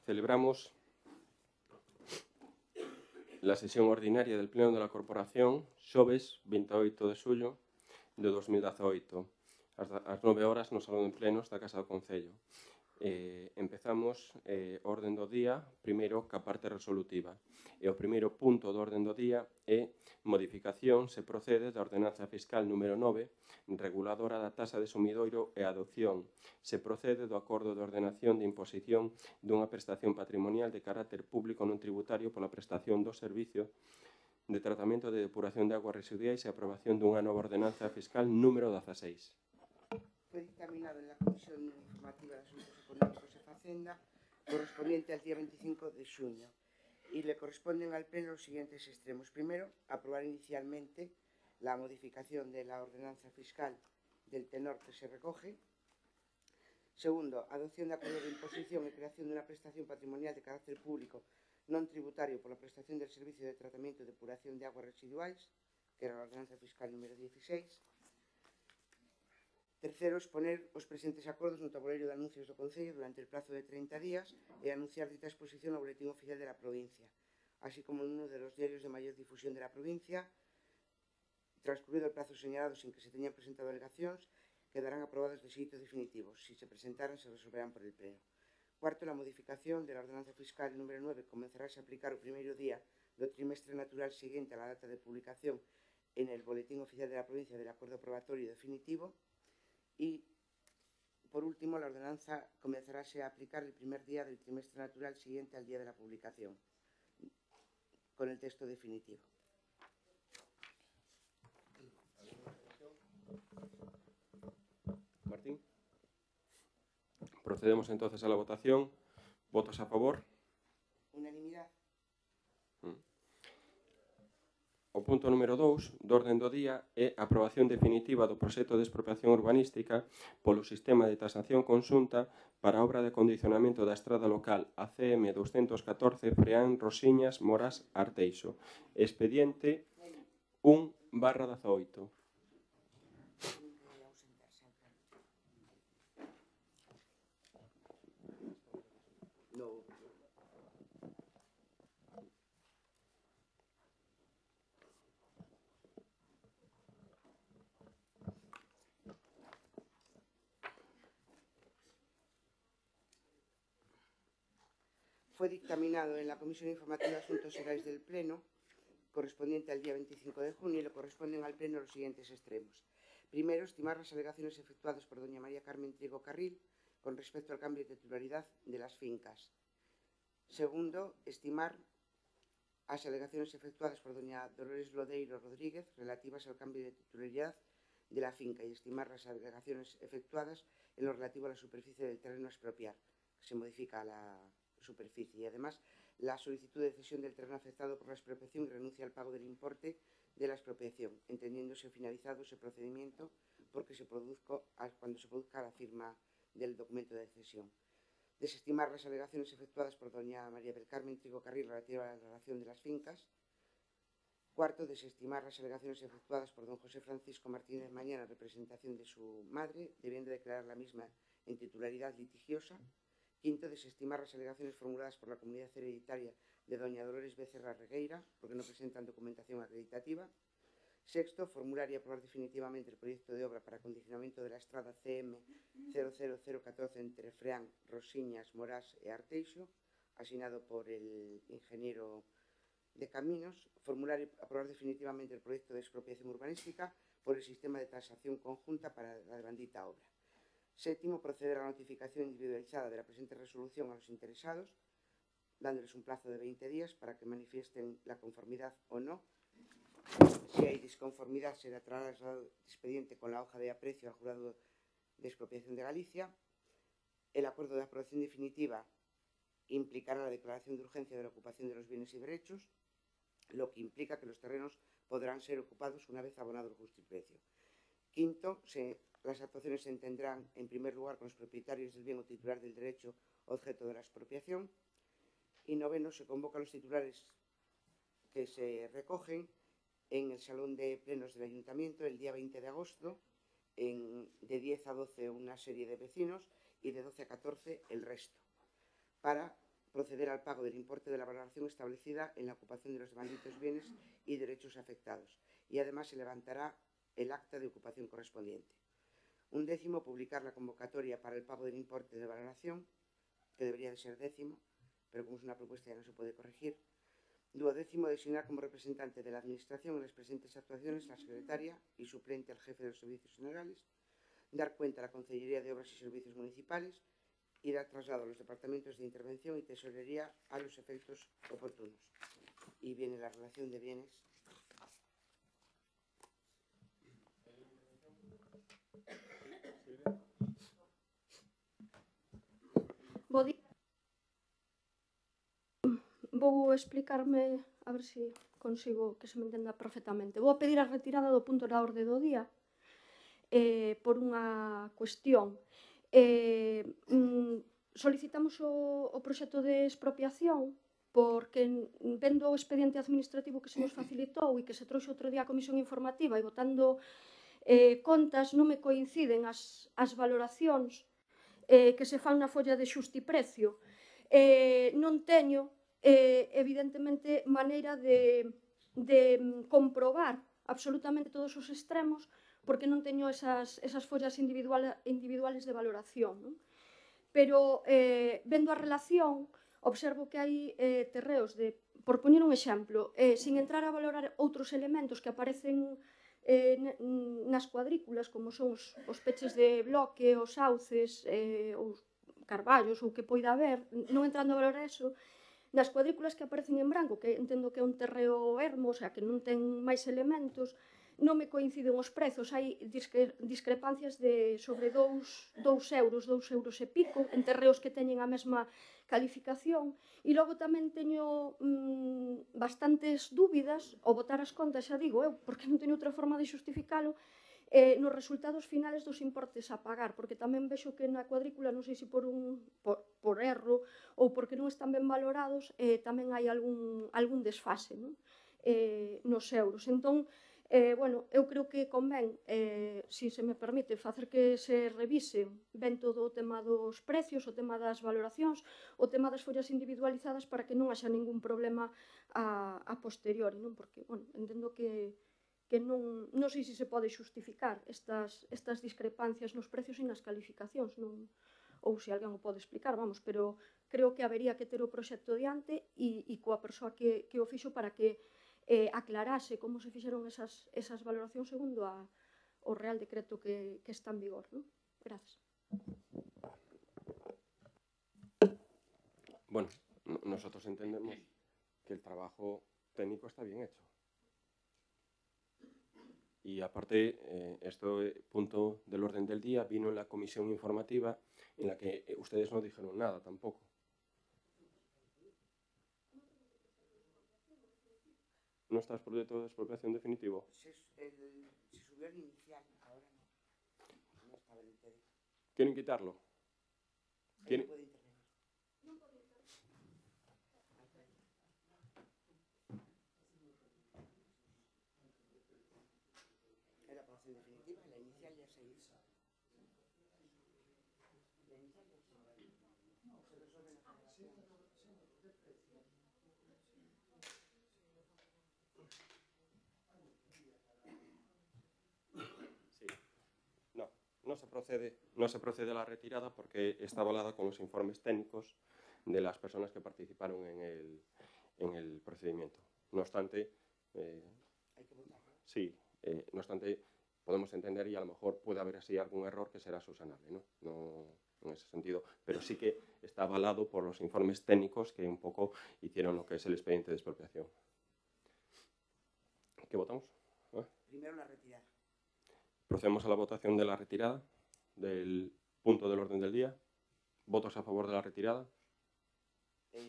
Celebramos la sesión ordinaria del Pleno da Corporación xoves 28 de xullo de 2018 ás 9 horas no Salón de Plenos da Casa do Concello. Empezamos orden do día, primeiro ca parte resolutiva. E o primeiro punto do orden do día é modificación se procede da ordenanza fiscal número 9, reguladora da tasa de sumidoiro e adopción. Se procede do acordo de ordenación de imposición dunha prestación patrimonial de carácter público non tributario pola prestación do servicio de tratamento de depuración de aguas residuais e aprobación dunha nova ordenanza fiscal número 16. Fue dictaminado en la Comisión Informativa de Asuntos Económicos y Facenda correspondiente al día 25 de junio y le corresponden al Pleno los siguientes extremos. Primero, aprobar inicialmente la modificación de la ordenanza fiscal del tenor que se recoge. Segundo, adopción de acuerdo de imposición y creación de una prestación patrimonial de carácter público non tributario por la prestación del servicio de tratamiento y depuración de aguas residuais, que era la ordenanza fiscal número 16. Tercero, exponer os presentes acordos no tabuleiro de anuncios do Concello durante el plazo de 30 días e anunciar dita exposición ao Boletín Oficial de la Provincia, así como en uno de los diarios de mayor difusión de la provincia. Transcurrido el plazo señalado sin que se teñan presentado alegacións, quedarán aprobadas de xeito definitivo. Si se presentaran, se resolverán por el Pleno. Cuarto, la modificación de la ordenanza fiscal número 9 comenzarase a aplicar o primeiro día do trimestre natural seguinte a la data de publicación en el Boletín Oficial de la Provincia del acuerdo probatorio definitivo. Y, por último, la ordenanza comenzarase a aplicar el primer día del trimestre natural siguiente al día de la publicación, con el texto definitivo. Martín. Procedemos entonces a la votación. ¿Votos a favor? Unanimidad. O punto número 2 do orden do día é a aprobación definitiva do proxecto de expropiación urbanística polo sistema de tasación conxunta para a obra de acondicionamento da estrada local ACM 214 Freán, Rosiñas, Moras, Arteixo. Expediente 1/18. Fue dictaminado en la Comisión Informativa de Asuntos Generales del Pleno, correspondiente al día 25 de junio, y le corresponden al Pleno los siguientes extremos. Primero, estimar las alegaciones efectuadas por doña María Carmen Trigo Carril con respecto al cambio de titularidad de las fincas. Segundo, estimar las alegaciones efectuadas por doña Dolores Lodeiro Rodríguez relativas al cambio de titularidad de la finca y estimar las alegaciones efectuadas en lo relativo a la superficie del terreno a expropiar, que se modifica la superficie, y además la solicitud de cesión del terreno afectado por la expropiación y renuncia al pago del importe de la expropiación, entendiéndose finalizado ese procedimiento porque cuando se produzca la firma del documento de cesión. Desestimar las alegaciones efectuadas por doña María del Carmen Trigo Carril relativa a la relación de las fincas. Cuarto, desestimar las alegaciones efectuadas por don José Francisco Martínez Mañana en representación de su madre, debiendo declarar la misma en titularidad litigiosa. Quinto, desestimar las alegaciones formuladas por la comunidad hereditaria de doña Dolores Becerra Regueira, porque no presentan documentación acreditativa. Sexto, formular y aprobar definitivamente el proyecto de obra para acondicionamiento de la estrada CM 00014 entre Freán, Rosiñas, Morás e Arteixo, asignado por el ingeniero de Caminos. Formular y aprobar definitivamente el proyecto de expropiación urbanística por el sistema de tasación conjunta para la bendita obra. Séptimo, proceder a la notificación individualizada de la presente resolución a los interesados, dándoles un plazo de 20 días para que manifiesten la conformidad o no. Si hay disconformidad, será trasladado el expediente con la hoja de aprecio al Jurado de Expropiación de Galicia. El acuerdo de aprobación definitiva implicará la declaración de urgencia de la ocupación de los bienes y derechos, lo que implica que los terrenos podrán ser ocupados una vez abonado el justiprecio. Quinto, las actuaciones se entenderán en primer lugar con los propietarios del bien o titular del derecho objeto de la expropiación. Y noveno, se convoca a los titulares que se recogen en el Salón de Plenos del Ayuntamiento el día 20 de agosto, de 10 a 12 una serie de vecinos y de 12 a 14 el resto, para proceder al pago del importe de la valoración establecida en la ocupación de los demanditos bienes y derechos afectados, y además se levantará el acta de ocupación correspondiente. 11, publicar la convocatoria para el pago del importe de valoración, que debería de ser 10, pero como es una propuesta ya no se puede corregir. 12, designar como representante de la Administración en las presentes actuaciones la secretaria y suplente al jefe de los servicios generales, dar cuenta a la Consellería de Obras y Servicios Municipales y dar traslado a los departamentos de intervención y tesorería a los efectos oportunos. Y viene la relación de bienes. Vou explicarme, a ver se consigo que se me entenda perfectamente. Vou a pedir a retirada do punto na orde do día por unha cuestión. Solicitamos o proxecto de expropiación porque vendo o expediente administrativo que se nos facilitou e que se trouxe outro día a comisión informativa e votando contas non me coinciden as valoracións que se fan na folla de xustiprecio. Non teño, evidentemente, maneira de comprobar absolutamente todos os extremos porque non teño esas follas individuales de valoración, non? Pero, vendo a relación, observo que hai terreos de, por poñer un exemplo, sin entrar a valorar outros elementos que aparecen nas cuadrículas, como son os peches de bloque, os sauces, os carballos, ou que poida haber, non entrando a valorar eso, nas cuadrículas que aparecen en branco, que entendo que é un terreo ermo, o sea, que non ten máis elementos, non me coinciden os prezos, hai discrepancias de sobre 2 euros e pico, en terreos que teñen a mesma calificación, e logo tamén teño bastantes dúbidas, ao botar as contas, xa digo eu, porque non teño outra forma de xustificalo, nos resultados finales dos importes a pagar, porque tamén vexo que na cuadrícula, non sei se por erro ou porque non están ben valorados, tamén hai algún desfase, non? Nos euros. Entón, bueno, eu creo que convén, se se me permite, facer que se revise ben todo o tema dos precios, o tema das valoracións, o tema das follas individualizadas para que non haxa ningún problema a posteriori, non? Porque, bueno, entendo que non sei se se pode xustificar estas discrepancias nos precios e nas calificacións, non? Ou se alguén o pode explicar, vamos, pero creo que habería que ter o proxecto diante e coa persoa que o fixo para que aclarase como se fixeron esas valoracións segundo o Real Decreto que está en vigor, non? Grazas. Bueno, nosotros entendemos que el trabajo técnico está bien hecho. Y aparte, este punto del orden del día vino en la comisión informativa en la que ustedes no dijeron nada tampoco. ¿No está el proyecto de expropiación definitivo? Se subió el inicial, ahora no. No estaba en el TD. ¿Quieren quitarlo? ¿Quieren? No puede intervenir. Era para hacer definitiva, la inicial ya se hizo. La inicial ya se hizo. Se resuelve en la generación. No se procede a la retirada porque está avalada con los informes técnicos de las personas que participaron en el procedimiento. No obstante, hay que votar. Sí, no obstante, podemos entender y a lo mejor puede haber así algún error que será subsanable, ¿no? No en ese sentido, pero sí que está avalado por los informes técnicos que un poco hicieron lo que es el expediente de expropiación. ¿Qué votamos? Primero la retirada. Procedemos a la votación de la retirada del punto del orden del día. ¿Votos a favor de la retirada? 8.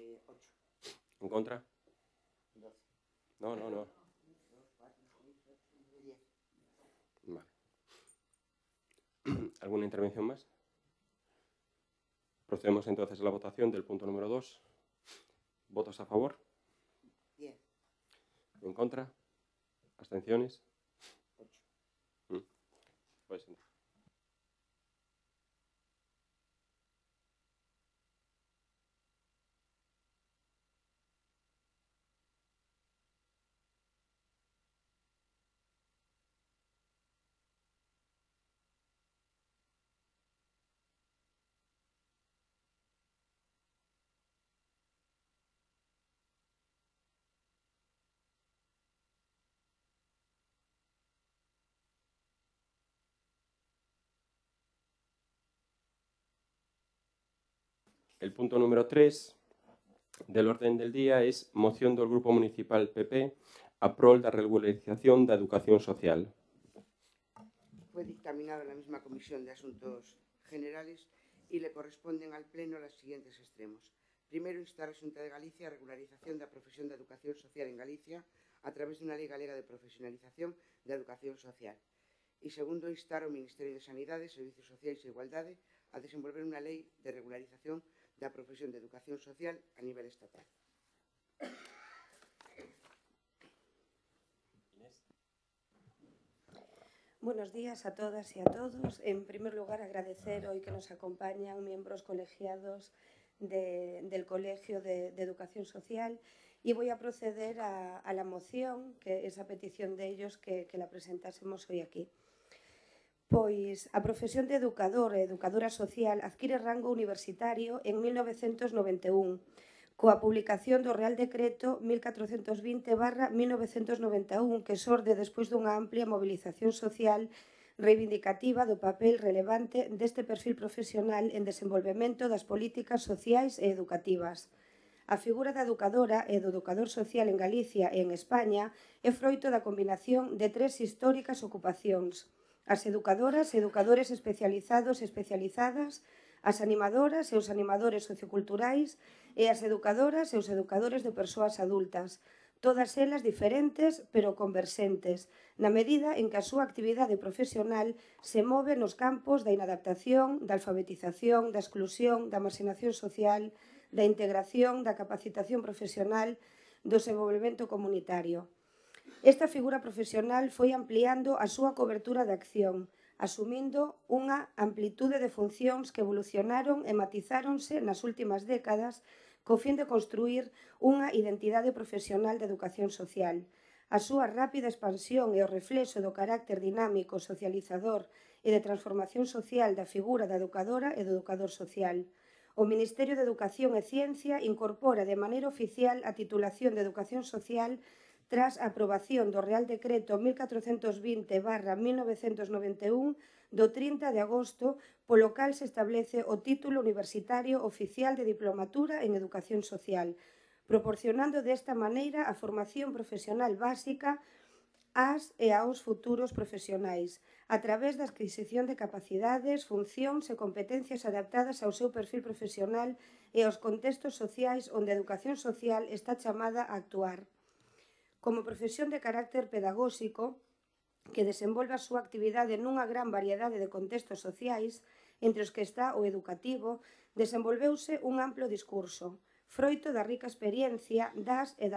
¿En contra? 12. No. 2, 4, 6, 8, 9, 10. Vale. ¿Alguna intervención más? Procedemos entonces a la votación del punto número 2. ¿Votos a favor? 10. ¿En contra? ¿Abstenciones? 8. Pues El punto número 3 del orden del día es moción do Grupo Municipal PP a prol da regularización da educación social. Fue dictaminado en la misma Comisión de Asuntos Generales y le corresponden al Pleno los siguientes extremos. Primero, instar a Xunta de Galicia a regularización da profesión de educación social en Galicia a través de unha lei galega de profesionalización da educación social. E segundo, instar ao Ministerio de Sanidade, Servicios Sociais e Igualdade a desenvolver unha lei de regularización da profesión de educación social a nivel estatal. Buenos días a todas y a todos. En primer lugar, agradecer hoy que nos acompañan miembros colegiados del Colegio de Educación Social y voy a proceder a la moción, que es a petición de ellos que la presentásemos hoy aquí. Pois a profesión de educador e educadora social adquire rango universitario en 1991, coa publicación do Real Decreto 1420/1991, que xorde despois dunha amplia movilización social reivindicativa do papel relevante deste perfil profesional en desenvolvemento das políticas sociais e educativas. A figura da educadora e do educador social en Galicia e en España é froito da combinación de tres históricas ocupacións: as educadoras e educadores especializados e especializadas, as animadoras e os animadores socioculturais e as educadoras e os educadores de persoas adultas, todas elas diferentes pero converxentes, na medida en que a súa actividade profesional se move nos campos da inadaptación, da alfabetización, da exclusión, da marxinación social, da integración, da capacitación profesional, do desenvolvemento comunitario. Esta figura profesional foi ampliando a súa cobertura de acción, asumindo unha amplitude de funcións que evolucionaron e matizáronse nas últimas décadas co fin de construir unha identidade profesional de educación social. A súa rápida expansión e o reflexo do carácter dinámico, socializador e de transformación social da figura da educadora e do educador social. O Ministerio de Educación e Ciencia incorpora de maneira oficial a titulación de Educación Social tras a aprobación do Real Decreto 1420/1991 do 30 de agosto, polo cal se establece o título universitario oficial de Diplomatura en Educación Social, proporcionando desta maneira a formación profesional básica ás e aos futuros profesionais, a través da adquisición de capacidades, funcións e competencias adaptadas ao seu perfil profesional e aos contextos sociais onde a educación social está chamada a actuar. Como profesión de carácter pedagóxico, que desenvolve a súa actividade nunha gran variedade de contextos sociais, entre os que está o educativo, desenvolveuse un amplo discurso, froito da rica experiencia das e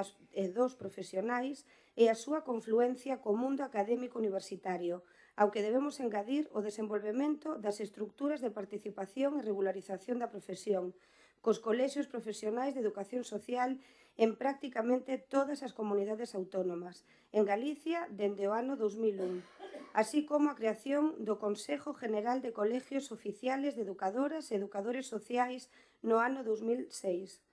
dos profesionais e a súa confluencia co mundo académico universitario, ao que debemos engadir o desenvolvemento das estructuras de participación e regularización da profesión, cos colexios profesionais de educación social en prácticamente todas as comunidades autónomas, en Galicia dende o ano 2001, así como a creación do Consejo General de Colegios Oficiales de Educadoras e Educadores Sociais no ano 2006.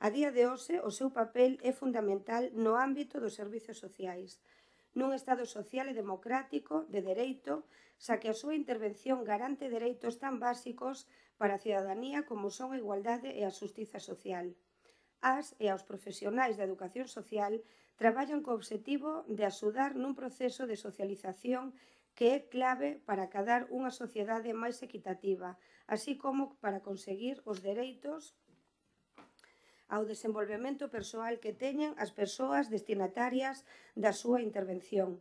A día de hoxe, o seu papel é fundamental no ámbito dos servizos sociais, nun Estado social e democrático de dereito, xa que a súa intervención garante dereitos tan básicos para a cidadanía como son a igualdade e a xustiza social. As e aos profesionais da educación social traballan co obxectivo de axudar nun proceso de socialización que é clave para acadar unha sociedade máis equitativa, así como para conseguir os dereitos ao desenvolvemento persoal que teñen as persoas destinatarias da súa intervención.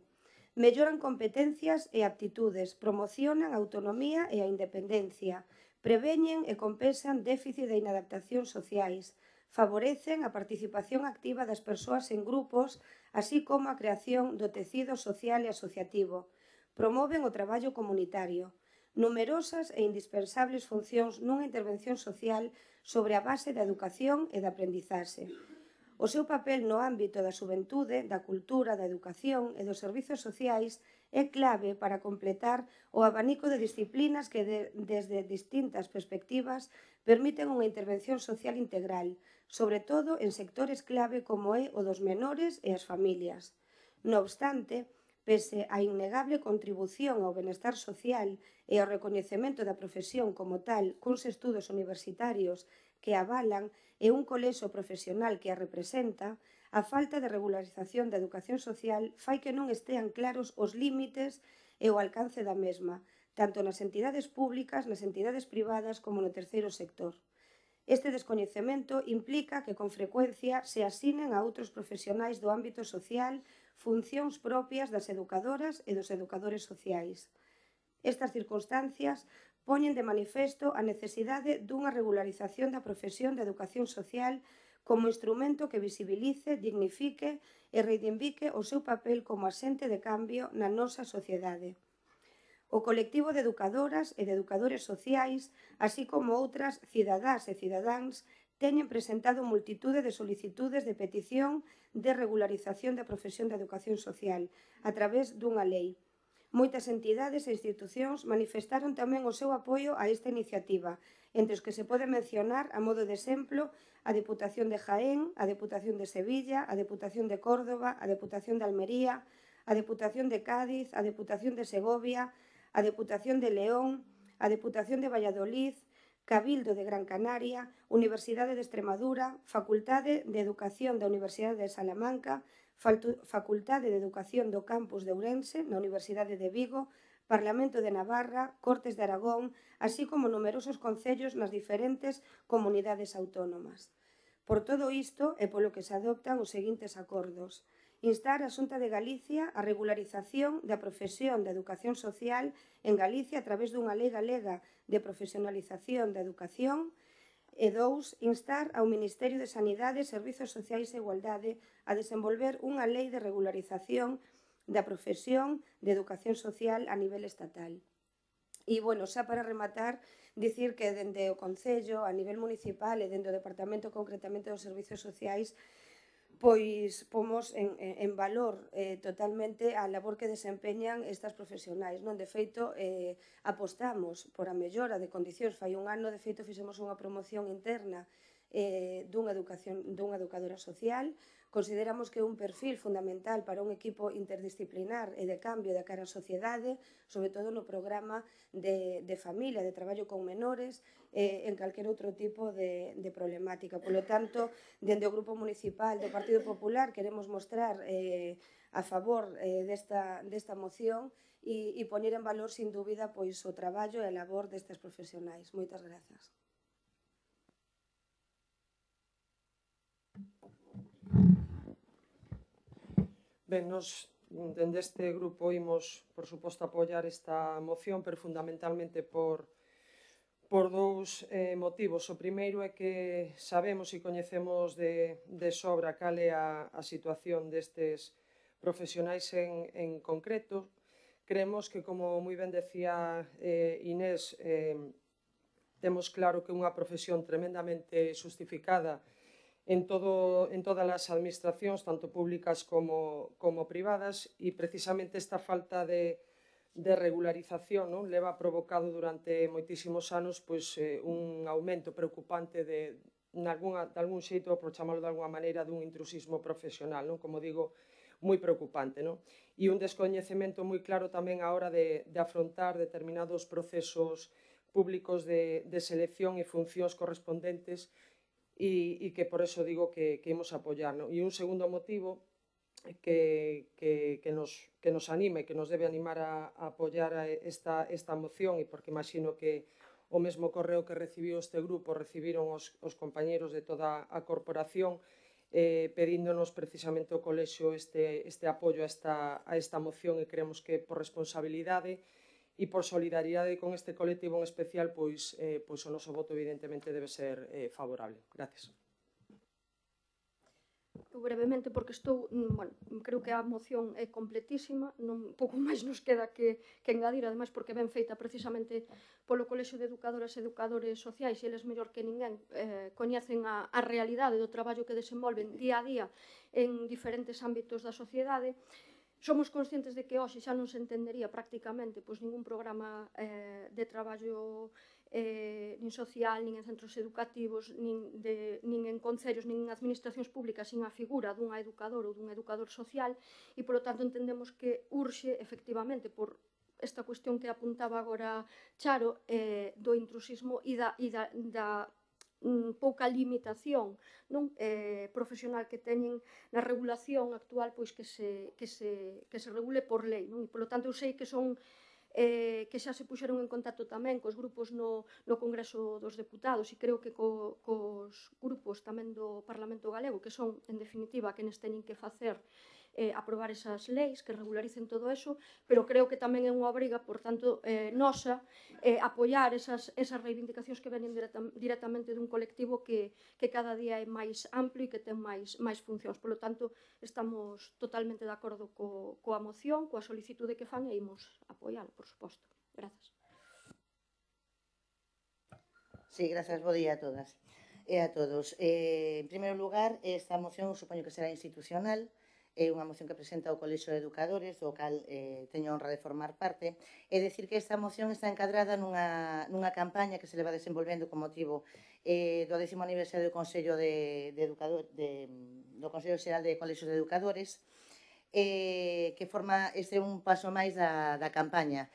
Melloran competencias e aptitudes, promocionan a autonomía e a independencia, preveñen e compensan déficit de inadaptación sociais, favorecen a participación activa das persoas en grupos, así como a creación do tecido social e asociativo, promoven o traballo comunitario, numerosas e indispensables funcións nunha intervención social sobre a base da educación e da aprendizaxe. O seu papel no ámbito da xuventude, da cultura, da educación e dos servizos sociais é clave para completar o abanico de disciplinas que desde distintas perspectivas permiten unha intervención social integral, sobre todo en sectores clave como é o dos menores e as familias. No obstante, pese á innegable contribución ao benestar social e ao recoñecemento da profesión como tal cuns estudos universitarios que a avalan e un colexo profesional que a representa, a falta de regularización da educación social fai que non estean claros os límites e o alcance da mesma, tanto nas entidades públicas, nas entidades privadas como no terceiro sector. Este descoñecemento implica que con frecuencia se asinen a outros profesionais do ámbito social funcións propias das educadoras e dos educadores sociais. Estas circunstancias poñen de manifesto a necesidade dunha regularización da profesión de educación social como instrumento que visibilice, dignifique e reivindique o seu papel como axente de cambio na nosa sociedade. O colectivo de educadoras e de educadores sociais, así como outras cidadás e cidadáns, teñen presentado multitude de solicitudes de petición de regularización da profesión de educación social a través dunha lei. Moitas entidades e institucións manifestaron tamén o seu apoio a esta iniciativa, entre os que se pode mencionar, a modo de exemplo, a Deputación de Jaén, a Deputación de Sevilla, a Deputación de Córdoba, a Deputación de Almería, a Deputación de Cádiz, a Deputación de Segovia, a Deputación de León, a Deputación de Valladolid, Cabildo de Gran Canaria, Universidade de Extremadura, Facultade de Educación da Universidade de Salamanca, Facultade de Educación do Campus de Ourense, na Universidade de Vigo, Parlamento de Navarra, Cortes de Aragón, así como numerosos concellos nas diferentes comunidades autónomas. Por todo isto é polo que se adoptan os seguintes acordos: instar a Xunta de Galicia a regularización da profesión de educación social en Galicia a través dunha lei galega de profesionalización da educación. E 2. Instar ao Ministerio de Sanidade, Servizos Sociais e Igualdade a desenvolver unha lei de regularización da profesión de educación social a nivel estatal. E, xa para rematar, dicir que dende o Concello, a nivel municipal e dende o Departamento concretamente dos Servizos Sociais, pois pomos en valor totalmente a labor que desempeñan estas profesionais. De feito, apostamos por a mellora de condicións. Fai un ano, de feito, fixemos unha promoción interna dunha educadora social. Consideramos que é un perfil fundamental para un equipo interdisciplinar e de cambio de cara á sociedade, sobre todo no programa de familia, de traballo con menores, en calquer outro tipo de problemática. Por lo tanto, dende o Grupo Municipal do Partido Popular queremos mostrar a favor desta moción e poñer en valor, sin dúbida, pois o traballo e a labor destes profesionais. Moitas grazas. Ben, nos dende este grupo imos, por suposto, apoiar esta moción, pero fundamentalmente por dous motivos. O primeiro é que sabemos e coñecemos de sobra cal é a situación destes profesionais en concreto. Creemos que, como moi ben decía Inés, temos claro que é unha profesión tremendamente justificada en todas as administracións, tanto públicas como privadas, e precisamente esta falta de regularización leva provocado durante moitísimos anos un aumento preocupante de algún xeito, por chamarlo de alguna maneira, dun intrusismo profesional, como digo, moi preocupante. E un descoñecemento moi claro tamén á hora de afrontar determinados procesos públicos de selección e funcións correspondentes, e que por eso digo que imos apoiar. E un segundo motivo que nos anime, que nos debe animar a apoiar esta moción, e porque imagino que o mesmo correo que recibiu este grupo recibiron os compañeros de toda a corporación, pedíndonos precisamente o colexio este apoio a esta moción, e creemos que por responsabilidade e por solidaridade con este colectivo en especial, pois o noso voto evidentemente debe ser favorable. Gracias. Brevemente, porque creo que a moción é completísima, pouco máis nos queda que engadir, ademais porque ben feita precisamente polo Colexio de Educadoras e Educadores Sociais, e eles mellor que ninguén coñecen a realidade do traballo que desenvolven día a día en diferentes ámbitos da sociedade. Somos conscientes de que hoxe xa non se entendería prácticamente ningún programa de traballo nin social, nin en centros educativos, nin en concellos, nin en administracións públicas, sin a figura dunha educadora ou dun educador social, e, polo tanto, entendemos que urxe, efectivamente, por esta cuestión que apuntaba agora Charo, do intrusismo e da pouca limitación profesional que teñen na regulación actual, pois que se regule por lei, non? E, polo tanto, eu sei que son que xa se puxeron en contacto tamén cos grupos no Congreso dos Deputados e creo que cos grupos tamén do Parlamento Galego, que son, en definitiva, quenes teñen que facer aprobar esas leis que regularicen todo eso, pero creo que tamén é unha obriga, por tanto, nosa, apoiar esas reivindicacións que venen directamente dun colectivo que cada día é máis amplio e que ten máis funcións. Por lo tanto, estamos totalmente de acordo coa moción, coa solicitude que fan e imos apoialo, por suposto. Grazas. Sí, grazas. Bo día a todas e a todos. En primeiro lugar, esta moción supoño que será institucional. É unha moción que presenta o Colexio de Educadores, do cal teño a honra de formar parte. É dicir que esta moción está encadrada nunha campaña que se leva desenvolvendo con motivo do 10º aniversario do Consello do Consello Xeral de Colexios de Educadores, que forma un paso máis da campaña.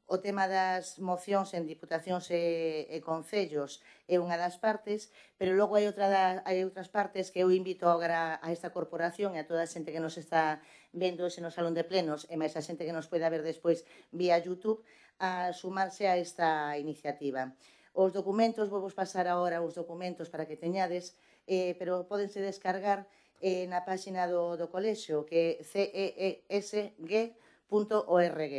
O tema das mocións en diputacións e concellos é unha das partes, pero logo hai outras partes que eu invito agora a esta corporación e a toda a xente que nos está vendo no salón de plenos e máis a xente que nos poida ver despois vía YouTube a sumarse a esta iniciativa. Os documentos, vou vos pasar agora os documentos para que teñades, pero pódense descargar na páxina do colexio, que é ceesg.org.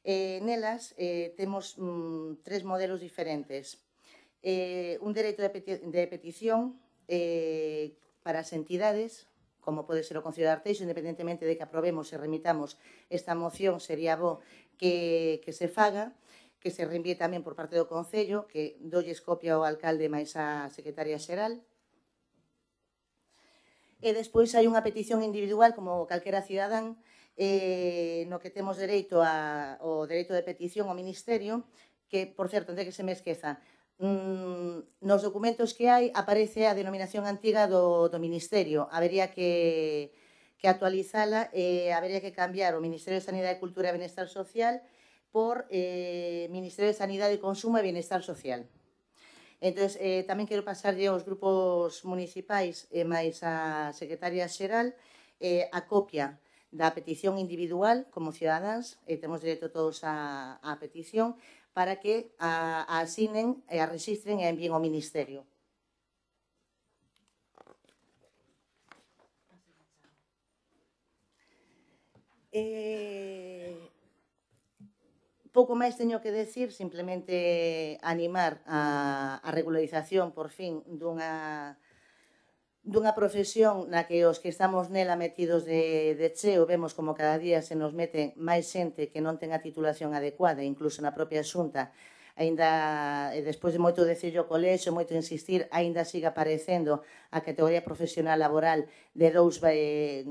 Nelas temos 3 modelos diferentes. Un dereito de petición para as entidades, como pode ser o Concello de Arteixo, independentemente de que aprobemos e remitamos esta moción, sería bo que se faga, que se reenvíe tamén por parte do Concello, que dolles copia ao alcalde máis a secretaria xeral. E despois hai unha petición individual, como calquera cidadán, no que temos dereito ao dereito de petición ao Ministerio, que, por certo, antes que se me esqueza, nos documentos que hai aparece a denominación antiga do Ministerio. Habería que actualizala e habería que cambiar o Ministerio de Sanidade, Cultura e Benestar Social por Ministerio de Sanidade, Consumo e Benestar Social. Entón, tamén quero pasarlle aos grupos municipais e máis a secretaria xeral a copia da petición individual como cidadáns, temos dereito todos á petición, para que a asinen e a rexistren e a envíen ao Ministerio. Pouco máis teño que decir, simplemente animar a regularización, por fin, dunha profesión na que os que estamos nela metidos de cheo vemos como cada día se nos mete máis xente que non ten a titulación adecuada, incluso na propia Xunta, aínda, despois de moito decirlo o colexio, moito insistir, aínda siga aparecendo a categoría profesional laboral de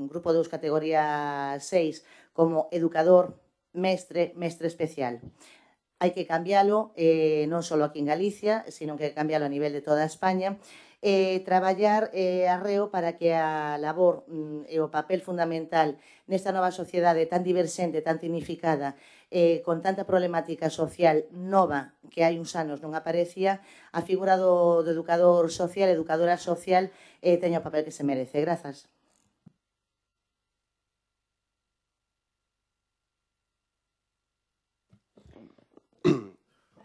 grupo 2, categoría 6, como educador, mestre especial. Hai que cambiálo, non só aquí en Galicia, sino que cambiálo a nivel de toda España, traballar arreo para que a labor e o papel fundamental nesta nova sociedade tan diversente, tan significada, con tanta problemática social nova que hai uns anos non aparecía, a figura do educador social, educadora social, teña o papel que se merece. Grazas.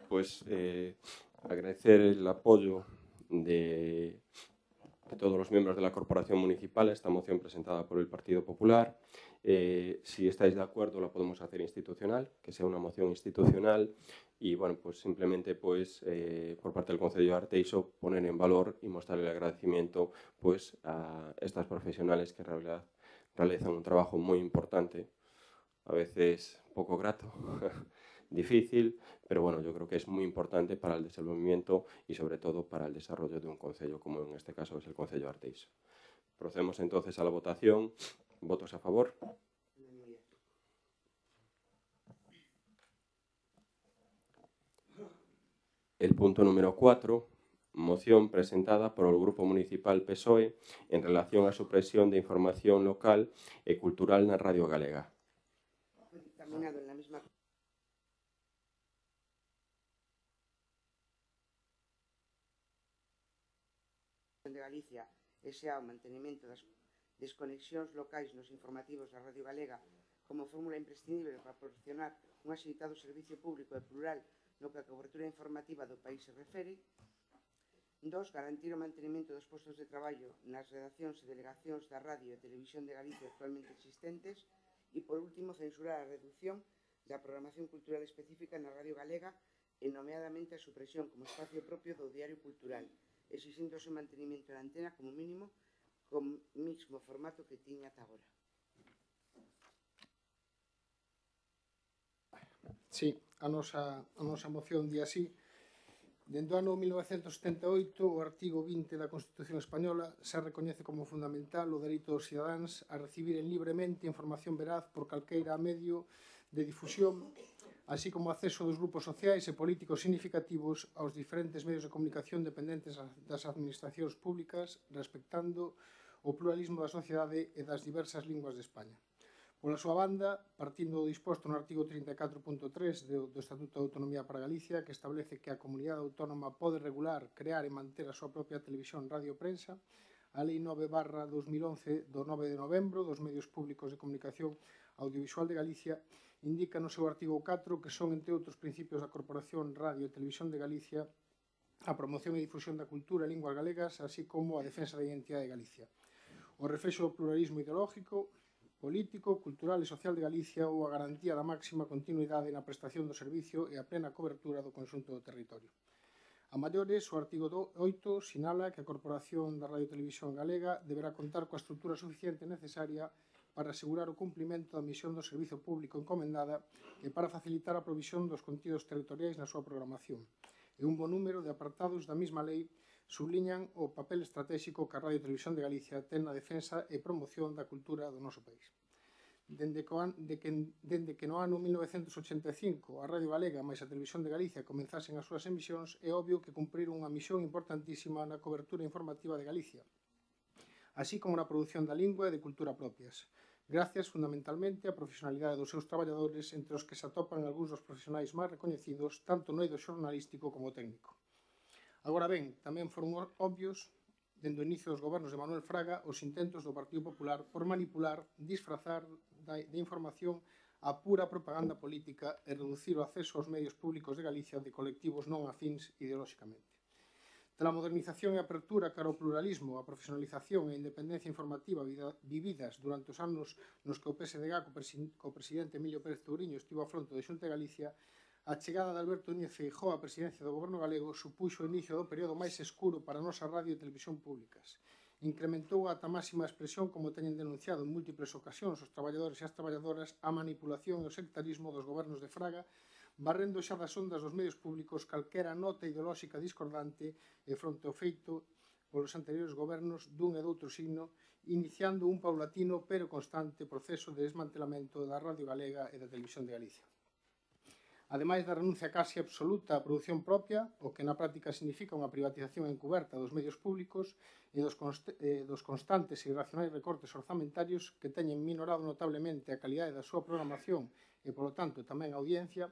Pues agradecer el apoyo de todos los miembros de la corporación municipal a esta moción presentada por el Partido Popular. Si estáis de acuerdo, la podemos hacer institucional, que sea una moción institucional y, bueno, pues simplemente pues, por parte del Concello de Arteixo poner en valor y mostrar el agradecimiento pues, a estas profesionales que en realidad realizan un trabajo muy importante, a veces poco grato, difícil, pero bueno, yo creo que es muy importante para el desenvolvimiento y sobre todo para el desarrollo de un concello, como en este caso es el Concello de Arteixo. Procedemos entonces a la votación. ¿Votos a favor? El punto número 4, moción presentada por el Grupo Municipal PSOE en relación a supresión de información local e cultural na Radio Galega. Dictaminado en la misma de Galicia e xa o mantenimento das desconexións locais nos informativos da Radio Galega como fórmula imprescindible para proporcionar un axeitado servicio público e plural no que a cobertura informativa do país se refere. 2. Garantir o mantenimento dos postos de traballo nas redaccións e delegacións da Radio e Televisión de Galicia actualmente existentes. E, por último, censurar a reducción da programación cultural específica na Radio Galega e, nomeadamente, a supresión como espacio propio do diario cultural, exixindo o seu mantenimento na antena como mínimo con mismo formato que tiña ata agora. Sí, a nosa moción di así. Dende o ano 1978, o artigo 20 da Constitución Española se recoñece como fundamental o dereito dos cidadáns a recibiren libremente información veraz por calqueira medio de difusión, así como o acceso dos grupos sociais e políticos significativos aos diferentes medios de comunicación dependentes das administracións públicas, respectando o pluralismo da sociedade e das diversas linguas de España. Pola súa banda, partindo do disposto no artigo 34.3 do Estatuto de Autonomía para Galicia, que establece que a comunidade autónoma pode regular, crear e manter a súa propia televisión, radio e prensa, a Lei 9/2011 do 9 de novembro dos medios públicos de comunicación audiovisual de Galicia indica no seu artigo 4 que son, entre outros principios da Corporación Radio e Televisión de Galicia, a promoción e difusión da cultura e linguas galegas, así como a defensa da identidade de Galicia, o reflexo do pluralismo ideológico, político, cultural e social de Galicia ou a garantía da máxima continuidade na prestación do servicio e a plena cobertura do conxunto do territorio. A maiores, o artigo 8 sinala que a Corporación da Radio e Televisión Galega deberá contar coa estrutura suficiente necesaria para asegurar o cumprimento da misión do servizo público encomendada e para facilitar a provisión dos contidos territoriais na súa programación. E un bo número de apartados da mesma lei subliñan o papel estratégico que a Radio e Televisión de Galicia ten na defensa e promoción da cultura do noso país. Dende que no ano 1985 a Radio Galega máis a Televisión de Galicia comenzasen as súas emisións, é obvio que cumpriron unha misión importantísima na cobertura informativa de Galicia, así como na produción da lingua e de cultura propias, gracias fundamentalmente á profesionalidade dos seus traballadores, entre os que se atopan algúns dos profesionais máis recoñecidos tanto no eido xornalístico como técnico. Agora ben, tamén foron obvios, dende o inicio dos gobernos de Manuel Fraga, os intentos do Partido Popular por manipular, disfrazar de información a pura propaganda política e reducir o acceso aos medios públicos de Galicia de colectivos non afíns ideolóxicamente. Tras a modernización e apertura cara ao pluralismo, a profesionalización e a independencia informativa vividas durante os anos nos que o PSDG co presidente Emilio Pérez Touriño estivo a fronte de Xunta de Galicia, a chegada de Alberto Núñez Feijóo á presidencia do Goberno galego supuxo o inicio do período máis escuro para a nosa radio e televisión públicas. Incrementou ata máxima expresión, como teñen denunciado en múltiples ocasións os traballadores e as traballadoras, a manipulación e o sectarismo dos gobernos de Fraga, barrendo xa das ondas dos medios públicos calquera nota ideolóxica discordante e fronte ao feito polos anteriores gobernos dun e doutro signo, iniciando un paulatino pero constante proceso de desmantelamento da Radio Galega e da Televisión de Galicia. Ademais da renuncia casi absoluta á produción propia, o que na práctica significa unha privatización encuberta dos medios públicos e dos constantes e irracionais recortes orzamentarios que teñen minorado notablemente a calidade da súa programación e, polo tanto, tamén a audiencia,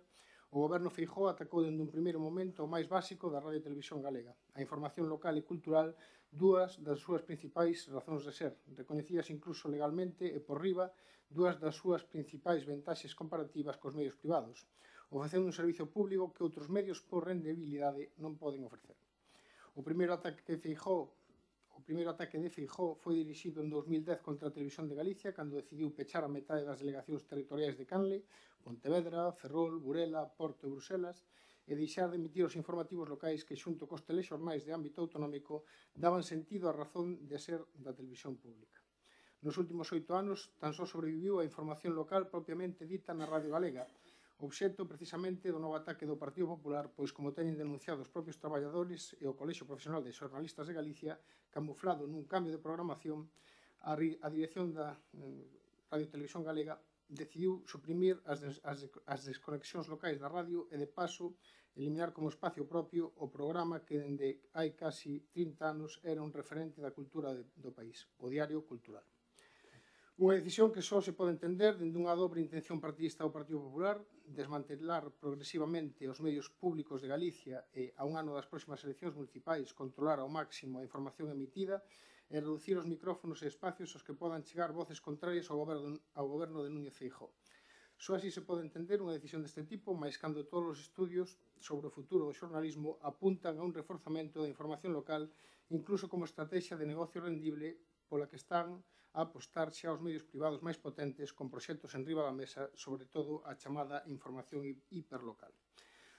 o Goberno Feijóo atacou dende un primeiro momento o máis básico da Radio e Televisión Galega, a información local e cultural, dúas das súas principais razóns de ser, recoñecidas incluso legalmente e por riba dúas das súas principais ventaxes comparativas cos medios privados, ofrecendo un servicio público que outros medios por rendibilidade non poden ofrecer. O primeiro ataque de Feijóo foi dirixido en 2010 contra a Televisión de Galicia, cando decidiu pechar a metade das delegacións territoriais de Canle, Pontevedra, Ferrol, Burela, Porto e Bruselas, e deixar de emitir os informativos locais que, xunto cos telexornais de ámbito autonómico, daban sentido á razón de ser da televisión pública. Nos últimos 8 anos, tan só sobreviviu a información local propiamente dita na Radio Galega, obxecto precisamente do novo ataque do Partido Popular, pois, como teñen denunciado os propios traballadores e o Colexio Profesional de Xornalistas de Galicia, camuflado nun cambio de programación, a dirección da Radio e Televisión Galega decidiu suprimir as desconexións locais da radio e, de paso, eliminar como espacio propio o programa que, dende hai casi 30 anos, era un referente da cultura do país, o Diario Cultural. Unha decisión que só se pode entender dende unha dobre intención partidista do Partido Popular, desmantelar progresivamente os medios públicos de Galicia e, a un ano das próximas eleccións municipais, controlar ao máximo a información emitida e reducir os micrófonos e espacios aos que podan chegar voces contrarias ao goberno de Núñez Feijóo. Só así se pode entender unha decisión deste tipo, mais cando todos os estudios sobre o futuro do xornalismo apuntan a un reforzamento da información local, incluso como estrategia de negocio rendible pola que están a apostar xa aos medios privados máis potentes con proxectos enriba da mesa, sobre todo a chamada información hiperlocal.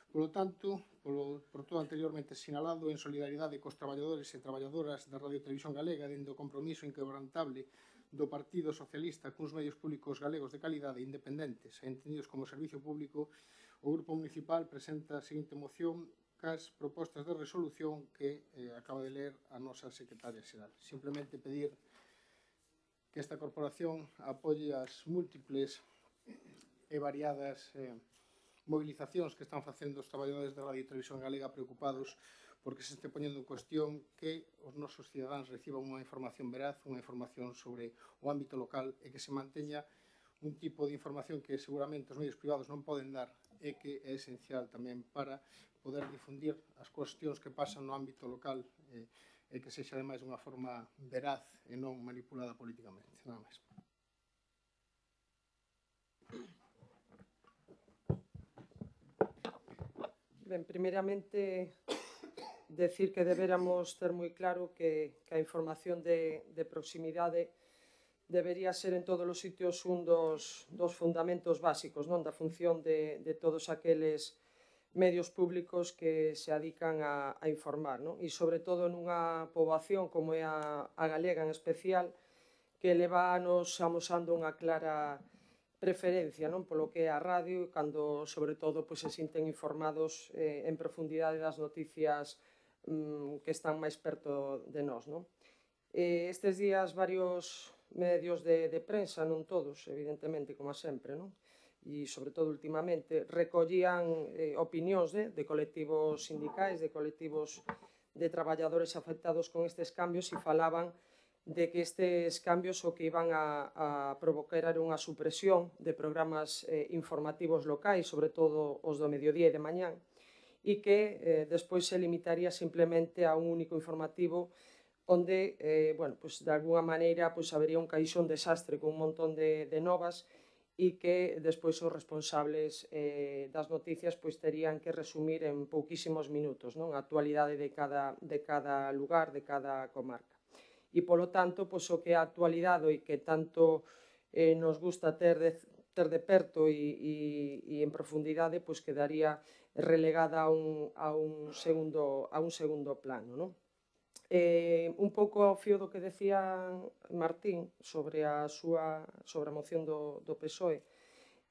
Por lo tanto, por todo anteriormente sinalado, en solidariedade cos traballadores e traballadoras da Radio Televisión Galega, dende o compromiso inquebrantable do Partido Socialista cuns medios públicos galegos de calidade independentes e entendidos como servicio público, o Grupo Municipal presenta a seguinte moción cas propostas de resolución que acaba de ler a nosa secretaria xeral. Simplemente pedir que esta corporación apoie as múltiples e variadas movilizacións que están facendo os traballadores da Radio e Televisión Galega preocupados porque se este poñendo en cuestión que os nosos cidadáns reciban unha información veraz, unha información sobre o ámbito local e que se manteña un tipo de información que seguramente os medios privados non poden dar e que é esencial tamén para poder difundir as cuestións que pasan no ámbito local e que sexa ademais unha forma veraz e non manipulada políticamente. Nada máis. Ben, primeiramente, decir que deberamos ter moi claro que a información de proximidade debería ser en todos os sitios un dos fundamentos básicos, non, da función de todos aqueles medios públicos que se adican a informar, non? E, sobre todo, nunha poboación como é a galega en especial, que leva anos amosando unha clara preferencia, non, polo que é a radio, cando, sobre todo, se sinten informados en profundidade das noticias que están máis perto de nós, non? Estes días, varios medios de prensa, non todos, evidentemente, como sempre, non? E, sobre todo, últimamente, recollían opinións de colectivos sindicais, de colectivos de traballadores afectados con estes cambios e falaban de que estes cambios o que iban a provocar era unha supresión de programas informativos locais, sobre todo os do mediodía e de mañán, e que despois se limitaría simplemente a un único informativo onde, de alguna maneira, habería un caixón desastre con un montón de novas e que despois os responsables das noticias terían que resumir en pouquísimos minutos a actualidade de cada lugar, de cada comarca. E, polo tanto, o que é a actualidade e que tanto nos gusta ter de perto e en profundidade, quedaría relegada a un segundo plano. Un pouco ao fío do que decía Martín sobre a moción do PSOE,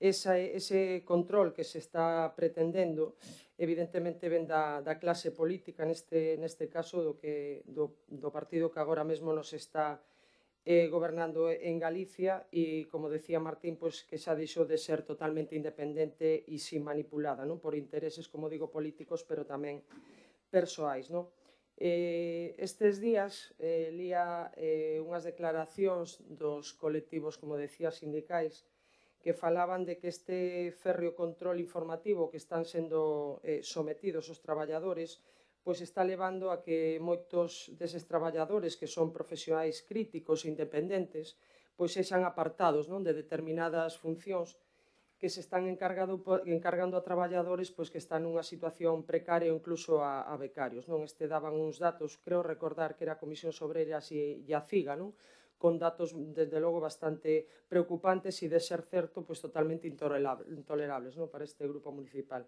ese control que se está pretendendo evidentemente ven da clase política, neste caso do partido que agora mesmo nos está gobernando en Galicia e, como decía Martín, que xa deixou de ser totalmente independente e sin manipulada por intereses, como digo, políticos, pero tamén persoais. Estes días lía unhas declaracións dos colectivos, como decía, sindicais, que falaban de que este férreo control informativo que están sendo sometidos os traballadores está levando a que moitos deses traballadores que son profesionais críticos e independentes sexan apartados de determinadas funcións que se están encargando a traballadores que están nunha situación precaria ou incluso a becarios. Este daban uns datos, creo recordar que era a Comisión Obreras e a CIGA, con datos, desde logo, bastante preocupantes e, de ser certo, totalmente intolerables para este grupo municipal.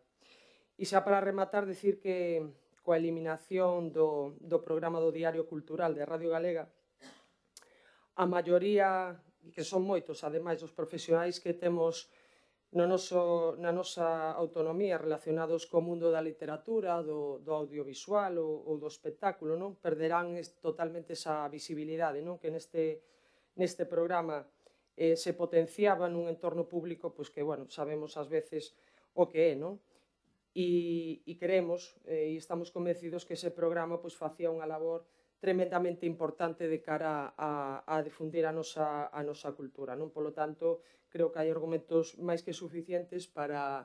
E xa para rematar, decir que coa eliminación do programa do Diario Cultural de Radio Galega, a maioría, que son moitos, ademais, dos profesionais que temos na nosa autonomía relacionados co mundo da literatura, do audiovisual ou do espectáculo, perderán totalmente esa visibilidade que neste programa se potenciaba nun entorno público que, sabemos ás veces o que é, e queremos e estamos convencidos que ese programa facía unha labor tremendamente importante de cara a difundir a nosa cultura. Polo tanto, creo que hai argumentos máis que suficientes para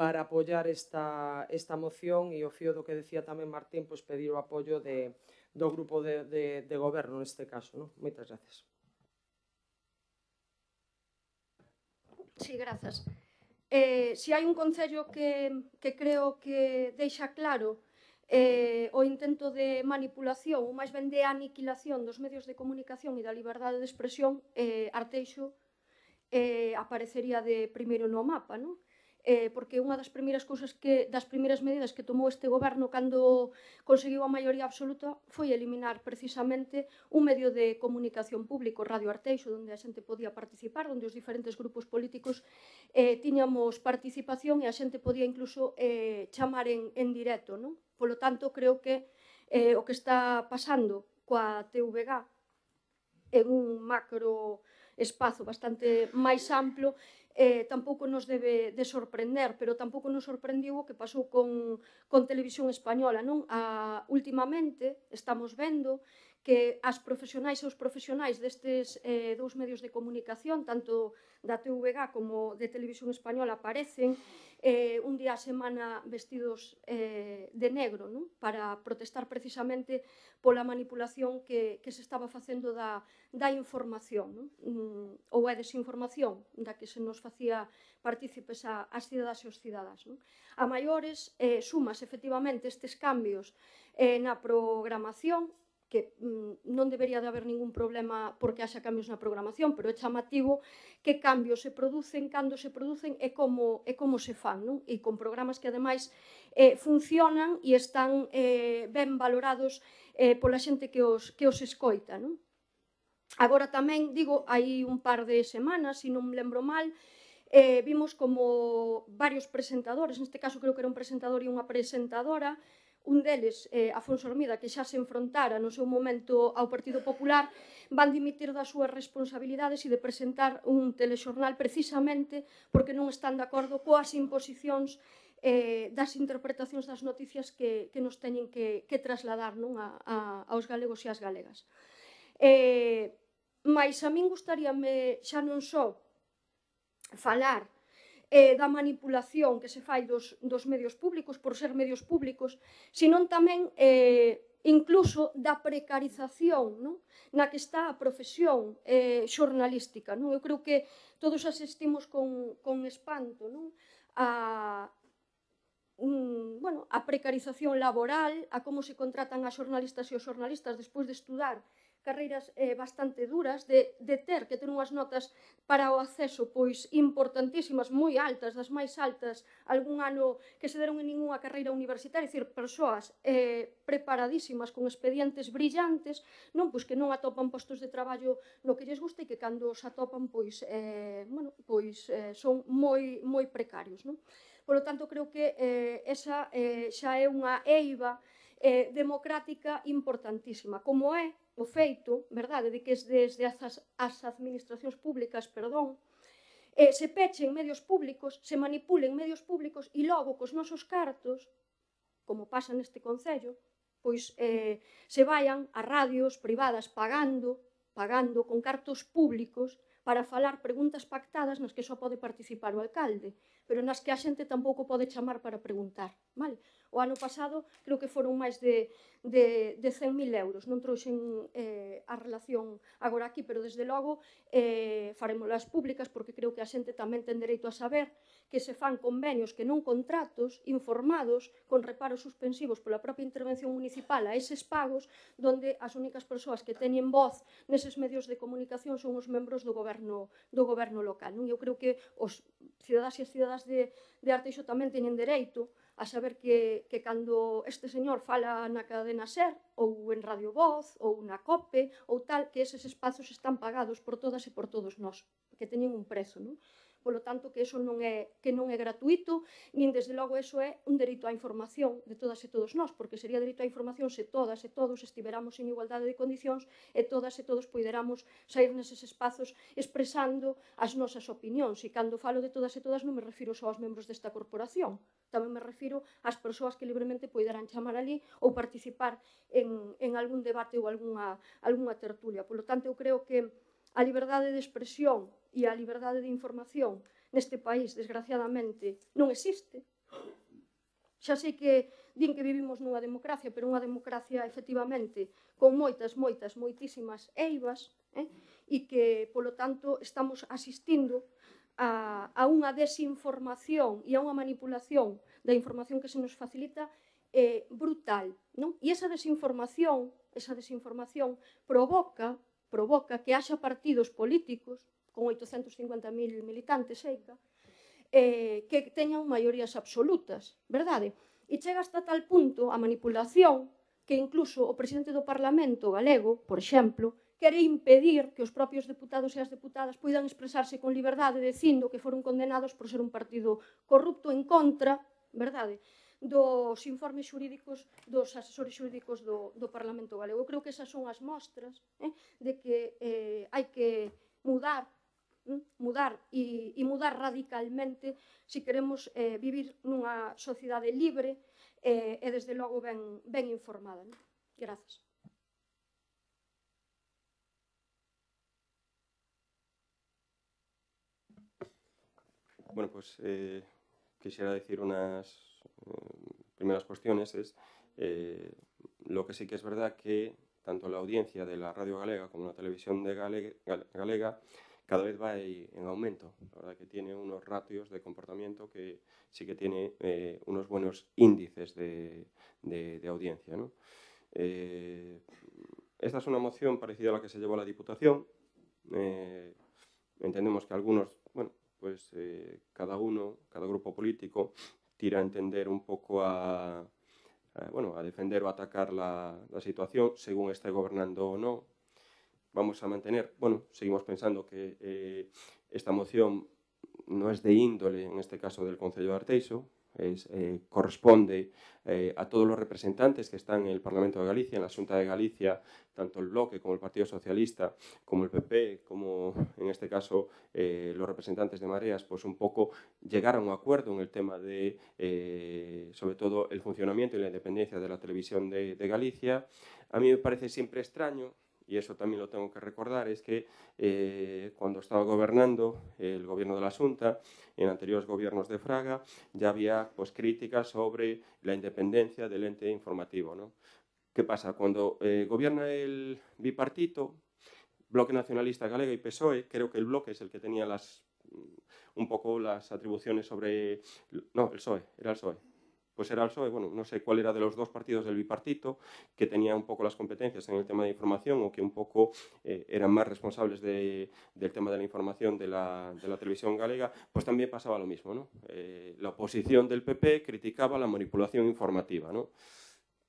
apoiar esta moción e o fío do que decía tamén Martín, pedir o apoio do grupo de goberno neste caso. Moitas gracias. Sí, grazas. Se hai un concello que creo que deixa claro o intento de manipulación, ou máis ben de aniquilación dos medios de comunicación e da liberdade de expresión, Arteixo aparecería de primeiro no mapa, non? Porque unha das primeiras cousas das primeiras medidas que tomou este goberno cando conseguiu a maioría absoluta foi eliminar precisamente un medio de comunicación público, Radio Arteixo, onde a xente podía participar, onde os diferentes grupos políticos tiñamos participación e a xente podía incluso chamar en directo, non? Polo tanto, creo que o que está pasando coa TVG en un macro espazo bastante máis amplo tampouco nos debe de sorprender, pero tampouco nos sorprendiu o que pasou con Televisión Española, non? Últimamente estamos vendo que as profesionais e os profesionais destes dous medios de comunicación, tanto da TVG como de Televisión Española, aparecen un día a semana vestidos de negro, non? Para protestar precisamente pola manipulación que se estaba facendo da información, non? Ou a desinformación da que se nos facía partícipes ás cidadás e os cidadás, non? A maiores, sumas efectivamente estes cambios na programación, que non debería de haber ningún problema porque haxa cambios na programación, pero é chamativo que cambios se producen, cando se producen e como se fan, non? E con programas que ademais funcionan e están ben valorados pola xente que os escoita, non? Agora tamén, digo, hai un par de semanas, se non me lembro mal, vimos como varios presentadores, neste caso creo que era un presentador e unha presentadora, un deles, Afonso Hermida, que xa se enfrontara no seu momento ao Partido Popular, van dimitir das súas responsabilidades e de presentar un telexornal precisamente porque non están de acordo coas imposicións das interpretacións das noticias que nos teñen que trasladar aos galegos e ás galegas. Mais a min gustaríame xa non só falar da manipulación que se fai dos medios públicos por ser medios públicos, senón tamén incluso da precarización na que está a profesión xornalística. Eu creo que todos asistimos con espanto a precarización laboral, a como se contratan as xornalistas e os xornalistas despois de estudar carreiras bastante duras, de ter que ter unhas notas para o acceso importantísimas, moi altas, das máis altas, algún ano que se deron en ningunha carreira universitaria, é dicir, persoas preparadísimas, con expedientes brillantes, que non atopan postos de traballo no que lles gusta e que cando os atopan son moi precarios. Por lo tanto, creo que esa xa é unha eiva democrática importantísima, como é o feito, verdade, de que desde as administracións públicas, se pechen medios públicos, se manipulen medios públicos e logo cos nosos cartos, como pasa neste concello, se vayan a radios privadas pagando con cartos públicos para falar preguntas pactadas nas que só pode participar o alcalde, pero nas que a xente tampouco pode chamar para preguntar. O ano pasado creo que foron máis de 100.000 euros, non trouxen a relación agora aquí, pero desde logo farémolas públicas porque creo que a xente tamén ten dereito a saber que se fan convenios que non contratos informados con reparos suspensivos pola propia intervención municipal a eses pagos, donde as únicas persoas que teñen voz neses medios de comunicación son os membros do goberno local. Eu creo que os cidadás e as cidadás de Arteixo tamén teñen dereito a saber que cando este señor fala na cadena SER ou en Radio Voz ou na COPE ou tal, que eses espazos están pagados por todas e por todos nós, que teñen un prezo. Polo tanto, que eso non é gratuito, nin desde logo eso é un dereito á información de todas e todos nós, porque sería dereito á información se todas e todos estiveramos en igualdade de condicións e todas e todos poderamos sair neses espazos expresando as nosas opinións. E cando falo de todas e todas non me refiro só aos membros desta corporación, tamén me refiro ás persoas que libremente poderán chamar ali ou participar en algún debate ou algunha tertulia. Polo tanto, eu creo que a liberdade de expresión e a liberdade de información neste país, desgraciadamente, non existe. Xa sei que din que vivimos nunha democracia, pero unha democracia, efectivamente, con moitísimas eivas, e que, polo tanto, estamos asistindo a unha desinformación e a unha manipulación da información que se nos facilita brutal, non? E esa desinformación provoca que haxa partidos políticos con 850.000 militantes, eica, que teñan maiorías absolutas, verdade? E chega hasta tal punto a manipulación que incluso o presidente do Parlamento galego, por exemplo, quere impedir que os propios deputados e as deputadas poidan expresarse con liberdade dicindo que foron condenados por ser un partido corrupto en contra, verdade, dos informes xurídicos dos asesores xurídicos do Parlamento galego. Eu creo que esas son as mostras de que hai que mudar e mudar radicalmente se queremos vivir nunha sociedade libre e desde logo ben informada. Grazas. Bueno, pues quisiera decir unas primeras cuestiones. Lo que sí que es verdad que tanto la audiencia de la radio galega como la televisión galega cada vez va en aumento. La verdad que tiene unos ratios de comportamiento que sí que tiene unos buenos índices de audiencia, ¿no? Esta es una moción parecida a la que se llevó a la Diputación. Entendemos que algunos, bueno, pues cada grupo político tira a entender un poco a defender o atacar la situación según esté gobernando o no. Vamos a mantener, seguimos pensando que esta moción no es de índole, en este caso del Concello de Arteixo, corresponde a todos los representantes que están en el Parlamento de Galicia, en la Xunta de Galicia, tanto el Bloque como el Partido Socialista, como el PP, como en este caso los representantes de Mareas, pues un poco llegar a un acuerdo en el tema de, sobre todo, el funcionamiento y la independencia de la televisión de Galicia. A mí me parece siempre extraño, y eso también lo tengo que recordar, es que cuando estaba gobernando el gobierno de la Xunta, en anteriores gobiernos de Fraga, ya había pues, críticas sobre la independencia del ente informativo, ¿no? ¿Qué pasa? Cuando gobierna el bipartito, Bloque Nacionalista Galega y PSOE, creo que el Bloque es el que tenía un poco las atribuciones sobre... No, el PSOE, era el PSOE. Pues era el PSOE, bueno, no sé cuál era de los dos partidos del bipartito que tenía un poco las competencias en el tema de información o que un poco eran más responsables del tema de la información de la televisión galega, pues también pasaba lo mismo, ¿no? La oposición del PP criticaba la manipulación informativa, ¿no?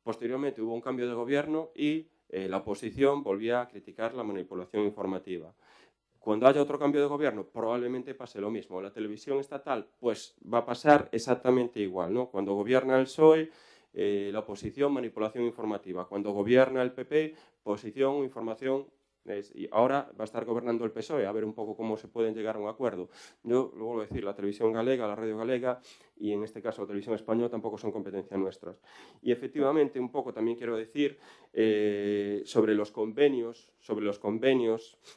Posteriormente hubo un cambio de gobierno y la oposición volvía a criticar la manipulación informativa. Cuando haya otro cambio de gobierno, probablemente pase lo mismo. La televisión estatal, pues va a pasar exactamente igual, ¿no? Cuando gobierna el PSOE, la oposición, manipulación informativa. Cuando gobierna el PP, posición, información. Y ahora va a estar gobernando el PSOE, a ver un poco cómo se pueden llegar a un acuerdo. Yo lo vuelvo a decir, la televisión galega, la radio galega y en este caso la televisión española tampoco son competencia nuestras. Y efectivamente un poco también quiero decir sobre los convenios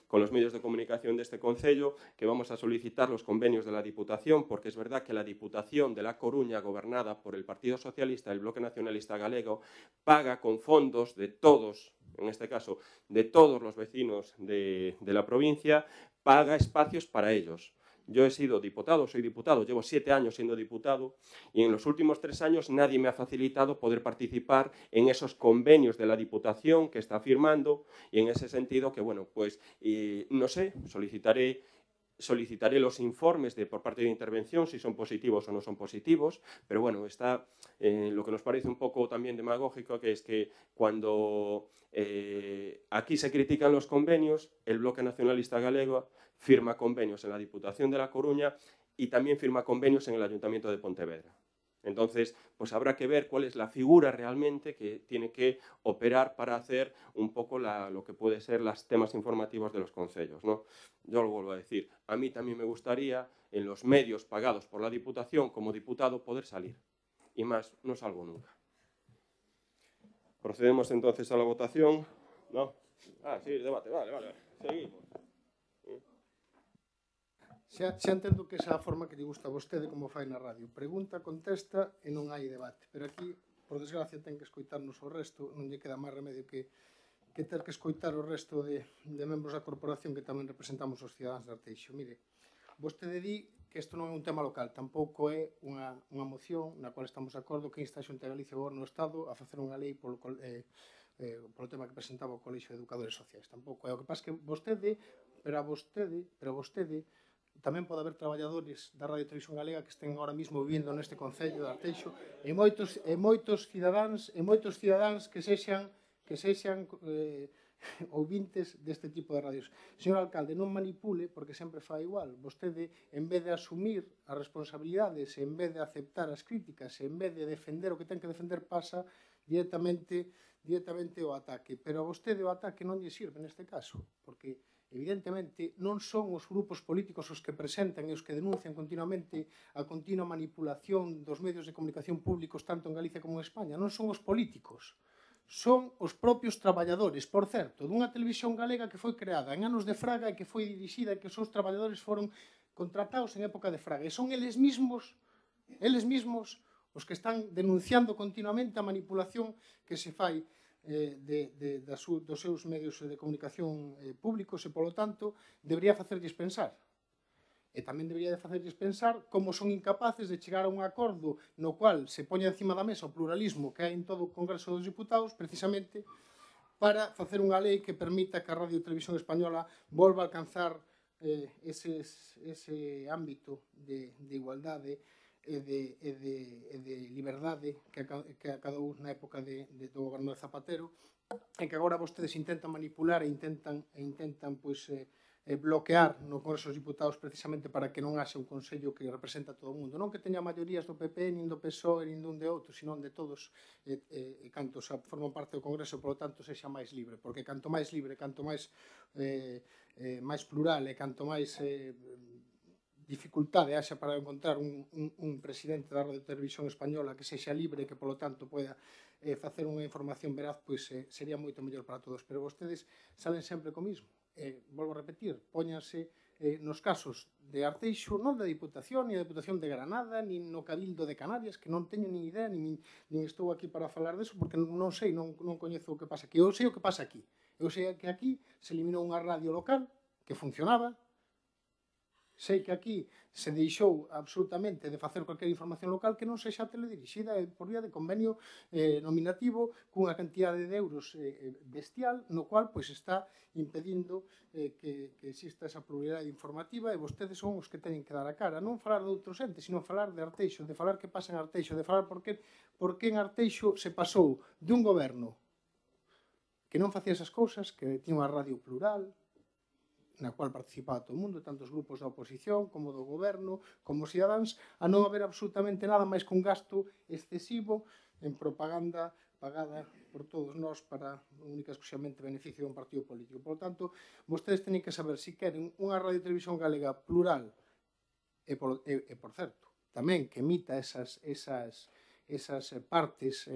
con los medios de comunicación de este Concello, que vamos a solicitar los convenios de la Diputación, porque es verdad que la Diputación de La Coruña, gobernada por el Partido Socialista, el Bloque Nacionalista Galego, paga con fondos de todos, en este caso, de todos los vecinos de la provincia, paga espacios para ellos. Yo he sido diputado, soy diputado, llevo 7 años siendo diputado y en los últimos 3 años nadie me ha facilitado poder participar en esos convenios de la Diputación que está firmando y en ese sentido que, bueno, pues, no sé, solicitaré los informes por parte de intervención, si son positivos o no son positivos, pero bueno, está lo que nos parece un poco también demagógico, que es que cuando aquí se critican los convenios, el Bloque Nacionalista Galego firma convenios en la Diputación de La Coruña y también firma convenios en el Ayuntamiento de Pontevedra. Entonces, pues habrá que ver cuál es la figura realmente que tiene que operar para hacer un poco lo que puede ser los temas informativos de los concellos, ¿no? Yo lo vuelvo a decir, a mí también me gustaría en los medios pagados por la Diputación como diputado poder salir. Y más, no salgo nunca. Procedemos entonces a la votación. ¿No? Sí, debate, vale. Seguimos. Xa entendo que esa é a forma que lle gusta a vostede como fai na radio. Pregunta, contesta e non hai debate. Pero aquí, por desgracia, ten que escoitarnos o resto, non lle queda máis remedio que ter que escoitar o resto de membros da corporación que tamén representamos os cidadáns de Arteixo. Mire, vostede di que isto non é un tema local, tampouco é unha moción na cual estamos de acordo que insta a Xunta de Galicia e o Goberno do Estado a facer unha lei polo tema que presentaba o Colexio de Educadores Sociais. Tampouco é. O que pasa que vostede, pero vostede tamén pode haber traballadores da Radio Televisión Galega que estén ahora mismo vivindo neste Concello de Arteixo e moitos cidadáns que sexan ouvintes deste tipo de radios. Señor alcalde, non manipule, porque sempre fai igual. Vostede, en vez de asumir as responsabilidades, en vez de aceptar as críticas, en vez de defender o que ten que defender, pasa directamente o ataque. Pero a vostede o ataque non lle sirve neste caso, porque evidentemente non son os grupos políticos os que presentan e os que denuncian continuamente a continua manipulación dos medios de comunicación públicos tanto en Galicia como en España. Non son os políticos, son os propios traballadores, por certo, dunha televisión galega que foi creada en anos de Fraga e que foi dirixida e que os seus traballadores foron contratados en época de Fraga. E son eles mismos os que están denunciando continuamente a manipulación que se fai dos seus medios de comunicación públicos e, polo tanto, debería facerlles pensar. E tamén debería facerlles pensar como son incapaces de chegar a un acordo no cual se poña encima da mesa o pluralismo que hai en todo o Congreso dos Diputados precisamente para facer unha lei que permita que a Radio Televisión Española volva a alcanzar ese ámbito de igualdade e de liberdade que acadou na época do goberno de Zapatero e que agora vostedes intentan manipular e intentan bloquear no Congreso dos Diputados precisamente para que non haxa un Consello que representa a todo o mundo. Non que teña maiorías do PP, nin do PSOE, nin dun de outro, sino de todos e cantos forman parte do Congreso, polo tanto, sexa máis libre. Porque canto máis libre, canto máis plural e canto máis dificultade haxa para encontrar un presidente da Radio Televisión Española que sexa libre e que, polo tanto, poida facer unha información veraz, pois sería moito mellor para todos. Pero vostedes salen sempre co mismo. Volvo a repetir, póñanse nos casos de Arteixo, non da Diputación, ni da Diputación de Granada, ni no Cabildo de Canarias, que non teño nin idea, nin estou aquí para falar deso, porque non sei, non coñezo o que pasa aquí. Eu sei o que pasa aquí. Eu sei que aquí se eliminou unha radio local que funcionaba. Sei que aquí se deixou absolutamente de facer cualquier información local que non sexa teledirixida por vía de convenio nominativo cunha cantidade de euros bestial, no cual está impedindo que exista esa pluralidade informativa e vostedes son os que teñen que dar a cara. Non falar de outros entes, sino falar de Arteixo, de falar que pasa en Arteixo, de falar por que en Arteixo se pasou de un goberno que non facía esas cousas, que tiña unha radio plural, na cual participaba todo o mundo, tanto os grupos da oposición como do goberno, como os cidadáns, a non haber absolutamente nada máis que un gasto excesivo en propaganda pagada por todos nós para única e exclusivamente beneficio dun partido político. Por lo tanto, vostedes teñen que saber se queren unha radio e televisión galega plural e, por certo, tamén que emita esas partes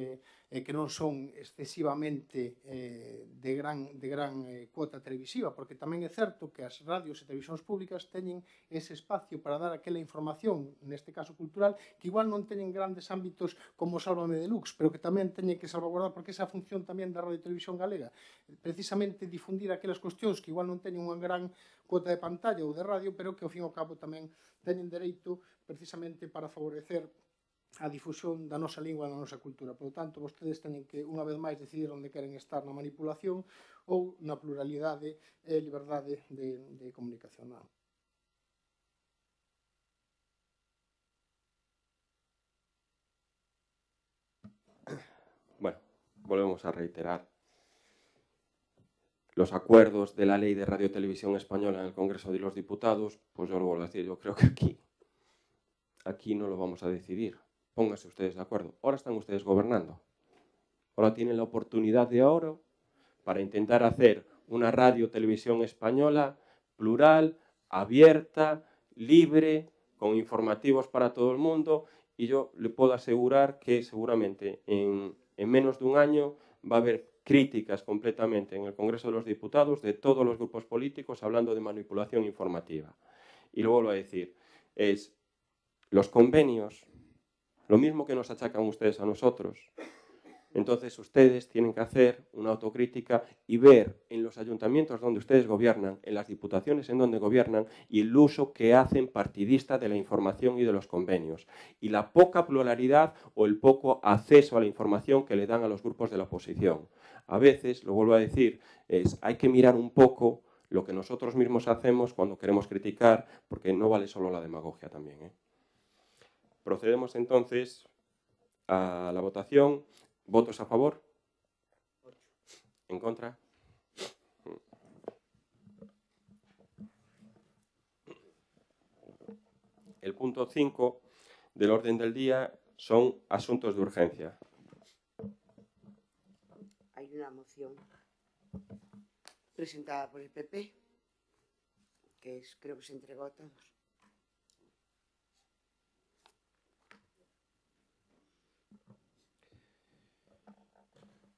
que non son excesivamente de gran cuota televisiva, porque tamén é certo que as radios e televisións públicas teñen ese espacio para dar aquela información, neste caso cultural, que igual non teñen grandes ámbitos como Sálvame Deluxe, pero que tamén teñen que salvaguardar, porque esa función tamén da Radio e Televisión Galega, precisamente difundir aquelas cuestións que igual non teñen unha gran cuota de pantalla ou de radio, pero que ao fin e ao cabo tamén teñen dereito precisamente para favorecer a difusión da nosa lingua e da nosa cultura. Por lo tanto, vostedes teñen que, unha vez máis, decidir onde queren estar, na manipulación ou na pluralidade e liberdade de comunicación. Bueno, volvemos a reiterar. los acuerdos de la Ley de Radio y Televisión Española en el Congreso de los Diputados, pues yo lo vuelvo a decir, yo creo que aquí no lo vamos a decidir. Pónganse ustedes de acuerdo. Ahora están ustedes gobernando. Ahora tienen la oportunidad de oro para intentar hacer una radio televisión española plural, abierta, libre, con informativos para todo el mundo, y yo le puedo asegurar que seguramente en menos de un año va a haber críticas completamente en el Congreso de los Diputados de todos los grupos políticos hablando de manipulación informativa. Y lo vuelvo a decir, es los convenios, lo mismo que nos achacan ustedes a nosotros. Entonces ustedes tienen que hacer una autocrítica y ver en los ayuntamientos donde ustedes gobiernan, en las diputaciones en donde gobiernan, y el uso que hacen partidista de la información y de los convenios, y la poca pluralidad o el poco acceso a la información que le dan a los grupos de la oposición. A veces, lo vuelvo a decir, hay que mirar un poco lo que nosotros mismos hacemos cuando queremos criticar, porque no vale solo la demagogia también, ¿eh? Procedemos entonces a la votación. ¿Votos a favor? ¿En contra? El punto 5 del orden del día son asuntos de urgencia. Hay una moción presentada por el PP, que creo que se entregó a todos.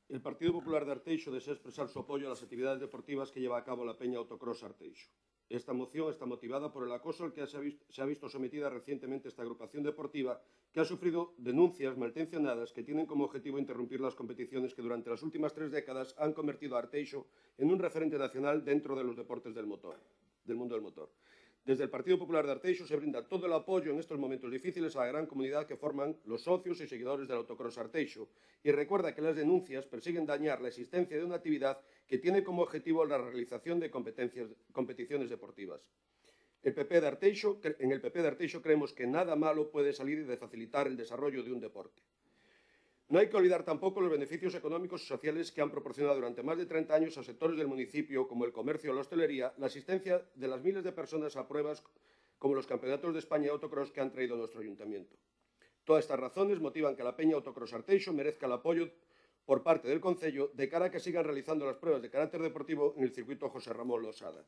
El Partido Popular de Arteixo desea expresar su apoyo a las actividades deportivas que lleva a cabo la Peña Autocross Arteixo. Esta moción está motivada por el acoso al que se ha visto sometida recientemente esta agrupación deportiva, que ha sufrido denuncias malintencionadas que tienen como objetivo interrumpir las competiciones que durante las últimas 3 décadas han convertido a Arteixo en un referente nacional dentro de los deportes del mundo del motor. Desde el Partido Popular de Arteixo se brinda todo el apoyo en estos momentos difíciles a la gran comunidad que forman los socios y seguidores del Autocross Arteixo, y recuerda que las denuncias persiguen dañar la existencia de una actividad que tiene como objetivo la realización de competiciones deportivas. En el PP de Arteixo creemos que nada malo puede salir de facilitar el desarrollo de un deporte. No hay que olvidar tampoco los beneficios económicos y sociales que han proporcionado durante más de 30 años a sectores del municipio, como el comercio o la hostelería, la asistencia de las miles de personas a pruebas como los campeonatos de España de autocross que han traído a nuestro ayuntamiento. Todas estas razones motivan que la Peña Autocross Arteixo merezca el apoyo por parte del Concello de cara a que sigan realizando las pruebas de carácter deportivo en el circuito José Ramón Losada.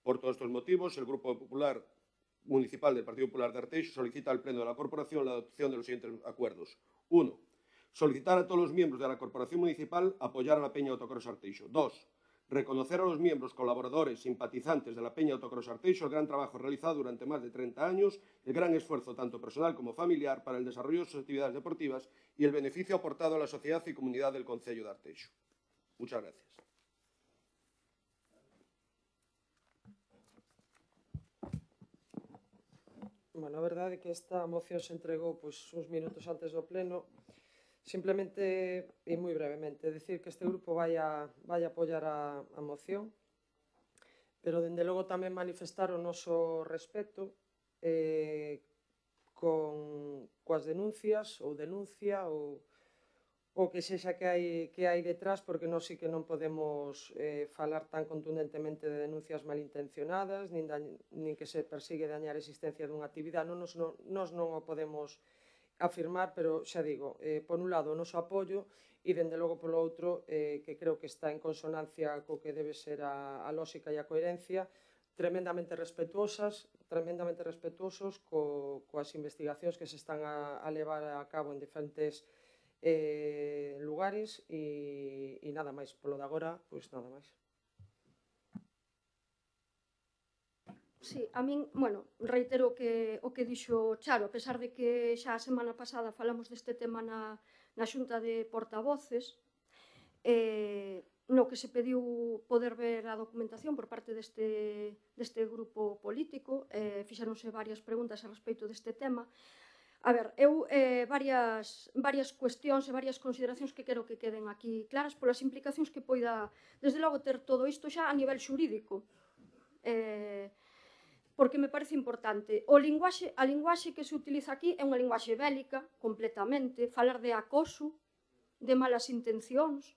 Por todos estos motivos, el Grupo Popular Municipal del Partido Popular de Arteixo solicita al Pleno de la Corporación la adopción de los siguientes acuerdos. 1. Solicitar a todos los miembros de la Corporación Municipal apoyar a la Peña Autocross Arteixo. 2. Reconocer a los miembros, colaboradores, simpatizantes de la Peña Autocross Arteixo el gran trabajo realizado durante más de 30 años, el gran esfuerzo tanto personal como familiar para el desarrollo de sus actividades deportivas y el beneficio aportado a la sociedad y comunidad del Concello de Arteixo. Muchas gracias. Bueno, a verdade é que esta moción se entregou uns minutos antes do pleno. Simplemente, e moi brevemente, decir que este grupo vai a apoiar a moción, pero, dende logo, tamén manifestar o noso respeto coas denuncias ou denuncia ou que sexa que hai detrás, porque nós sí que non podemos falar tan contundentemente de denuncias malintencionadas, nin que se persigue dañar a existencia dunha actividade. Nós non o podemos afirmar, pero xa digo, por un lado o noso apoio e, dende logo, polo outro, que creo que está en consonancia co que debe ser a lógica e a coherencia, tremendamente respetuosos coas investigacións que se están a levar a cabo en diferentes lugares e nada máis. Polo de agora, pois nada máis. Sí, a min, reitero o que dixo Charo, a pesar de que xa a semana pasada falamos deste tema na Xunta de Portavoces, no que se pediu poder ver a documentación por parte deste grupo político, fixéronse varias preguntas a respecto deste tema. A ver, eu varias cuestións e varias consideracións que quero que queden aquí claras polas implicacións que poida, desde logo, ter todo isto xa a nivel xurídico. Porque me parece importante. A linguaxe que se utiliza aquí é unha linguaxe bélica, completamente, falar de acoso, de malas intencións.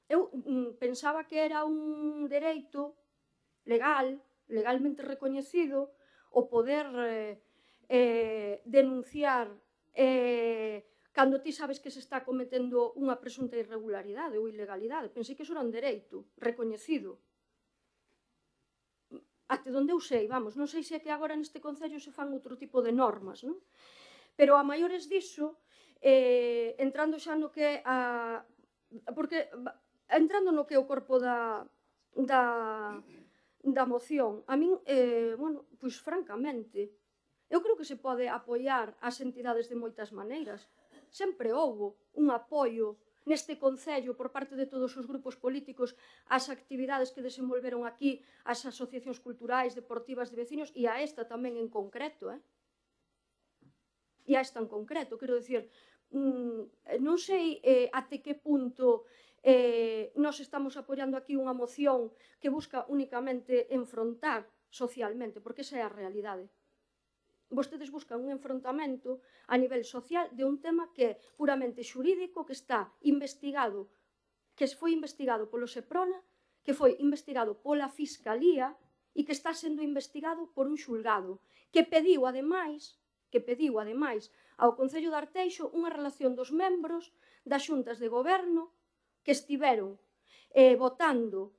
eu pensaba que era un dereito legal, legalmente recoñecido, o poder denunciar cando ti sabes que se está cometendo unha presunta irregularidade ou ilegalidade. Pensei que iso era un dereito recoñecido. Até onde eu sei, vamos, non sei se é que agora neste Concello se fan outro tipo de normas, non? Pero a maiores diso, entrando xa no que é porque entrando no que é o corpo da moción, a min, bueno, pois francamente, eu creo que se pode apoiar as entidades de moitas maneiras. Sempre houbo un apoio neste Concello por parte de todos os grupos políticos ás actividades que desenvolveron aquí as asociacións culturais, deportivas de veciños e a esta tamén en concreto, e a esta en concreto, quero dicir, non sei até que punto nós estamos apoiando aquí unha moción que busca únicamente enfrontar socialmente, porque esa é a realidade. Vostedes buscan un enfrontamento a nivel social de un tema que é puramente xurídico, que está investigado, que foi investigado polo Seprona, que foi investigado pola Fiscalía e que está sendo investigado por un xulgado, que pediu, ademais, ao Concello de Arteixo unha relación dos membros das xuntas de goberno que estiveron votando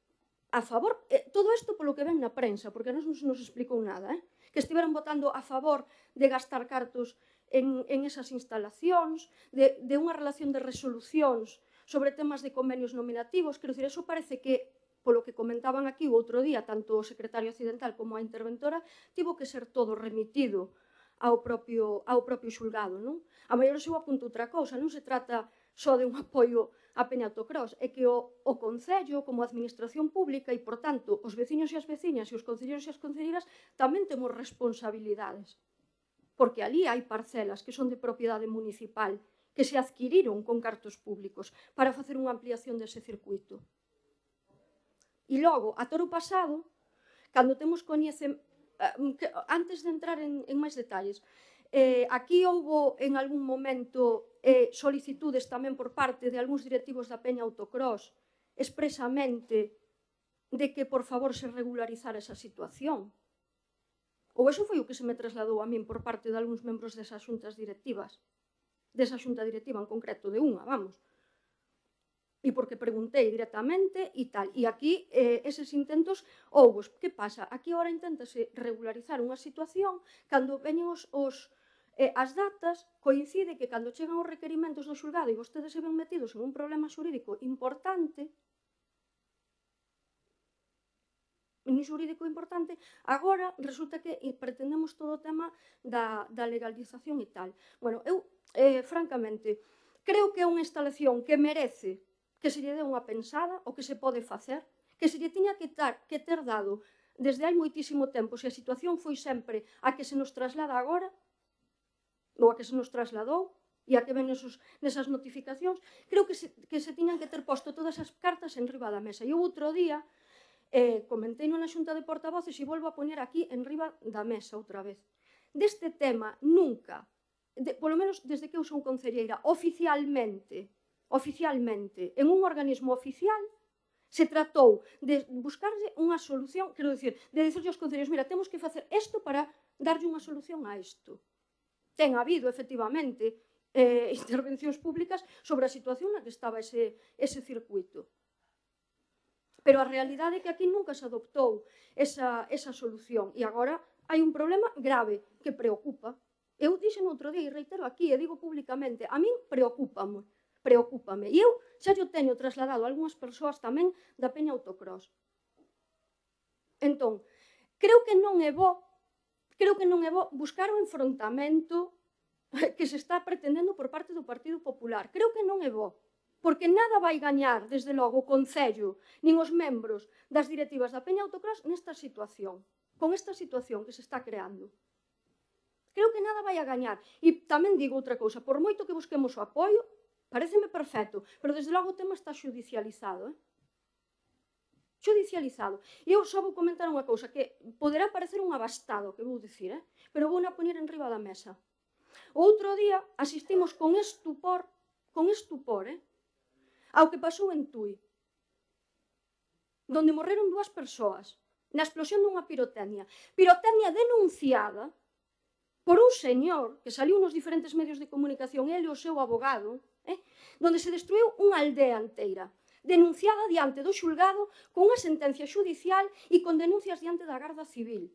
a favor, todo isto polo que ven na prensa, porque non nos explicou nada, que estiveron votando a favor de gastar cartos en esas instalacións, de unha relación de resolucións sobre temas de convenios nominativos. Quero dicir, eso parece que, polo que comentaban aquí o outro día, tanto o secretario accidental como a interventora, tivo que ser todo remitido ao propio xulgado, non? A maior eu apunto outra cousa, non se trata só de un apoio a Peña Autocross, é que o Concello, como administración pública, e, por tanto, os veciños e as veciñas e os concelleiros e as concelleiras tamén temos responsabilidades, porque ali hai parcelas que son de propiedade municipal, que se adquiriron con cartos públicos para facer unha ampliación dese circuito. E logo, a toro pasado, cando temos antes de entrar en máis detalles, aquí houbo en algún momento solicitudes tamén por parte de algúns directivos da Peña Autocross expresamente de que por favor se regularizara esa situación. Ou eso foi o que se me trasladou a min por parte de algúns membros desas xuntas directivas, desa xunta directiva en concreto, de unha, vamos. E porque preguntei directamente e tal. E aquí eses intentos houbo. Que pasa? Aquí agora inténtase regularizar unha situación cando veñen as datas, coincide que cando chegan os requerimentos do xulgado e vostedes se ven metidos en un problema xurídico importante, agora resulta que pretendemos todo o tema da legalización e tal. Bueno, eu, francamente, creo que é unha instalación que merece que se lle dé unha pensada, o que se pode facer, que se lle tiña que ter dado desde hai moitísimo tempo, se a situación foi sempre a que se nos traslada agora, ou a que se nos trasladou, e a que ven nesas notificacións, creo que se tiñan que ter posto todas as cartas en riba da mesa. E o outro día comentei na xunta de portavoces e volvo a poñer aquí en riba da mesa outra vez. Deste tema nunca, polo menos desde que eu son concelleira, oficialmente, en un organismo oficial, se tratou de buscarlle unha solución, quero dicir, de dicirlle aos concelleiros, mira, temos que facer isto para darlle unha solución a isto. Ten habido, efectivamente, intervencións públicas sobre a situación na que estaba ese circuito. Pero a realidade é que aquí nunca se adoptou esa solución e agora hai un problema grave que preocupa. Eu dixen outro día e reitero aquí e digo públicamente, a min preocúpame. E eu xa yo teño trasladado a algunhas persoas tamén da Peña Autocross. Entón, creo que non é bo buscar o enfrontamento que se está pretendendo por parte do Partido Popular. Creo que non é bo, porque nada vai gañar, desde logo, o Concello, nin os membros das directivas da Peña Autocross nesta situación, con esta situación que se está creando. Creo que nada vai a gañar. E tamén digo outra cousa, por moito que busquemos o apoio, pareceme perfecto, pero desde logo o tema está xudicializado, xudicializado. E eu só vou comentar unha cousa que poderá parecer un abastado, que vou dicir, pero vou na poñer en riba da mesa. O outro día asistimos con estupor ao que pasou en Tui. donde morreron 2 persoas na explosión dunha pirotecnia. Pirotecnia denunciada por un señor que saliu nos diferentes medios de comunicación, ele e o seu abogado, donde se destruiu unha aldea inteira, denunciada diante do xulgado con unha sentencia xudicial e con denuncias diante da Garda Civil.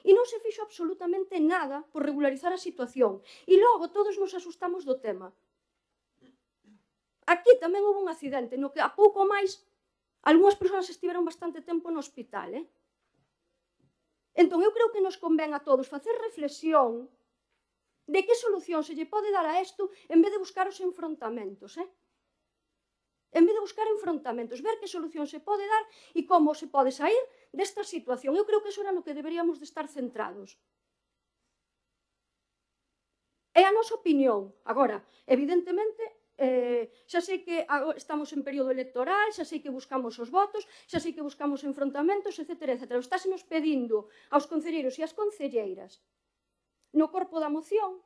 E non se fixo absolutamente nada por regularizar a situación. E logo todos nos asustamos do tema. Aquí tamén houve un accidente no que a pouco máis algunhas persoas estiveron bastante tempo no hospital. Entón, eu creo que nos convén a todos facer reflexión de que solución se lle pode dar a isto en vez de buscar os enfrontamentos. En vez de buscar enfrontamentos, ver que solución se pode dar e como se pode sair desta situación. Eu creo que eso era no que deberíamos de estar centrados. É a nosa opinión. Agora, evidentemente, xa sei que estamos en período electoral, xa sei que buscamos os votos, xa sei que buscamos enfrontamentos, etc. Estásenos pedindo aos concelleiros e ás concelleiras no corpo da moción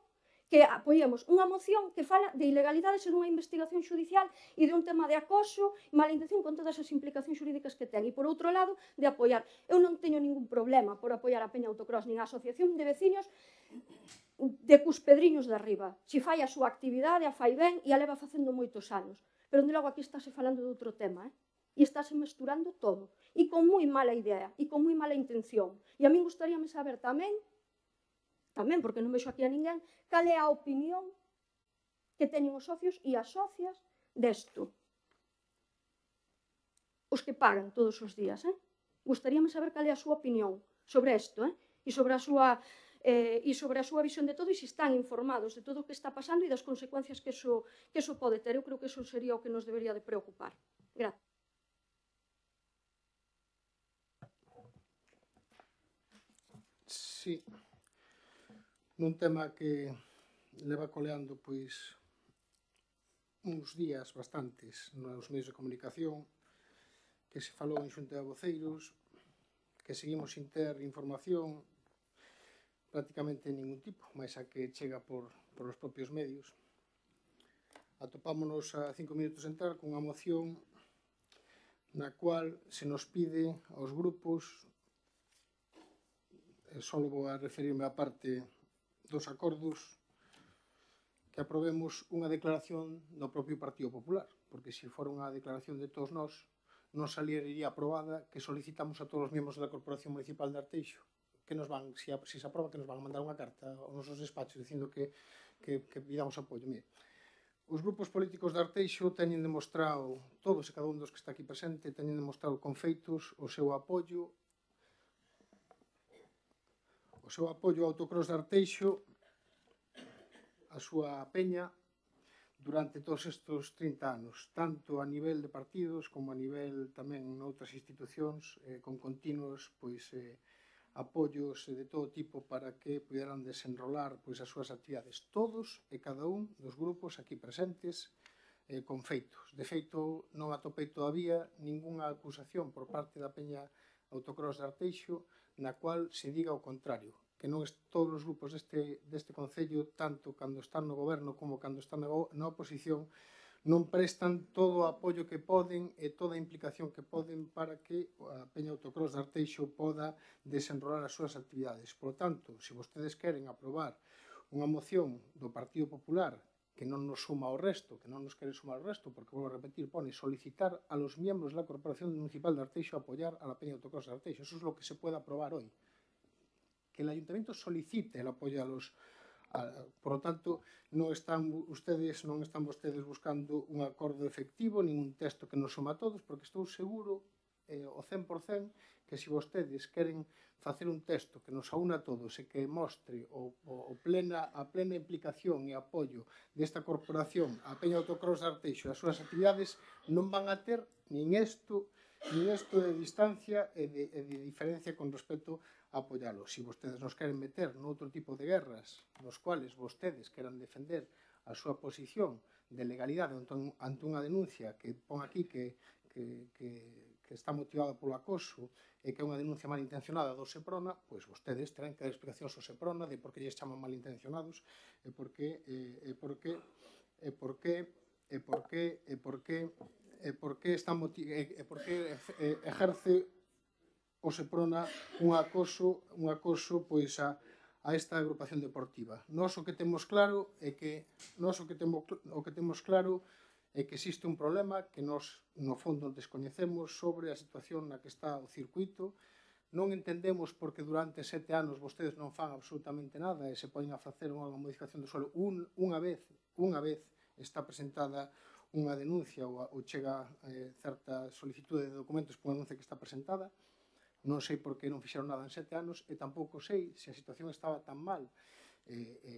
que apoiemos unha moción que fala de ilegalidades e dunha investigación judicial e de un tema de acoso e mala intención con todas as implicacións xurídicas que ten. E, por outro lado, de apoiar. Eu non teño ningún problema por apoiar a Peña Autocross nin a Asociación de Veciños de Cuspedriños de Arriba. Si fai a súa actividade, a fai ben e a leva facendo moitos anos. Pero, de logo, aquí estáse falando de outro tema, e estáse mesturando todo. E con moi mala idea, e con moi mala intención. E a min gustaríame saber tamén, porque non vexo aquí a ninguén, cal é a opinión que teñen os socios e as socias desto. Os que pagan todos os días. Gustaríame saber cal é a súa opinión sobre isto, e sobre a súa visión de todo e se están informados de todo o que está pasando e das consecuencias que eso pode ter. Eu creo que eso sería o que nos debería de preocupar. Gracias. Sí. Nun tema que leva coleando pois uns días bastantes nos medios de comunicación, que se falou en xunta de voceiros, que seguimos sin ter información prácticamente ningún tipo, máis a que chega por os propios medios. Atopámonos a 5 minutos de entrar cunha moción na cual se nos pide aos grupos, só vou a referirme á parte dos acordos, que aprobemos unha declaración do propio Partido Popular, porque se fora unha declaración de todos nós, non saliría aprobada que solicitamos a todos os membros da Corporación Municipal de Arteixo, que nos van, se se aproba, que nos van a mandar unha carta aos nosos despachos dicindo que pidamos apoio. Mire, os grupos políticos de Arteixo teñen demostrado, todos e cada un dos que está aquí presente, teñen demostrado con feitos o seu apoio ao Autocross de Arteixo, a súa peña, durante todos estes 30 anos, tanto a nivel de partidos como a nivel tamén noutras institucións, con continuos apoios de todo tipo para que puderan desenrolar as súas actividades. Todos e cada un dos grupos aquí presentes con feitos. De feito, non atopei todavía ningunha acusación por parte da Peña Autocross de Arteixo na cual se diga o contrario, que non todos os grupos deste Concello, tanto cando están no goberno como cando están na oposición, non prestan todo o apoio que poden e toda a implicación que poden para que a Peña Autocross de Arteixo poda desenrolar as súas actividades. Por lo tanto, se vostedes queren aprobar unha moción do Partido Popular que non nos suma ao resto, que non nos quere sumar ao resto, porque, vou a repetir, pone solicitar a los miembros da Corporación Municipal de Arteixo apoyar a la Peña Autocross de Arteixo. Eso es lo que se puede aprobar hoy. Que el Ayuntamiento solicite el apoyo a los... Por lo tanto, non están vostedes buscando un acordo efectivo, ningún texto que nos suma a todos, porque estou seguro, o 100%, que se vostedes queren facer un texto que nos aúna a todos e que mostre a plena implicación e apoio desta corporación, a Peña Autocross de Arteixo e as súas actividades, non van a ter nin isto de distancia e de diferencia con respecto a apoiálo. Se vostedes nos queren meter noutro tipo de guerras nos cuales vostedes queran defender a súa posición de legalidade ante unha denuncia que pon aquí que está motivada polo acoso e que é unha denuncia malintencionada do Seprona, pois vostedes terán que dar explicacións ao Seprona de por que lles chaman malintencionados e por que por que exerce o Seprona un acoso pois a esta agrupación deportiva. Nós o que temos claro é que existe un problema que nós no fondo descoñecemos sobre a situación na que está o circuito. Non entendemos porque durante 7 anos vostedes non fan absolutamente nada e se poden a facer unha modificación do suelo. Unha vez está presentada unha denuncia ou chega certa solicitude de documentos por unha denuncia que está presentada. Non sei por que non fixeron nada en 7 anos e tampouco sei se a situación estaba tan mal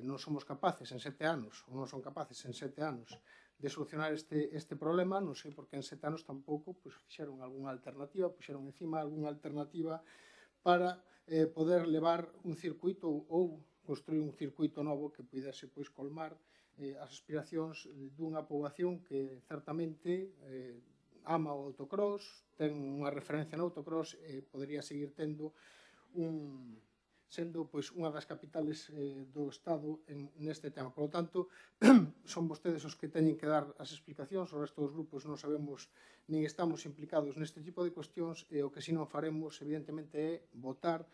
non somos capaces en 7 anos ou non son capaces en 7 anos de solucionar este problema. Non sei por que en 7 anos tampouco fixeron algunha alternativa, puxeron encima algunha alternativa para poder levar un circuito ou construir un circuito novo que pudese colmar as aspiracións dunha poboación que certamente ama o autocross, ten unha referencia no autocross e podería seguir sendo unha das capitales do Estado neste tema. Por lo tanto, son vostedes os que teñen que dar as explicacións, o resto dos grupos non sabemos nin estamos implicados neste tipo de cuestións e o que si non faremos, evidentemente, é votar.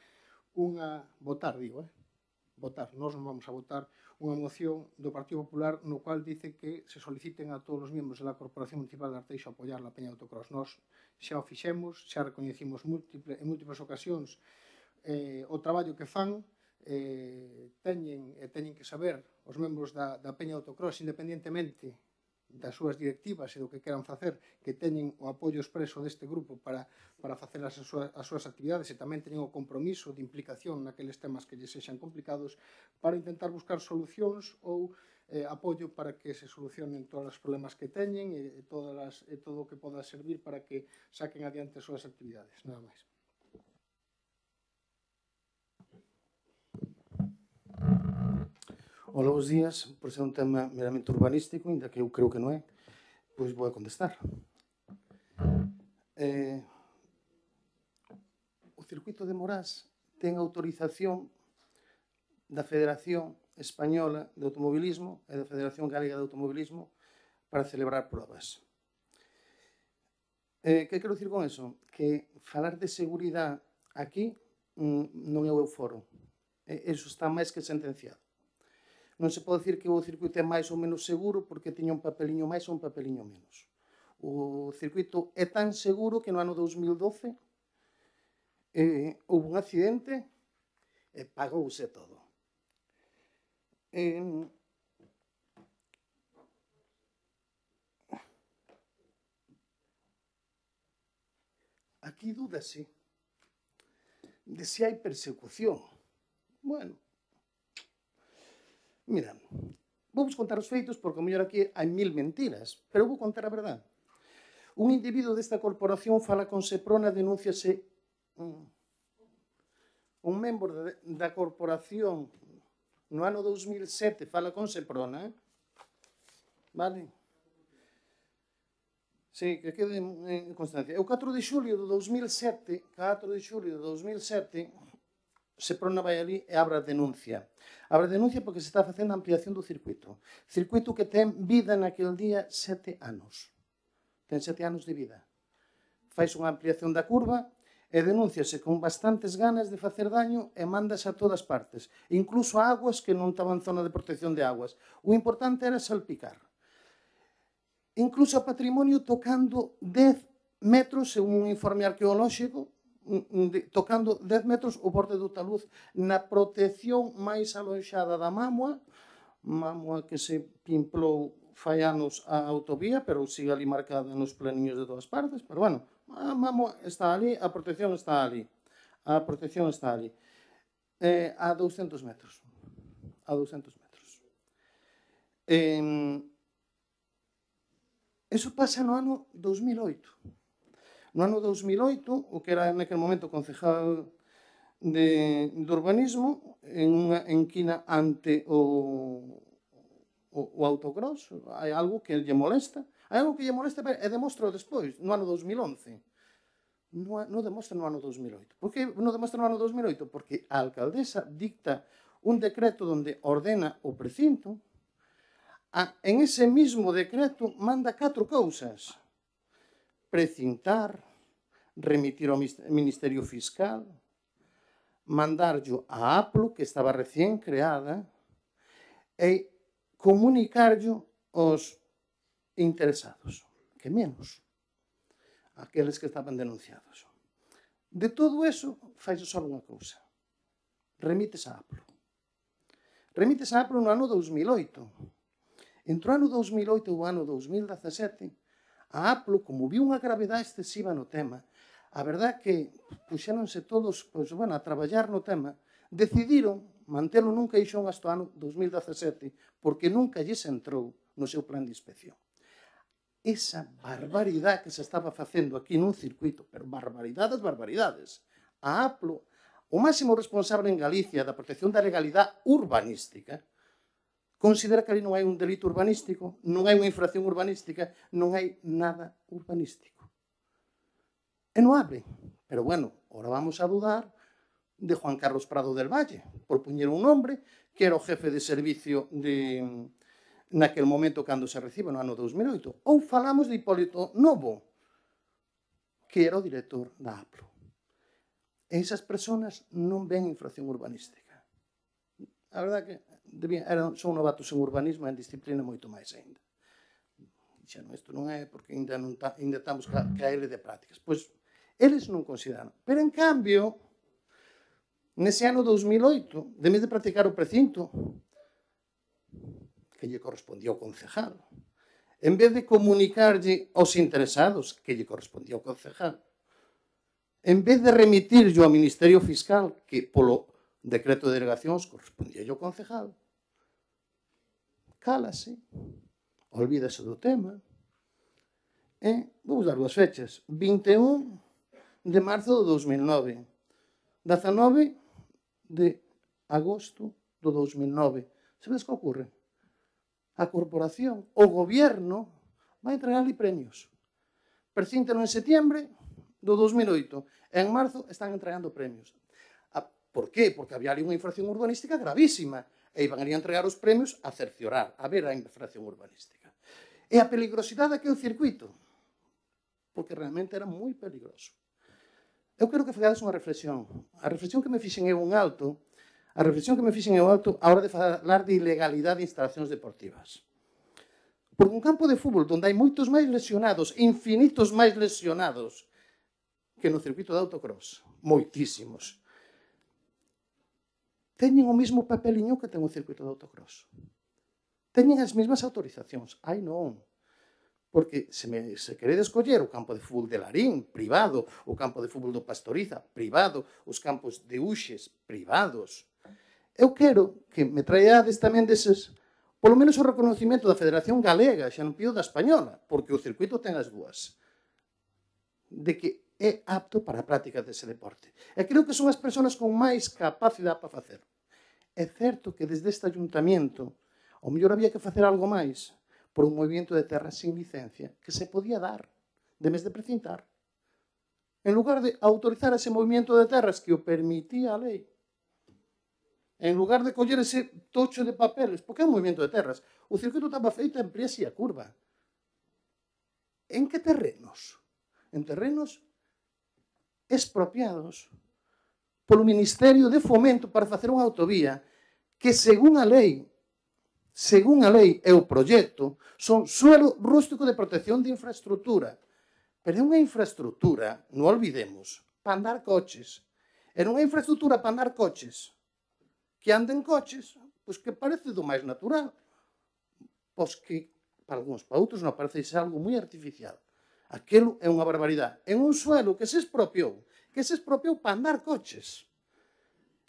Nós non vamos a votar unha moción do Partido Popular no cual dice que se soliciten a todos os membros da Corporación Municipal de Arteixo apoiar a Peña de Autocross. Nós xa o fixemos, xa recoñecimos en múltiples ocasións o traballo que fan. Teñen que saber os membros da Peña de Autocross, independentemente das súas directivas e do que queran facer, que teñen o apoio expreso deste grupo para facer as súas actividades e tamén teñen o compromiso de implicación naqueles temas que lles sexan complicados para intentar buscar solucións ou apoio para que se solucionen todos os problemas que teñen e todo o que poda servir para que saquen adiante as súas actividades. Nada máis. Hola, bons días. Por ser un tema meramente urbanístico, ainda que eu creo que non é, pois vou a contestar. O circuito de Morás ten autorización da Federación Española de Automobilismo e da Federación Galega de Automobilismo para celebrar probas. Que quero dicir con eso? Que falar de seguridade aquí non é o foro. Eso está máis que sentenciado. Non se pode dicir que o circuito é máis ou menos seguro porque tiña un papeliño máis ou un papeliño menos. O circuito é tan seguro que no ano 2012 houve un accidente e pagouse todo. Aquí dúdase de se hai persecución. Bueno, mira, vou vos contar os feitos porque o mellor aquí hai 1000 mentiras, pero vou contar a verdade. Un individuo desta corporación fala con Seprona, denúnciase un membro da corporación no ano 2007 fala con Seprona, vale? Sí, que quede en constancia. O 4 de xulio de 2007, Seprona vai ali e abre a denuncia. Abre a denuncia porque se está facendo a ampliación do circuito. Circuito que ten vida naquele día 7 anos. Ten 7 anos de vida. Fais unha ampliación da curva e denúnciase con bastantes ganas de facer daño e mándase a todas partes. Incluso a aguas que non estaban en zona de protección de aguas. O importante era salpicar. Incluso a patrimonio tocando 10 metros, según un informe arqueolóxico, tocando 10 metros o borde do taluz na protección máis alonxada da Mamua que se pimplou fai anos a autovía, pero sigue ali marcada nos planiños de todas partes, pero bueno, a Mamua está ali, a protección está ali. A 200 metros. Eso pasa no ano 2008. No ano 2008, o que era naquele momento concejal de urbanismo, en unha enquina ante o autocross, hai algo que lle molesta. Hai algo que lle molesta e demostra despois, no ano 2011. Non demostra no ano 2008. Por que non demostra no ano 2008? Porque a alcaldesa dicta un decreto onde ordena o precinto. En ese mismo decreto manda 4 cousas. precintar, remitir ao Ministerio Fiscal, mandarlo a APLO, que estaba recién creada, e comunicarlo aos interesados, que menos, aqueles que estaban denunciados. De todo eso, faise só unha cousa. Remites a APLO. Remites a APLO no ano 2008. Entre o ano 2008 e o ano 2017, a APLO, como viu unha gravedade excesiva no tema, a verdad que puxéronse todos a traballar no tema, decidiron mantelo nun caixón hasta o ano 2017, porque nunca lles entrou no seu plan de inspección. Esa barbaridade que se estaba facendo aquí nun circuito, pero barbaridades, barbaridades. A APLO, o máximo responsable en Galicia da protección da legalidade urbanística, considera que ali non hai un delito urbanístico, non hai unha infracción urbanística, non hai nada urbanístico. E non abre. Pero bueno, ahora vamos a dudar de Juan Carlos Prado del Valle, por poñer un nombre, que era o jefe de servicio naquel momento cando se recibe no ano 2008. Ou falamos de Hipólito Novo, que era o director da APLO. E esas personas non ven infracción urbanística. A verdade que son novatos en urbanismo e en disciplina moito máis ainda. Dixeron, isto non é porque ainda estamos caer de prácticas. Pois, eles non consideran. Pero, en cambio, nese ano 2008, de vez de practicar o precinto, que lle correspondía ao concejal, en vez de comunicarlle aos interesados, que lle correspondía ao concejal, en vez de remitirlo ao Ministerio Fiscal, que polo decreto de delegacións correspondía ao concejal, cálase, olvídase do tema, e vou dar dúas fechas, 21 de marzo do 2009, 19 de agosto do 2009. Sabedes que ocorre? A corporación, o gobierno, vai entregar-lhe premios. Precíntano en setiembre do 2008. En marzo están entregando premios. Por qué? Porque había ali unha infracción urbanística gravísima. E iban a entregar os premios a cerciorar, a ver a infracción urbanística. E a peligrosidade daquele circuito, porque realmente era moi peligroso. Eu quero que fagades unha reflexión. A reflexión que me fixen é un alto, a hora de falar de ilegalidade de instalacións deportivas. Porque un campo de fútbol onde hai moitos máis lesionados, infinitos máis lesionados, que no circuito de autocross, moitísimos, teñen o mesmo papeliño que ten o circuito de autocross. Teñen as mesmas autorizacións. Ai, non. Porque se queredes coller o campo de fútbol de Larín, privado, o campo de fútbol do Pastoriza, privado, os campos de Uxes, privados. Eu quero que me traeades tamén deses, polo menos o reconocimiento da Federación Galega, xa non pido da Española, porque o circuito ten as dúas, de que é apto para a práctica dese deporte. E creo que son as persoas con máis capacidade para facer. É certo que desde este ayuntamiento, ao mellor había que facer algo máis, por un movimento de terras sin licencia que se podía dar, de vez de precintar. En lugar de autorizar ese movimento de terras que o permitía a lei, en lugar de coller ese tocho de papeles, porque é un movimento de terras, o circuito estaba feito en Priesi a curva. En que terrenos? En terrenos expropiados polo Ministerio de Fomento para facer unha autovía que, según a lei e o proxecto, son suelo rústico de protección de infraestructura. Pero é unha infraestructura, non olvidemos, para andar coches. Era unha infraestructura para andar coches. Que anden coches, pois que parece do máis natural. Pois que, para algúns, para outros, non parece ser algo moi artificial. Aquilo é unha barbaridade. En un suelo que se expropiou para andar coches.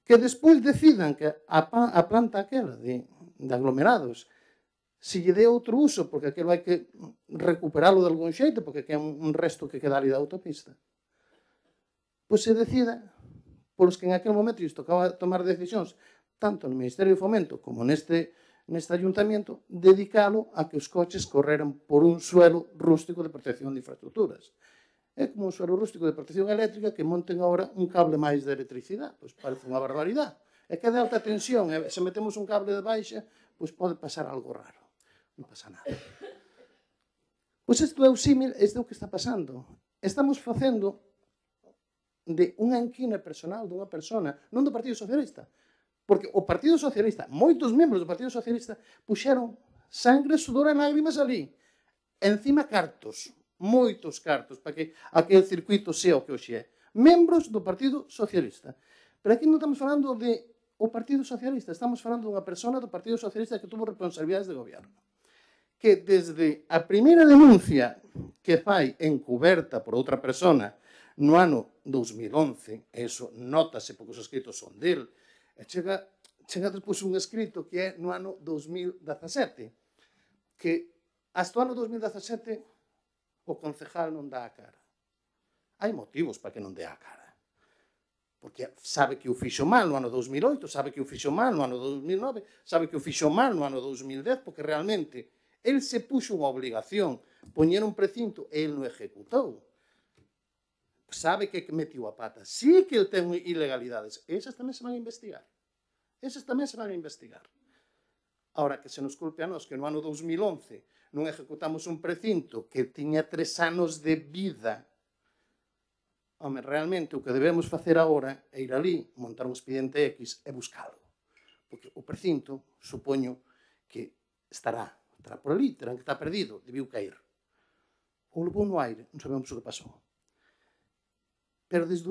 Que despois decidan que a planta aquela de aglomerados se lle dé outro uso, porque aquilo hai que recuperalo de algún xeito, porque é un resto que queda ali da autopista. Pois se decida, polos que en aquel momento lles tocaba tomar decisións, tanto no Ministerio de Fomento como neste ayuntamento, dedicalo a que os coches correran por un suelo rústico de protección de infraestructuras. É como un suelo rústico de protección eléctrica que monten agora un cable máis de electricidade. Pois parece unha barbaridade. É que é de alta tensión, e se metemos un cable de baixa, pois pode pasar algo raro. Non pasa nada. Pois isto é o símil, isto é o que está pasando. Estamos facendo de unha enquina personal dunha persona, non do Partido Socialista. Porque o Partido Socialista, moitos membros do Partido Socialista, puxeron sangre, sudor e lágrimas ali. Encima cartos, moitos cartos, para que aquel circuito sea o que hoxe é. Membros do Partido Socialista. Pero aquí non estamos falando de o Partido Socialista, estamos falando dunha persona do Partido Socialista que tuvo responsabilidades de goberno. Que desde a primeira denuncia que fai encuberta por outra persona no ano 2011, eso notase porque os escritos son del, e chega despois un escrito que é no ano 2017, que hasta o ano 2017 o concejal non dá a cara. Hai motivos para que non dé a cara. Porque sabe que o fixo mal no ano 2008, sabe que o fixo mal no ano 2009, sabe que o fixo mal no ano 2010, porque realmente el se puxo unha obligación, poñer un precinto e el non executou. Sabe que metiu a pata. Sí que el ten ilegalidades. Esas tamén se van a investigar. Esas tamén se van a investigar. Ahora, que se nos culpe a nós que no ano 2011 non executamos un precinto que tiña 3 anos de vida. Home, realmente o que debemos facer agora é ir ali, montar un expediente X e buscalo. Porque o precinto, supoño que estará por ali, terán que estar perdido, debiu caer. Ou levou no aire, non sabemos o que pasou. Pero desde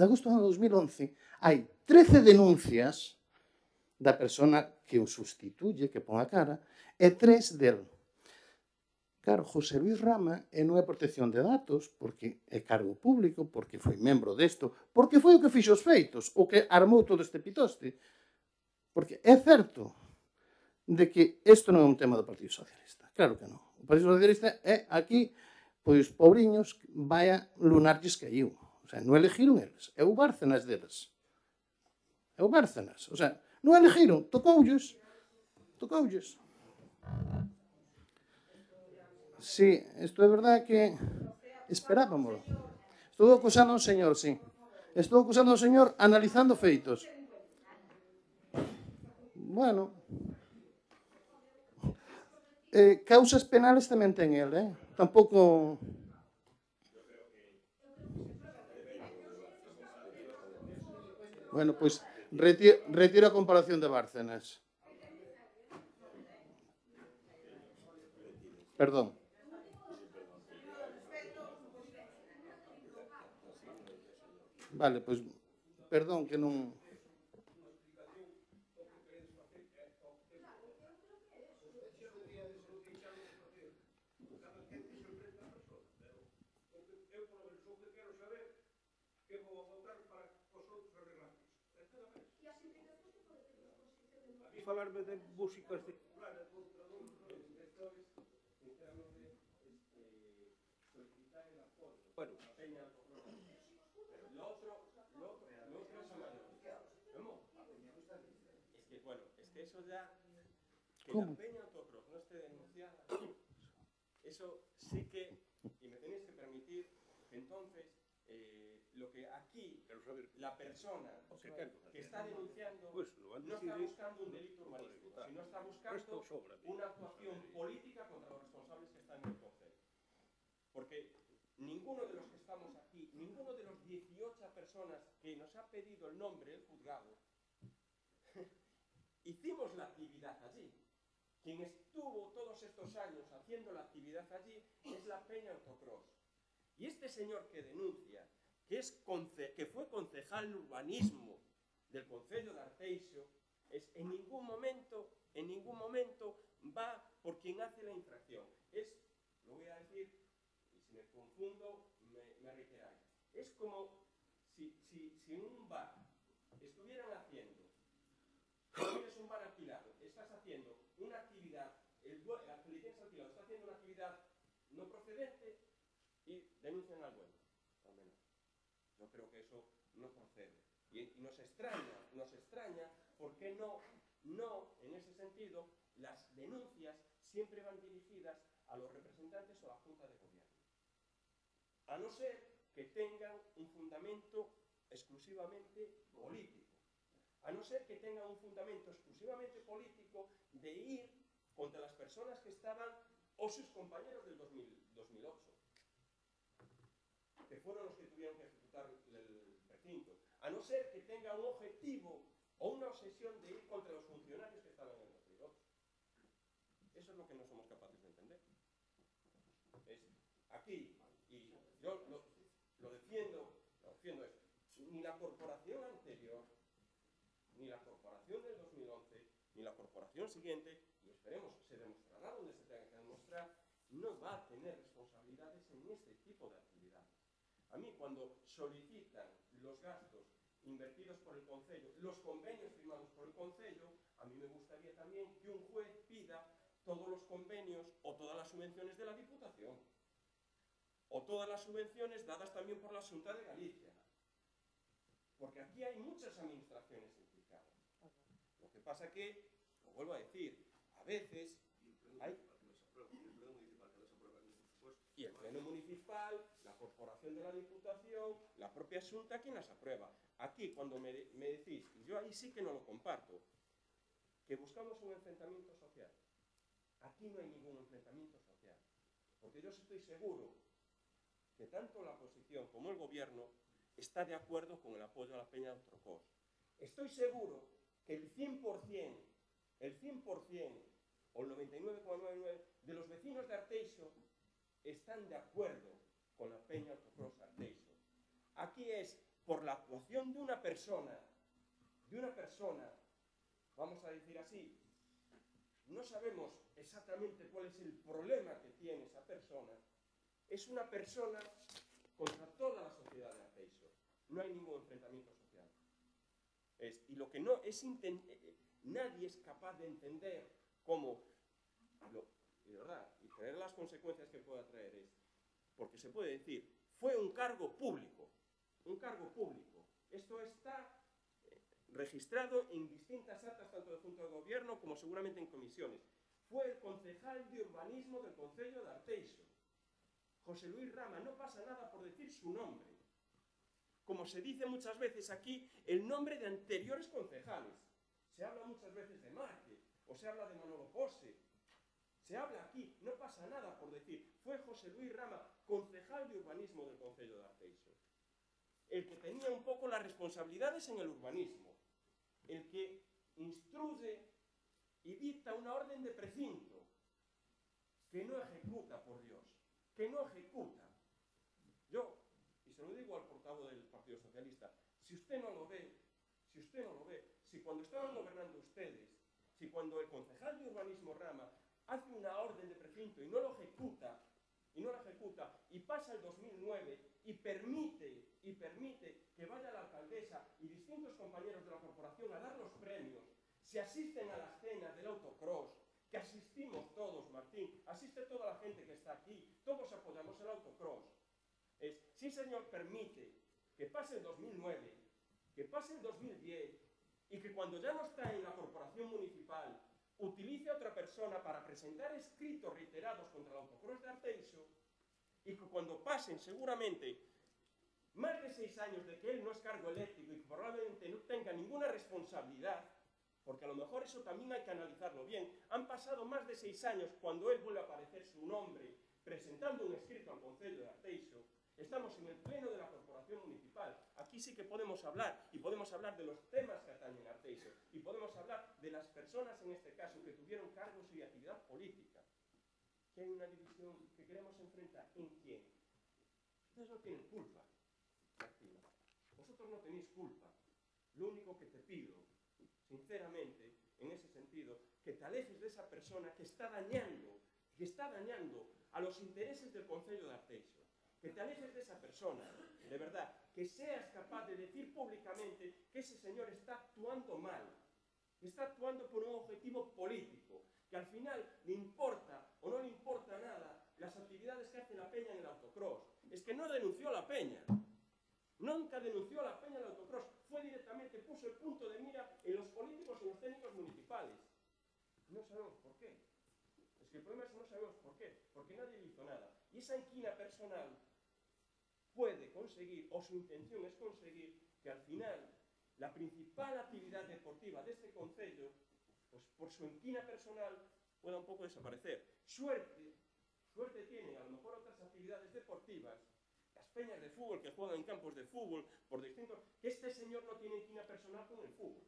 agosto do ano 2011, hai 13 denuncias da persona que o sustituye, que pon a cara, e 3 del. Claro, José Luis Rama non é protección de datos, porque é cargo público, porque foi membro desto, porque foi o que fixo os feitos, o que armou todo este pitoste. Porque é certo de que isto non é un tema do Partido Socialista. Claro que non. O Partido Socialista é aquí, pois, pobriños, vaya lunarlles que caiu. O sea, non elegiron eles. É o Bárcenas deles. É o Bárcenas. O sea, non elegiron, tocoulles. Tocoulles. Sí, isto é verdade que esperábamolo. Estou acusando ao señor, sí. Estou acusando ao señor analizando feitos. Bueno. Causas penales tamén ten el, Tampouco... Bueno, pois retiro a comparación de Bárcenas. Perdón. Vale, pois, perdón que non... Falarme de músicas de... Bueno, eso ya, que ¿Cómo? la peña autocross no esté denunciada, eso sí que, y me tenéis que permitir, que entonces lo que aquí la persona que está denunciando no está buscando un delito urbanístico, sino está buscando una actuación política contra los responsables que están en el concello. Porque ninguno de los que estamos aquí, ninguno de los 18 personas que nos ha pedido el nombre del juzgado, hicimos la actividad allí. Quien estuvo todos estos años haciendo la actividad allí es la Peña Autocross. Y este señor que denuncia, que fue concejal de urbanismo del concello de Arteixo, en ningún momento va por quien hace la infracción. Lo voy a decir, y si me confundo, me reiteráis. Es como si en un bar estuvieran haciendo, tienes un bar alquilado, estás haciendo una actividad, el que le tienes alquilado está haciendo una actividad no procedente y denuncian al dueño. Yo creo que eso no procede. Y nos extraña porque no, en ese sentido, las denuncias siempre van dirigidas a los representantes o a la Junta de Gobierno. A no ser que tengan un fundamento exclusivamente político. A no ser que tengan un fundamento exclusivamente político de ir contra las personas que estaban o sus compañeros del 2008, que fueron los que tuvieron que ejecutar el recinto, a no ser que tenga un objetivo o una obsesión de ir contra los funcionarios que estaban en el 2008. Eso es lo que no somos capaces de entender. Aquí, y yo lo defiendo es, ni la corporación anterior, ni la corporación del 2011, ni la corporación siguiente, y esperemos se demostrará donde se tenga que demostrar, no va a tener responsabilidades en este tipo de actividades. A mí, cuando solicitan los gastos invertidos por el Concello, los convenios firmados por el Concello, a mí me gustaría también que un juez pida todos los convenios o todas las subvenciones de la Diputación, o todas las subvenciones dadas también por la Xunta de Galicia, porque aquí hay muchas administraciones implicadas. Lo que pasa que, lo vuelvo a decir, a veces hay... Y el Pleno Municipal, la Corporación de la Diputación, la propia Xunta, ¿quién las aprueba? Aquí, cuando me decís, y yo ahí sí que no lo comparto, que buscamos un enfrentamiento social. Aquí no hay ningún enfrentamiento social, porque yo estoy seguro que tanto la oposición como el gobierno está de acuerdo con el apoyo a la Peña de Outrocós. Estoy seguro que el 100% o el 99,99% de los vecinos de Arteixo están de acuerdo con la Peña Outrocós Arteixo. Aquí es por la actuación de una persona, vamos a decir así, no sabemos exactamente cuál es el problema que tiene esa persona. Es una persona contra toda la sociedad de Arteixo. No hay ningún enfrentamiento social. Y lo que no es nadie es capaz de entender cómo, de verdad, y tener las consecuencias que pueda traer es, porque se puede decir, fue un cargo público, Esto está registrado en distintas actas, tanto de Junta de Gobierno como seguramente en comisiones. Fue el concejal de urbanismo del Concello de Arteixo, José Luis Rama. No pasa nada por decir su nombre. Como se dice muchas veces aquí, el nombre de anteriores concejales. Se habla muchas veces de Márquez, o se habla de Manolo Pose. Se habla aquí, no pasa nada por decir. Fue José Luis Rama, concejal de urbanismo del Concello de Arteixo, el que tenía un poco las responsabilidades en el urbanismo, el que instruye y dicta una orden de precinto, que no ejecuta, por Dios, que no ejecuta. Yo, y se lo digo al portavoz del Partido Socialista, si usted no lo ve, si cuando estaban gobernando ustedes, si cuando el concejal de urbanismo Rama hace una orden de precinto y no lo ejecuta, y pasa el 2009 y permite que vaya la alcaldesa y distintos compañeros de la corporación a dar los premios, se asisten a las cenas del autocross, que asistimos todos, Martín, asiste toda la gente que está aquí, todos apoyamos el autocross. Sí, señor, permite que pase el 2009, que pase el 2010, y que cuando ya no está en la corporación municipal, utilice a otra persona para presentar escritos reiterados contra el autocross de Arteixo, y que cuando pasen seguramente más de 6 años de que él no es cargo eléctrico y que probablemente no tenga ninguna responsabilidad, porque a lo mejor eso también hay que analizarlo bien, han pasado más de 6 años cuando él vuelve a aparecer su nombre presentando un escrito al Concello de Arteixo. Estamos en el pleno de la corporación municipal. Aquí sí que podemos hablar, y podemos hablar de los temas que atañen a Arteixo, y podemos hablar de las personas en este caso que tuvieron cargos y actividad política. Que hay una división que queremos enfrentar. ¿En quién? Ustedes no tienen culpa, Martín. Vosotros no tenéis culpa. Lo único que te pido, sinceramente, en ese sentido, que te alejes de esa persona que está dañando a los intereses del Concello de Arteixo. Que te alejes de esa persona, de verdad, que seas capaz de decir públicamente que ese señor está actuando mal, que está actuando por un objetivo político, que al final le importa o no le importa nada las actividades que hace la Peña en el autocross. Es que no denunció a la Peña, nunca denunció a la Peña en el autocross, fue directamente, puso el punto de mira en los políticos y en los técnicos municipales. No sabemos por qué. Es que el problema es que no sabemos por qué, porque nadie le hizo nada. Y esa inquina personal puede conseguir, o su intención es conseguir, que al final la principal actividad deportiva de este concello, pues por su inquina personal, pueda un poco desaparecer. Suerte suerte tienen a lo mejor otras actividades deportivas, las peñas de fútbol que juegan en campos de fútbol por distintos, que este señor no tiene inquina personal con el fútbol.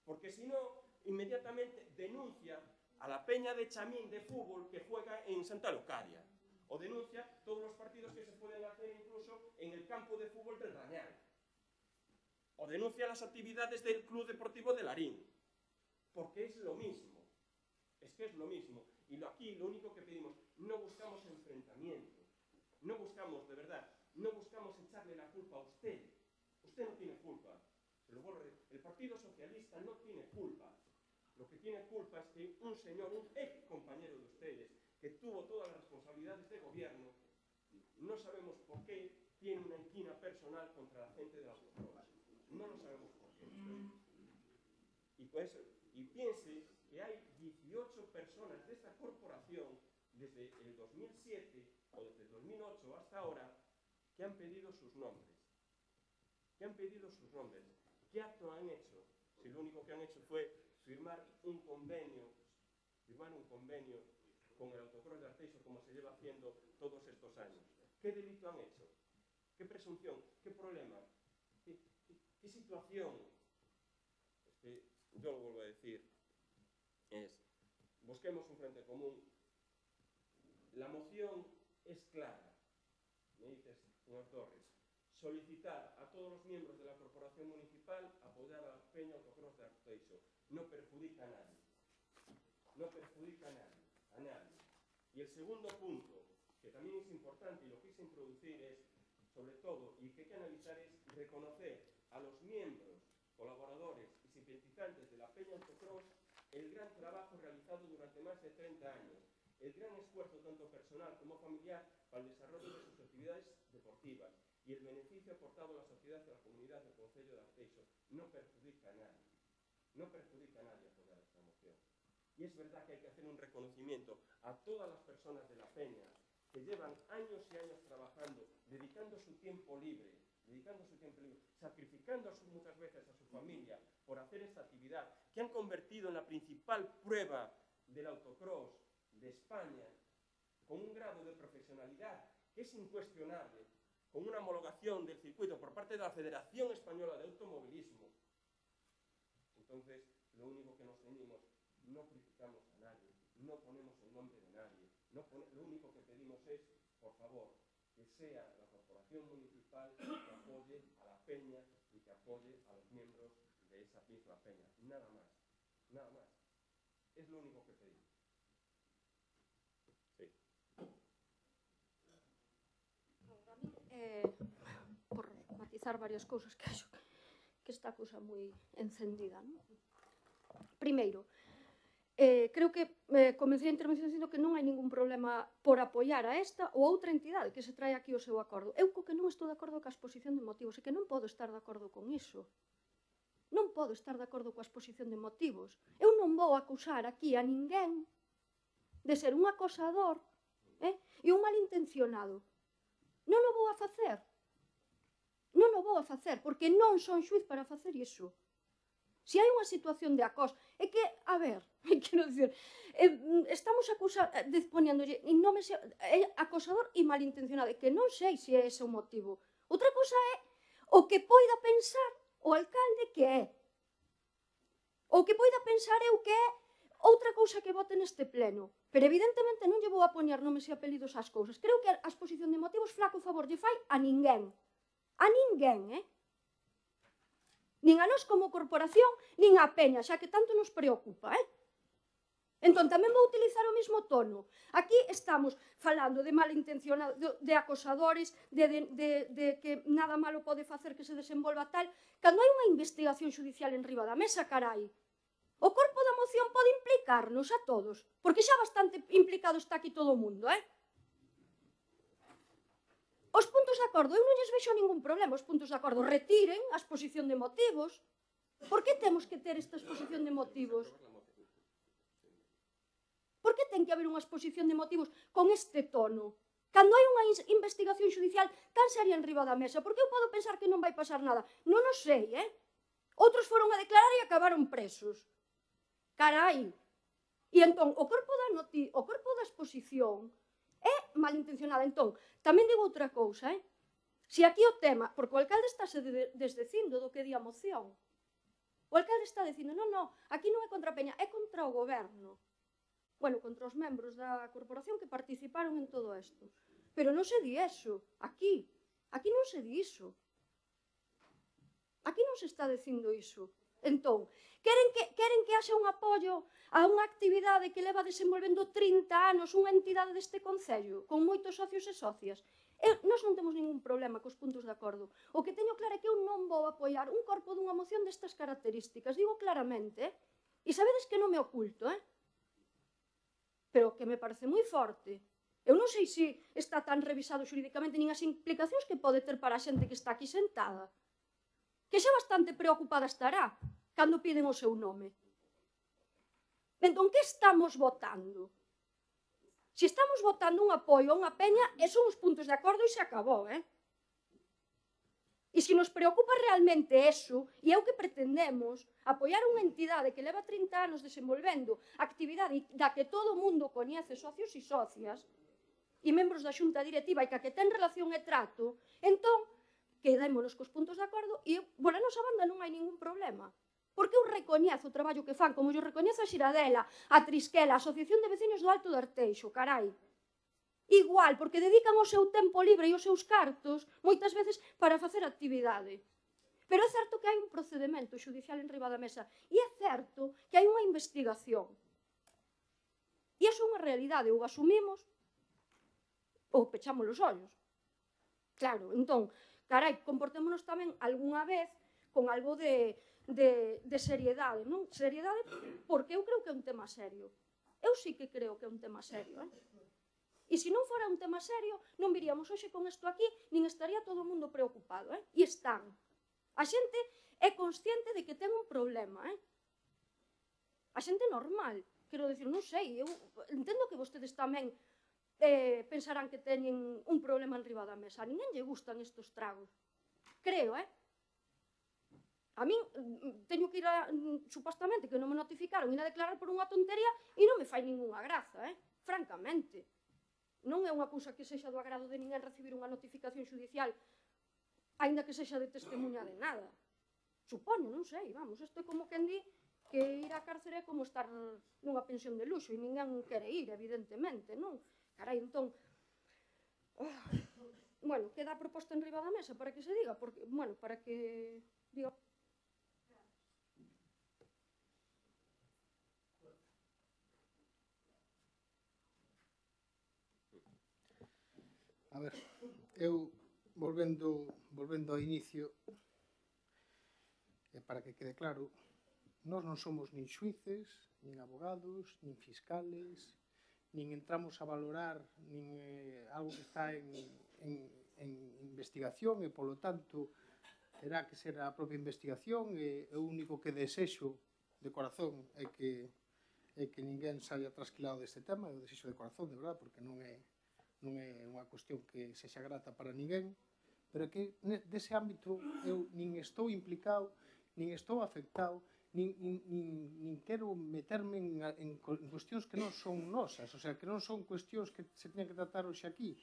Porque si no, inmediatamente denuncia a la peña de Chamín de fútbol que juega en Santa Locadia, o denuncia todos los partidos que se pueden hacer incluso en el campo de fútbol del Rañal, o denuncia las actividades del Club Deportivo de Larín, porque es lo mismo, es que es lo mismo. Y aquí lo único que pedimos, no buscamos enfrentamiento, no buscamos, de verdad, no buscamos echarle la culpa a usted. Usted no tiene culpa. El Partido Socialista no tiene culpa. Lo que tiene culpa es que un señor, un ex compañero de ustedes, que tuvo todas las responsabilidades de gobierno, no sabemos por qué tiene una inquina personal contra la gente de la autocross. No lo sabemos por qué. Y piense que hay 18 personas de esta corporación desde el 2007 o desde el 2008 hasta ahora que han pedido sus nombres. ¿Qué acto han hecho? Si lo único que han hecho fue firmar un convenio con el autocross de Arteixo, como se lleva haciendo todos estos años. ¿Qué delito han hecho? ¿Qué presunción? ¿Qué problema? ¿Qué situación? Es que yo lo vuelvo a decir, busquemos un frente común. La moción es clara. Me dices, señor Torres, solicitar a todos los miembros de la corporación municipal apoyar a la peña autocross de Arteixo. No perjudica a nadie. A nadie. Y el segundo punto, que también es importante y lo quise introducir, es, sobre todo, y que hay que analizar, es reconocer a los miembros, colaboradores y simpatizantes de la peña autocross el gran trabajo realizado durante más de 30 años, el gran esfuerzo tanto personal como familiar para el desarrollo de sus actividades deportivas y el beneficio aportado a la sociedad y a la comunidad del concello de Arteixo. No perjudica a nadie. Apoyar esta moción. Y es verdad que hay que hacer un reconocimiento a todas las personas de la peña que llevan años y años trabajando, dedicando su tiempo libre, sacrificando muchas veces a su familia por hacer esta actividad, que han convertido en la principal prueba del autocross de España, con un grado de profesionalidad que es incuestionable, con una homologación del circuito por parte de la Federación Española de Automovilismo. Entonces, lo único que nos ceñimos, no criticamos a nadie, no ponemos el nombre de nadie, lo único que pedimos es, por favor, que sea la corporación municipal que apoye a la peña y que apoye a los miembros de esa misma peña. Nada más. Es lo único que pedimos. Sí. Por matizar varias cousas que acho que está a cousa moi encendida, non? Primeiro, creo que comecei a intervención dicindo que non hai ningún problema por apoiar a esta ou outra entidade que se trae aquí o seu acordo. Eu co que non estou de acordo coa exposición de motivos e que non podo estar de acordo con iso. Non podo estar de acordo coa exposición de motivos. Eu non vou acusar aquí a ninguén de ser un acosador e un malintencionado. Non o vou a facer. Porque non son xuiz para facer iso. Se hai unha situación de acoso, é que, a ver, quero dicir, estamos poniéndolle nomes acosador e malintencionado, e que non sei se é ese o motivo. Outra cousa é o que poida pensar o alcalde que é. O que poida pensar eu que é outra cousa que vote neste pleno. Pero evidentemente non lle vou a poñer nomes e apelidos ás cousas. Creo que a exposición de motivos flaco favor lle fai a ninguén. A ninguén, nin a nós como corporación, nin a peña, xa que tanto nos preocupa, Entón, tamén vou utilizar o mesmo tono. Aquí estamos falando de malintencionados, de acosadores, de que nada malo pode facer que se desenvolva tal, cando hai unha investigación judicial en riba da mesa, carai. O corpo da moción pode implicarnos a todos, porque xa bastante implicado está aquí todo o mundo, Os puntos de acordo, eu non lles vexo ningún problema, os puntos de acordo retiren a exposición de motivos. Por que temos que ter esta exposición de motivos? Por que ten que haber unha exposición de motivos con este tono? Cando hai unha investigación judicial tan seria en riba da mesa, porque eu podo pensar que non vai pasar nada. Non o sei, Outros foron a declarar e acabaron presos. Carai! E entón, o corpo da exposición malintencionada. Entón, tamén digo outra cousa, Se aquí o tema, porque o alcalde estáse desdecindo do que di a moción. O alcalde está dicindo, non, aquí non é contra a Peña, é contra o goberno. Bueno, contra os membros da corporación que participaron en todo isto. Pero non se di eso, aquí non se di iso. Aquí non se está dicindo iso. Entón, queren que haxa un apoio a unha actividade que leva desenvolvendo 30 anos unha entidade deste concello, con moitos socios e socias. Nós non temos ningún problema cos puntos de acordo. O que teño claro é que eu non vou apoiar un corpo dunha moción destas características. Digo claramente, e sabedes que non me oculto, pero que me parece moi forte. Eu non sei se está tan revisado xurídicamente nin as implicacións que pode ter para a xente que está aquí sentada. Que xa bastante preocupada estará cando piden o seu nome. Entón, que estamos votando? Se estamos votando un apoio a unha peña, son os puntos de acordo e se acabou, E se nos preocupa realmente eso, e é o que pretendemos, apoiar unha entidade que leva 30 anos desenvolvendo actividade da que todo o mundo coñece, socios e socias, e membros da xunta directiva e que ten relación e trato, entón, quedémonos cos puntos de acordo e, por a nosa banda, non hai ningún problema. Porque eu recoñezo o traballo que fan, como yo recoñezo a Xiradela, a Trisquela, a Asociación de Veciños do Alto de Arteixo, carai. Igual, porque dedican o seu tempo libre e os seus cartos, moitas veces, para facer actividade. Pero é certo que hai un procedimento xudicial en riba da mesa, e é certo que hai unha investigación. E iso é unha realidade, ou asumimos, ou pechamos os ollos. Claro, entón, carai, comportémonos tamén algunha vez con algo de seriedade, non? Seriedade porque eu creo que é un tema serio. Eu sí que creo que é un tema serio, E se non fora un tema serio, non viríamos hoxe con isto aquí, nin estaría todo o mundo preocupado, E están. A xente é consciente de que ten un problema, A xente normal. Quero dicir, non sei, eu entendo que vostedes tamén pensarán que teñen un problema en riba da mesa. A ninguén lle gustan estos tragos. Creo, A min teño que ir supostamente, que non me notificaron, ir a declarar por unha tontería e non me fai ningunha graza, francamente. Non é unha cousa que sexa do agrado de ninguén recibir unha notificación xudicial, aínda que sexa de testemunha de nada. Supoño, non sei, vamos, isto é como quen di que ir á cárcere é como estar nunha pensión de luxo e ninguén quere ir, evidentemente, non? Carai, entón, bueno, queda a proposta en riba da mesa para que se diga, porque, bueno, para que diga... A ver, eu volvendo ao inicio, para que quede claro, nós non somos nin xuíces, nin abogados, nin fiscales, nin entramos a valorar nin algo que está en investigación e, polo tanto, terá que ser a propia investigación e o único que desexo de corazón é que ninguén saia trasquilado deste tema, eu desexo de corazón, de verdade, porque non é unha cuestión que sexa grata para ninguén, pero que dese ámbito eu nin estou implicado, nin estou afectado, nin quero meterme en cuestións que non son nosas, o sea, que non son cuestións que se teñen que tratar hoxe aquí.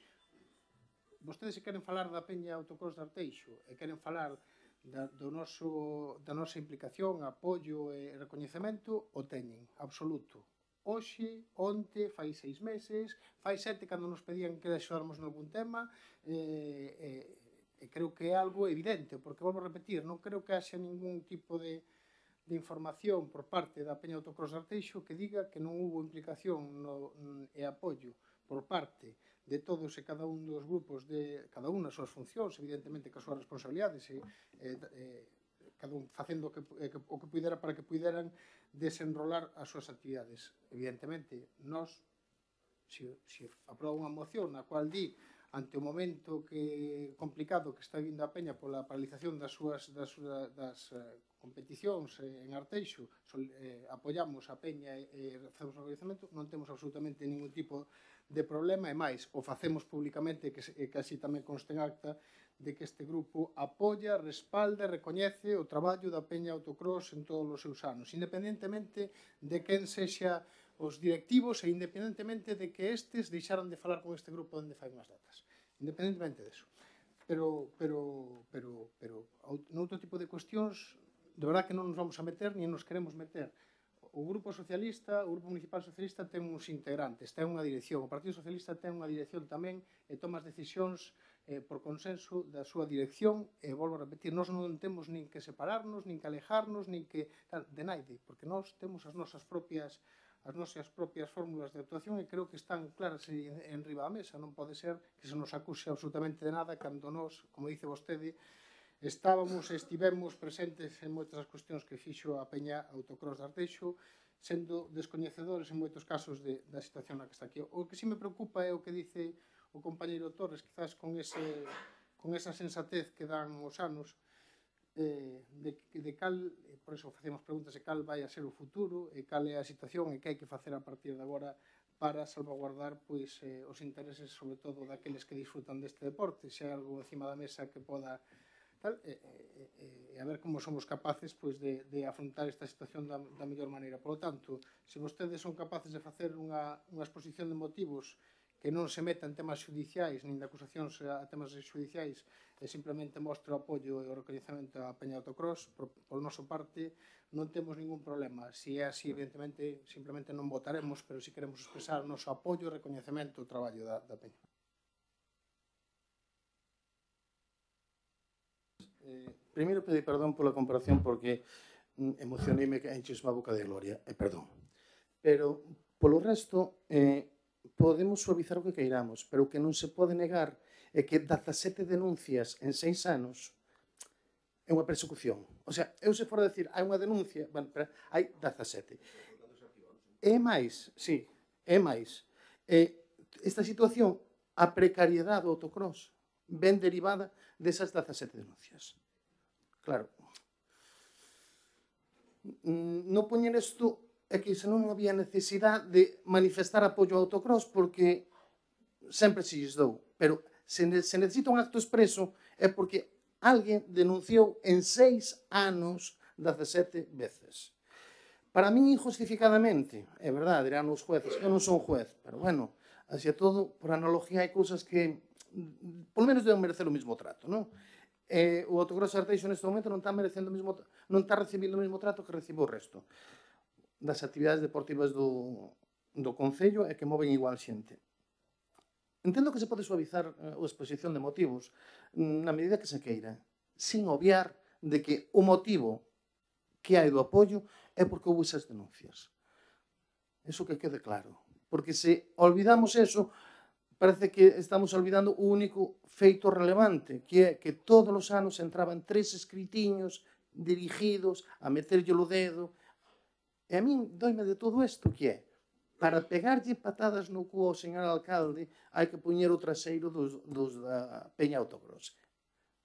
Vostedes se queren falar da Peña Autocross de Arteixo e queren falar da nosa implicación, apoio e recoñecemento, o teñen, absoluto. Hoxe, onte, fai 6 meses, fai 7 cando nos pedían que axudáramos nalgún tema, e creo que é algo evidente, porque, volvo a repetir, non creo que haxa ningún tipo de información por parte da Peña Autocross de Arteixo que diga que non hubo implicación e apoio por parte de todos e cada un dos grupos, de cada un as súas funcións, evidentemente que as súas responsabilidades, cada un facendo o que pudera para que puderan desenrolar as súas actividades. Evidentemente, nós, se aproba unha moción na cual di, ante o momento complicado que está vindo a Peña pola paralización das competicións en Arteixo, apoiamos a Peña e facemos o reconhecemento, non temos absolutamente ningún tipo de problema, e máis, o facemos públicamente, que así tamén conste en acta, de que este grupo apoia, respalda e recoñece o traballo da Peña Autocross en todos os seus anos, independentemente de quen sexa os directivos e independentemente de que estes deixaron de falar con este grupo onde fai unhas datas. Independentemente deso. Pero noutro tipo de cuestións, de verdad que non nos vamos a meter, ni nos queremos meter. O Grupo Socialista, o Grupo Municipal Socialista ten uns integrantes, ten unha dirección. O Partido Socialista ten unha dirección tamén e toma as decisións por consenso da súa dirección. E volvo a repetir, nós non temos nin que separarnos, nin que alejarnos, nin que de naide, porque nós temos as nosas propias fórmulas de actuación e creo que están claras en riba da mesa. Non pode ser que se nos acuse absolutamente de nada cando nós, como dice vostede, estivemos presentes en moitas das cuestións que fixo a Peña Autocross de Arteixo, sendo descoñecedores en moitos casos da situación na que está aquí. O que sí me preocupa é o que dice o compañeiro Torres, quizás con esa sensatez que dan os anos, de cal, por eso facemos preguntas de cal vai a ser o futuro e cal é a situación e que hai que facer a partir de agora para salvaguardar os intereses, sobre todo, daqueles que disfrutan deste deporte, se hai algo encima da mesa que poda e a ver como somos capaces de afrontar esta situación da mellor maneira. Por lo tanto, se vostedes son capaces de facer unha exposición de motivos que non se meta en temas judiciais, nin de acusacións a temas judiciais, e simplemente mostra o apoio e o reconhecemento á Peña Autocross, por nosa parte, non temos ningún problema. Se é así, evidentemente, simplemente non votaremos, pero si queremos expresar o noso apoio e reconhecemento ao traballo da Peña. Primeiro pedir perdón pola comparación porque emocioneime que enches má boca de gloria, perdón. Pero, polo resto, podemos suavizar o que queiramos, pero o que non se pode negar é que 17 denuncias en 6 anos é unha persecución. O sea, eu se fora a decir, hai unha denuncia, bueno, pero hai 17. É máis, sí, é máis. Esta situación, a precariedade do autocross, ven derivada desas 17 denuncias. Claro. Non poñer isto é que senón non había necesidade de manifestar apoio ao autocross porque sempre se lles dou. Pero se necesita un acto expreso é porque alguén denunciou en 6 anos 17 veces. Para min injustificadamente, é verdade, dirán os jueces, eu non son juez, pero bueno, así é todo, por analogía hai cousas que polo menos deben merecer o mismo trato, non? O Autocross Arteixo neste momento non está recibindo o mesmo trato que recibe o resto das actividades deportivas do Concello e que moven igual xente. Entendo que se pode suavizar a exposición de motivos na medida que se queira, sin obviar de que o motivo que hai do apoio é porque houve esas denuncias. Eso que quede claro. Porque se olvidamos eso, parece que estamos olvidando o único feito relevante, que é que todos os anos entraban 3 escritiños dirigidos a meterlle o dedo. E a min doime de todo isto, que é, para pegarlle patadas no cu ao señor alcalde, hai que poñer o traseiro dos da Peña Autocross.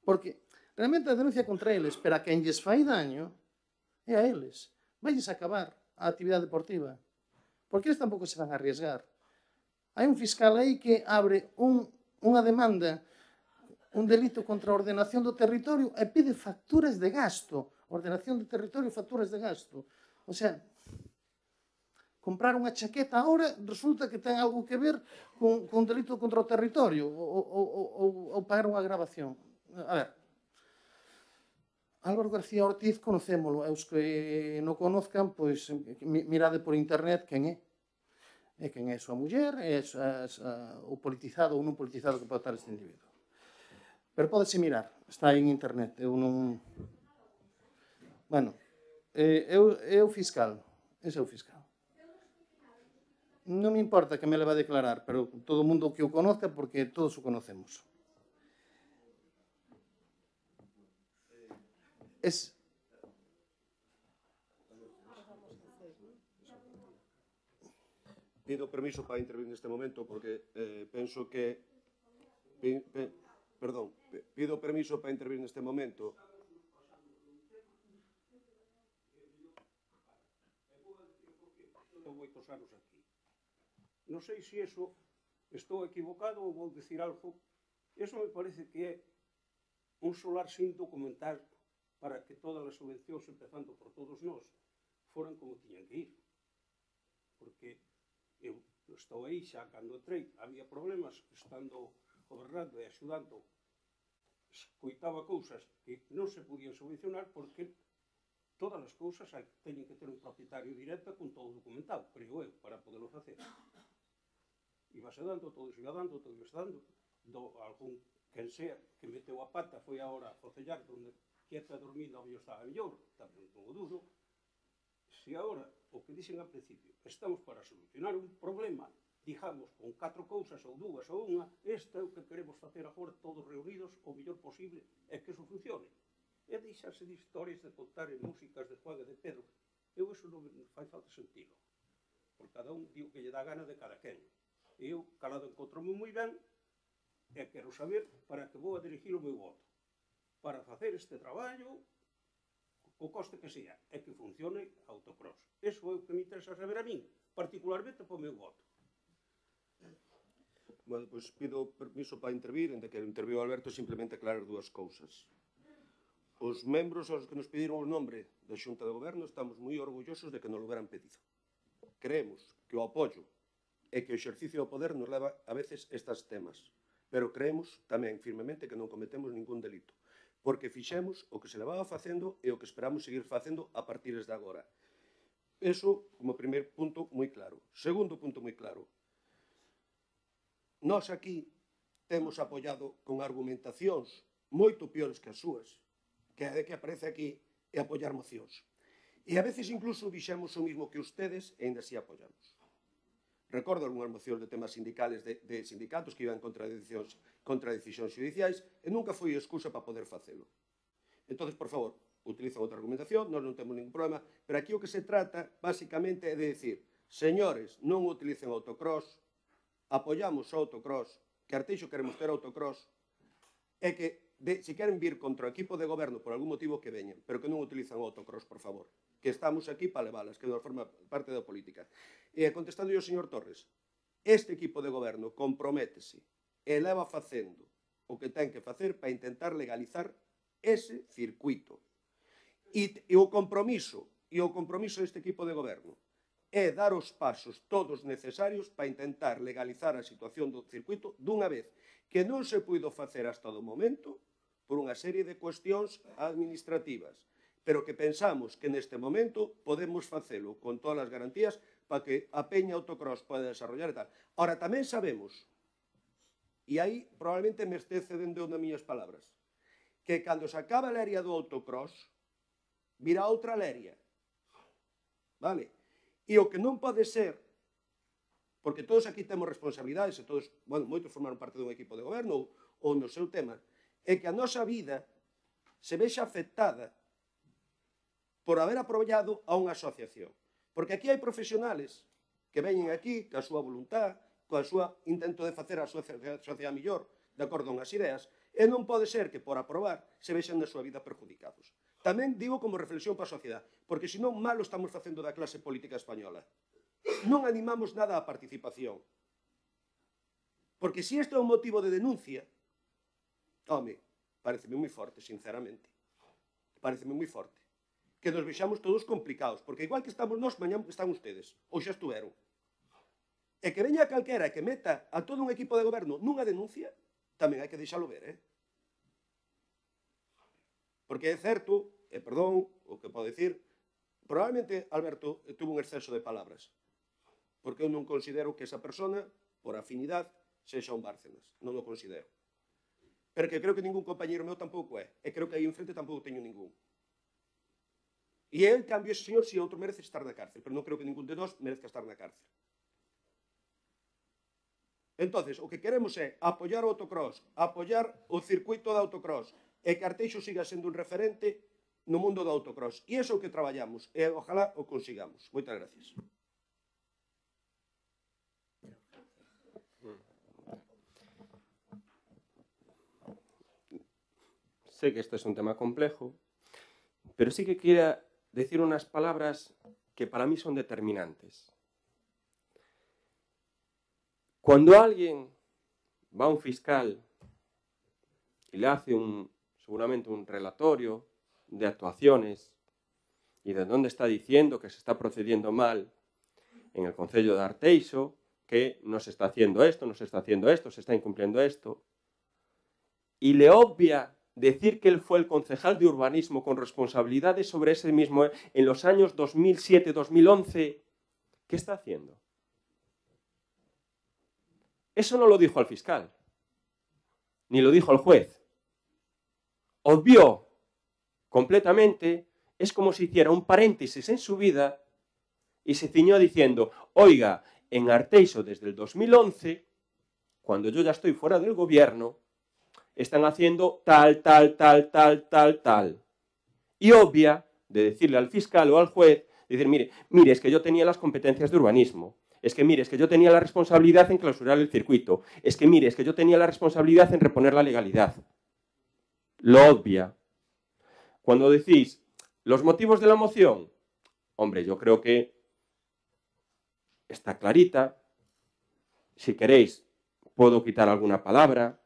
Porque realmente a denuncia contra eles, pero a quen lles fai daño, é a eles. Vailles acabar a actividade deportiva. Porque eles tampouco se van a arriesgar. Hai un fiscal aí que abre unha demanda, un delito contra a ordenación do territorio e pide facturas de gasto. Ordenación do territorio e facturas de gasto. O sea, comprar unha chaqueta agora resulta que ten algo que ver con delito contra o territorio ou pagar unha gravación. A ver, Álvaro García Ortiz conocémolo, e os que non conozcan, pois mirade por internet quen é. E quen é a súa muller, é o politizado ou non politizado que pode estar este individuo. Pero pódese mirar, está aí en internet. Eu non... Bueno, é o fiscal, ese é o fiscal. Non me importa que me leva a declarar, pero todo o mundo que o conozca, porque todos o conocemos. Pido permiso para intervir neste momento porque penso que... Perdón, pido permiso para intervir neste momento. Estou moitos anos aquí. Non sei se iso estou equivocado ou vou dicir algo. Iso me parece que é un solar sin documentar para que todas as subvencións, empezando por todos nós, foran como tiñan que ir. porque eu estou aí xa cando entrei, había problemas, estando gobernando e axudando, escoitaba cousas que non se podían solucionar porque todas as cousas teñen que ter un propietario directo con todo documentado, creo eu, para poderlo facer. Ibase dando, todo se iba dando, todo iba dando, algún quen sea que meteu a pata foi agora a focellar donde quieta dormindo a mellor estaba mellor, tamén non o dudo. Se agora, o que dixen ao principio, estamos para solucionar un problema, digamos, con 4 cousas ou 2 ou unha, este é o que queremos facer agora todos reunidos o mellor posible e que eso funcione. E deixarse de historias de contar en músicas de Juan e de Pedro. Eu eso non fai falta sentido. Por cada un digo que lle dá gana de cada quen. Eu, calado, encontromo moi ben e quero saber para que vou a dirigir o meu voto. Para facer este traballo, o coste que sea, e que funcione autocross. Eso é o que me interesa saber a min, particularmente para o meu voto. Bueno, pois pido permiso para intervir, en que interviu Alberto, simplemente aclarar 2 cousas. Os membros aos que nos pediron o nombre da Xunta de Goberno estamos moi orgullosos de que nos lo hubieran pedido. Creemos que o apoio e que o exercicio do poder nos leva a veces estes temas, pero creemos tamén firmemente que non cometemos ningún delito, porque fixemos o que se levaba facendo e o que esperamos seguir facendo a partir de agora. Eso como primer punto moi claro. Segundo punto moi claro. Nós aquí temos apoiado con argumentacións moito piores que as súas, que é de que aparece aquí e apoiar mocións. E a veces incluso dixemos o mismo que ustedes e ainda así apoiamos. Recordo algunhas mocións de temas sindicales de sindicatos que iban contra decisións judiciais e nunca foi excusa para poder facelo. Entón, por favor, utilizan outra argumentación, nós non temos ningún problema, pero aquí o que se trata, basicamente, é de decir, señores, non utilicen autocross, apoiamos o autocross, que Arteixo queremos ter autocross, e que, se queren vir contra o equipo de goberno por algún motivo que veñen, pero que non utilizan o autocross, por favor, que estamos aquí para leválas, que non forma parte da política. E contestando ao señor Torres, este equipo de goberno comprométese e leva facendo o que ten que facer para intentar legalizar ese circuito. E o compromiso deste equipo de goberno é dar os pasos todos necesarios para intentar legalizar a situación do circuito dunha vez, que non se puido facer hasta o momento por unha serie de cuestións administrativas, pero que pensamos que neste momento podemos facelo con todas as garantías para que a peña autocross poda desarrollar e tal. Ahora, tamén sabemos, e aí probablemente me este cedendo nas miñas palabras, que cando se acaba a leria do autocross, virá outra leria. Vale? E o que non pode ser, porque todos aquí temos responsabilidades, e todos, bueno, moitos formaron parte dun equipo de goberno ou no seu tema, é que a nosa vida se vexa afectada por haber apoiado a unha asociación. Porque aquí hai profesionales que veñen aquí, ca súa voluntad, coa súa intento de facer a súa sociedade mellor, de acordo con as ideas, e non pode ser que, por aprobar, se vexan na súa vida perjudicados. Tamén digo como reflexión para a sociedade, porque senón malo estamos facendo da clase política española. Non animamos nada á participación. Porque se este é un motivo de denuncia, home, pareceme moi forte, sinceramente. Pareceme moi forte. Que nos vexamos todos complicados, porque igual que estamos nós, mañá están ustedes, ou xa estuveron. E que veña calquera que meta a todo un equipo de goberno nunha denuncia, tamén hai que deixalo ver, Porque é certo, e perdón, o que podo dicir, probablemente Alberto tuvo un exceso de palabras, porque eu non considero que esa persona, por afinidade, sexa un Bárcenas, non o considero. Pero que creo que ningún compañeiro meu tampouco é, e creo que aí enfrente tampouco teño ningún. E en cambio, ese señor, si outro merece estar na cárcel, pero non creo que ningún de nós merezca estar na cárcel. Entonces, o que queremos é apoiar o autocross, apoiar o circuito de autocross, e que Arteixo siga sendo un referente no mundo do autocross. E iso é o que traballamos, e ojalá o consigamos. Moitas gracias. Sé que este es un tema complejo, pero sí que quiero decir unas palabras que para mí son determinantes. Cuando alguien va a un fiscal y le hace seguramente un relatorio de actuaciones y de dónde está diciendo que se está procediendo mal, en el Concello de Arteixo que no se está haciendo esto, no se está haciendo esto, se está incumpliendo esto. Y le obvia decir que él fue el concejal de urbanismo con responsabilidades sobre ese mismo en los años 2007-2011. ¿Qué está haciendo? Eso no lo dijo al fiscal, ni lo dijo al juez. Obvió completamente, es como si hiciera un paréntesis en su vida y se ciñó diciendo, oiga, en Arteixo desde el 2011, cuando yo ya estoy fuera del gobierno, están haciendo tal. Y obvia de decirle al fiscal o al juez, decir, mire, es que yo tenía las competencias de urbanismo, es que yo tenía la responsabilidad en clausurar el circuito, es que yo tenía la responsabilidad en reponer la legalidad. Lo obvia. Cuando decís, los motivos de la moción, hombre, yo creo que está clarita. Si queréis, puedo quitar alguna palabra.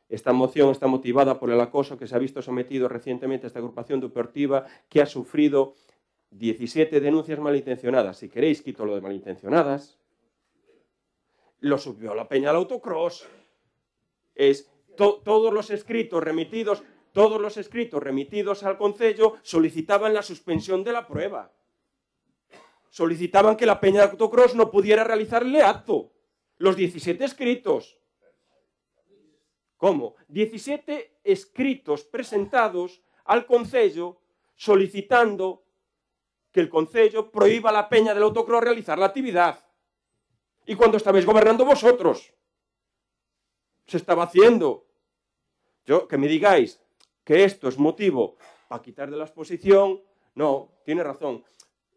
Esta moción está motivada por el acoso que se ha visto sometido recientemente a esta agrupación deportiva que ha sufrido 17 denuncias malintencionadas. Si queréis, quito lo de malintencionadas. Lo subió la peña al autocross. Todos los escritos remitidos al Concello solicitaban la suspensión de la prueba. Solicitaban que la peña de autocross no pudiera realizarle acto. Los 17 escritos. ¿Cómo? 17 escritos presentados al Concello solicitando que el Concello prohíba a la peña del autocross realizar la actividad. Y cuando estabais gobernando vosotros, se estaba haciendo. Que me digáis que esto es motivo para quitar de la exposición, no, tiene razón.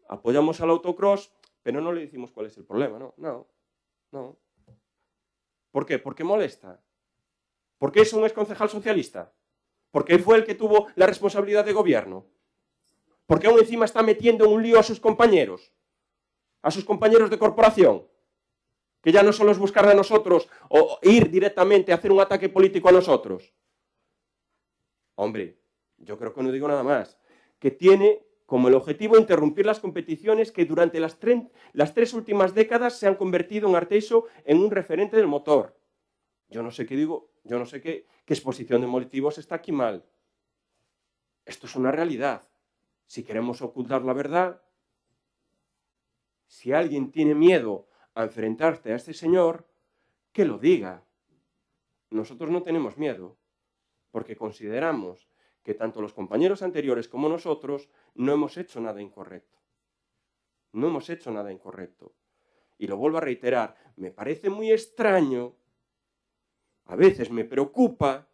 Apoyamos al autocross, pero no le decimos cuál es el problema, no. ¿Por qué? Porque molesta. ¿Por qué es un exconcejal socialista? Porque fue el que tuvo la responsabilidad de gobierno. Porque aún encima está metiendo en un lío a sus compañeros de corporación, que ya no solo es buscar a nosotros o ir directamente a hacer un ataque político a nosotros. Hombre, yo creo que no digo nada más, que tiene como el objetivo interrumpir las competiciones que durante las 3 últimas décadas se han convertido en Arteixo en un referente del motor. Yo no sé qué digo, yo no sé qué exposición de motivos está aquí mal. Esto es una realidad. Si queremos ocultar la verdad, si alguien tiene miedo a enfrentarse a este señor, que lo diga. Nosotros no tenemos miedo, porque consideramos que tanto los compañeros anteriores como nosotros no hemos hecho nada incorrecto. No hemos hecho nada incorrecto. Y lo vuelvo a reiterar, me parece muy extraño, a veces me preocupa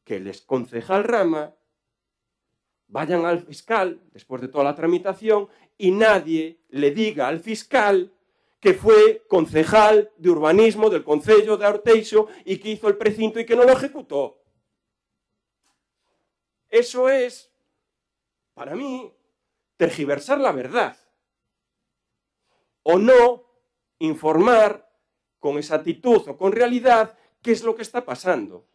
que el exconcejal Rama vayan al fiscal después de toda la tramitación y nadie le diga al fiscal que fue concejal de urbanismo del Concello de Arteixo y que hizo el precinto y que no lo ejecutó. Eso es, para mí, tergiversar la verdad. O no informar con exactitud o con realidad qué es lo que está pasando.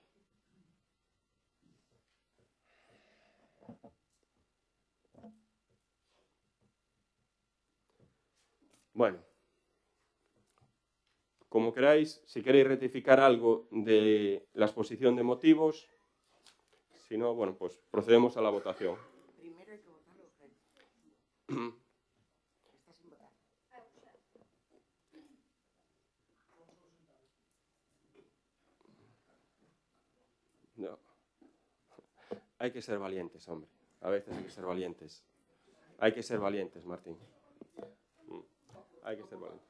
Bueno, como queráis, si queréis rectificar algo de la exposición de motivos, si no, bueno, pues procedemos a la votación. Primero hay que votarlo. Está sin votar. No. Hay que ser valientes, hombre. A veces hay que ser valientes. Hay que ser valientes, Martín. Hay que ser valiente.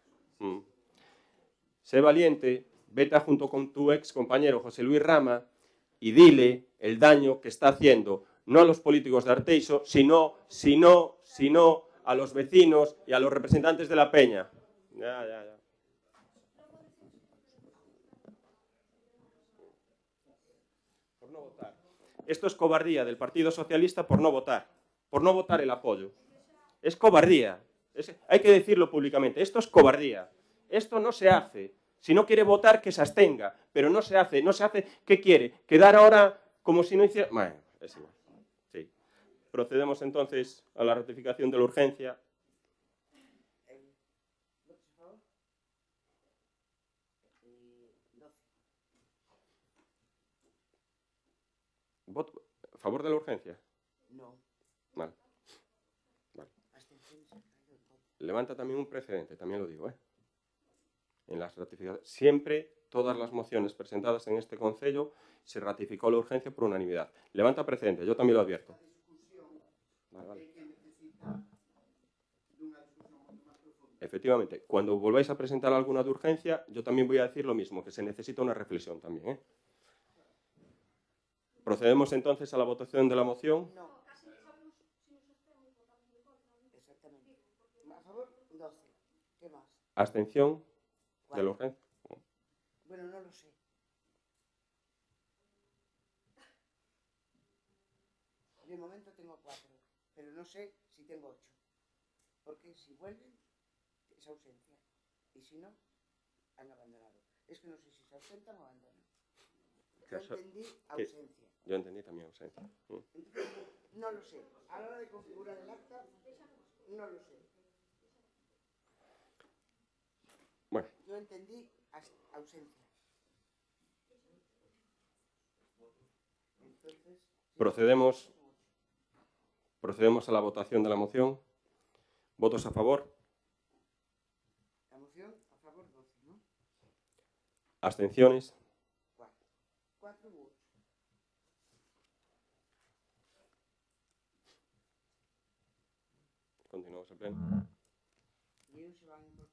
Sé valiente, vete junto con tu ex compañero José Luis Rama y dile el daño que está haciendo, no a los políticos de Arteixo, sino a los vecinos y a los representantes de la peña. Ya. Por no votar. Esto es cobardía del Partido Socialista por no votar el apoyo. Es cobardía. Hay que decirlo públicamente. Esto es cobardía. Esto no se hace. Si no quiere votar, que se abstenga. Pero no se hace. ¿Qué quiere? ¿Quedar ahora como si no hiciera...? Bueno, es igual. Sí. Procedemos entonces a la ratificación de la urgencia. Voto a favor de la urgencia. No. Vale. Abstenciones, alcalde, en contra. Levanta también un precedente, también lo digo, ¿eh? En las ratificaciones, siempre todas las mociones presentadas en este Concello se ratificó la urgencia por unanimidad. Levanta precedente, yo también lo advierto. Vale, vale. Efectivamente, cuando volváis a presentar alguna de urgencia, yo también voy a decir lo mismo, que se necesita una reflexión también, ¿eh? Procedemos entonces a la votación de la moción. No. Exactamente. A favor, 12. ¿Qué más? Abstención de la 4. urgencia. Bueno, no lo sé. De momento tengo 4, pero no sé si tengo 8. Porque si vuelven, es ausencia. Y si no, han abandonado. Es que no sé si se ausentan o abandonan. Yo entendí ausencia. Yo entendí también ausencia. Entonces, no lo sé. A la hora de configurar el acta, no lo sé. Bueno. Yo entendí ausencia. Entonces, procedemos a la votación de la moción. ¿Votos a favor? La moción a favor 12, ¿no? ¿Abstenciones? 4 u 8. Continuamos el pleno. ¿Y ellos se van a incorporar?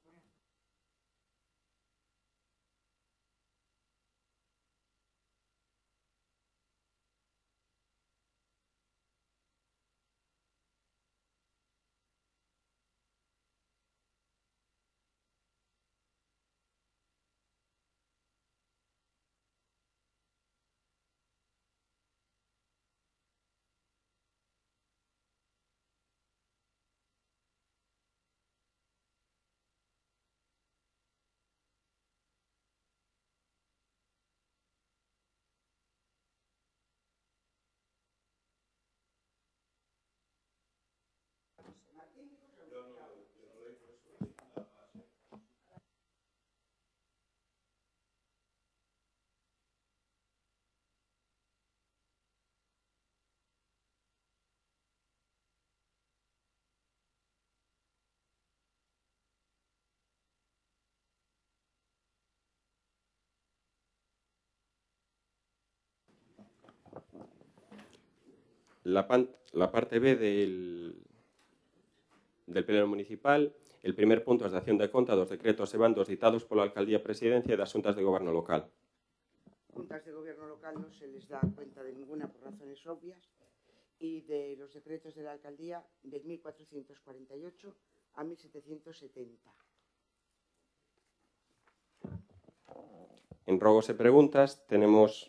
La parte B del Pleno Municipal, el primer punto es de acción de conta dos decretos e bandos ditados pola Alcaldía Presidencia e das Xuntas de Goberno Local. Juntas de gobierno local no se les da cuenta de ninguna por razones obvias y de los decretos de la alcaldía del 1448 a 1770. En rogos e preguntas tenemos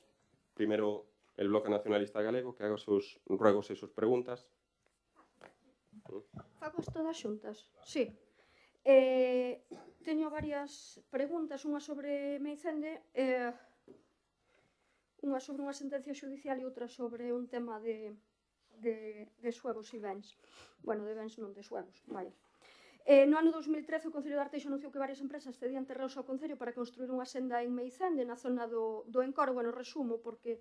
primero el Bloque Nacionalista Galego que haga sus ruegos e sus preguntas. Fago isto das xuntas? Sí. Teño varias preguntas, unha sobre Meicende, unha sobre unha sentencia xudicial e outra sobre un tema de xuegos e bens. Bueno, de bens non de xuegos, vaya. No ano 2013 o Concello de Arteixo anunciou que varias empresas cedían terreos ao Concello para construir unha senda en Meicende, na zona do Encoro. Bueno, resumo, porque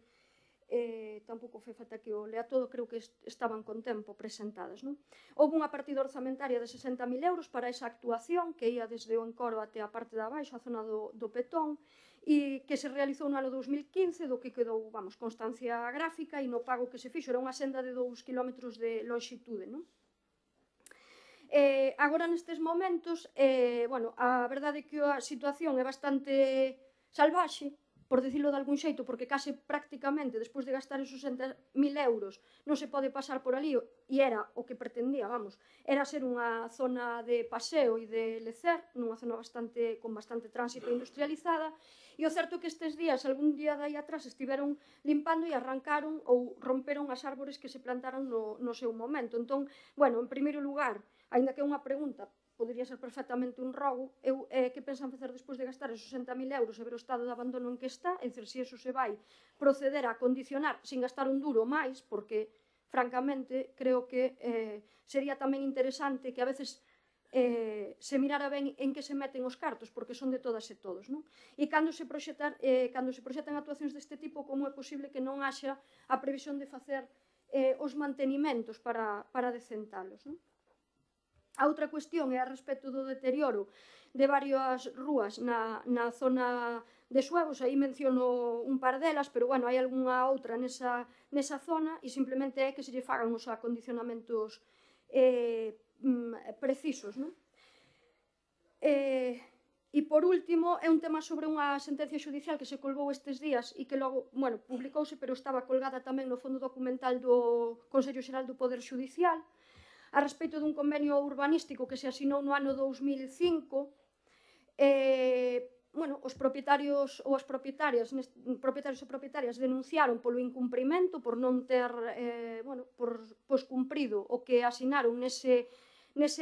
tampouco foi falta que o lea todo, creo que estaban con tempo presentadas, non? Houve unha partida orzamentaria de 60.000 euros para esa actuación que ia desde o Encoro até a parte de abaixo, a zona do Petón, e que se realizou no ano 2015, do que quedou, vamos, constancia gráfica, e no pago que se fixo era unha senda de 2 km de longitude, non? Agora, nestes momentos, bueno, a verdade é que a situación é bastante salvaxe, por dicilo de algún xeito, porque case prácticamente, despois de gastar esos 60.000 euros, non se pode pasar por ali, e era o que pretendía, vamos, era ser unha zona de paseo e de lecer, nunha zona con bastante tránsito industrializada, e o certo é que estes días, algún día de aí atrás, estiveron limpando e arrancaron ou romperon as árbores que se plantaron no seu momento. Entón, bueno, en primeiro lugar, aínda que é unha pregunta, podría ser perfectamente un rogo, que pensan facer despois de gastar esos 60.000 euros e ver o estado de abandono en que está, é dicir, se iso se vai proceder a condicionar sin gastar un duro máis, porque, francamente, creo que sería tamén interesante que a veces se mirara ben en que se meten os cartos, porque son de todas e todos, non? E cando se proxetan actuacións deste tipo, como é posible que non haxa a previsión de facer os mantenimentos para decentalos, non? A outra cuestión é a respecto do deterioro de varias rúas na zona de Suevos, aí menciono un par delas, pero bueno, hai algunha outra nesa zona e simplemente é que se lle fagan os acondicionamentos precisos, non? E por último, é un tema sobre unha sentencia judicial que se colgou estes días e que logo, bueno, publicouse, pero estaba colgada tamén no fondo documental do Consello Xeral do Poder Judicial, a respecto dun convenio urbanístico que se asinou no ano 2005. Bueno, os propietarios ou as propietarias denunciaron polo incumprimento, por non ter cumprido o que asinaron nese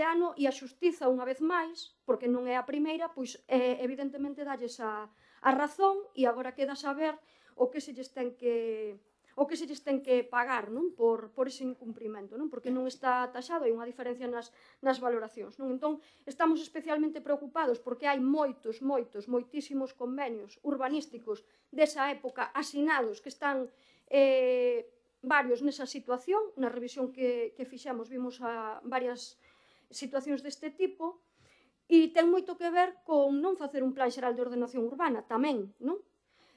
ano, e a xustiza, unha vez máis, porque non é a primeira, pois evidentemente dalles a razón, e agora queda saber o que se lles ten que pagar, non? Por ese incumprimento, non? Porque non está taxado, hai unha diferencia nas valoracións, non? Entón, estamos especialmente preocupados porque hai moitísimos convenios urbanísticos desa época asinados que están varios nesa situación. Na revisión que fixemos vimos a varias situacións deste tipo, e ten moito que ver con non facer un plan xeral de ordenación urbana tamén, non?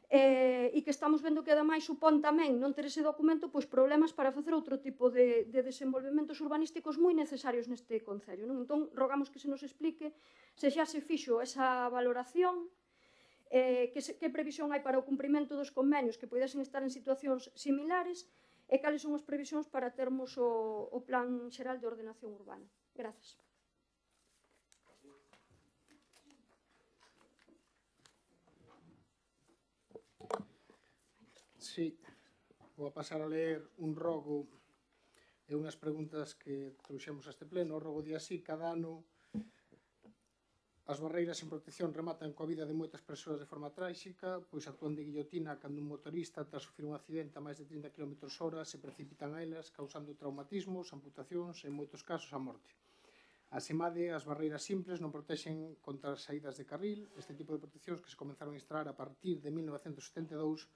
E que estamos vendo que ademais supón tamén non ter ese documento pois problemas para facer outro tipo de desenvolvementos urbanísticos moi necesarios neste concello, non? Entón, rogamos que se nos explique se xa se fixo esa valoración, que previsión hai para o cumprimento dos convenios que poidesen estar en situacións similares e cales son as previsións para termos o plan xeral de ordenación urbana. Grazas. Sí, vou a pasar a ler un rogo e unhas preguntas que trouxemos a este pleno. O rogo di así: cada ano as barreiras en protección rematan coa vida de moitas persoas de forma tráxica, pois actúan de guillotina cando un motorista, tras sufrir un accidente a máis de 30 km/h, se precipitan a elas, causando traumatismos, amputacións e, en moitos casos, a morte. Asemade, as barreiras simples non protexen contra as saídas de carril. Este tipo de proteccións, que se comenzaron a instalar a partir de 1972,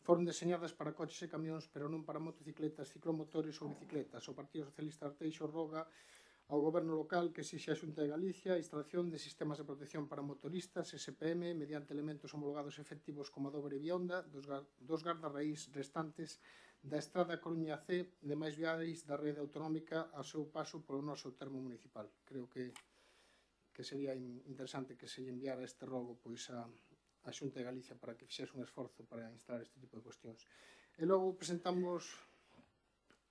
foron deseñadas para coches e camións, pero non para motocicletas, ciclomotores ou bicicletas. O Partido Socialista Arteixo roga ao Goberno local que exixe a Xunta de Galicia a instalación de sistemas de protección para motoristas SPM mediante elementos homologados efectivos como a dobre bionda dos gardarraíz restantes da Estrada Coruña C de máis viais da rede autonómica ao seu paso polo noso termo municipal. Creo que sería interesante que se lle enviara este rogo pois a Xunta de Galicia para que fixese un esforzo para instalar este tipo de cuestións. E logo presentamos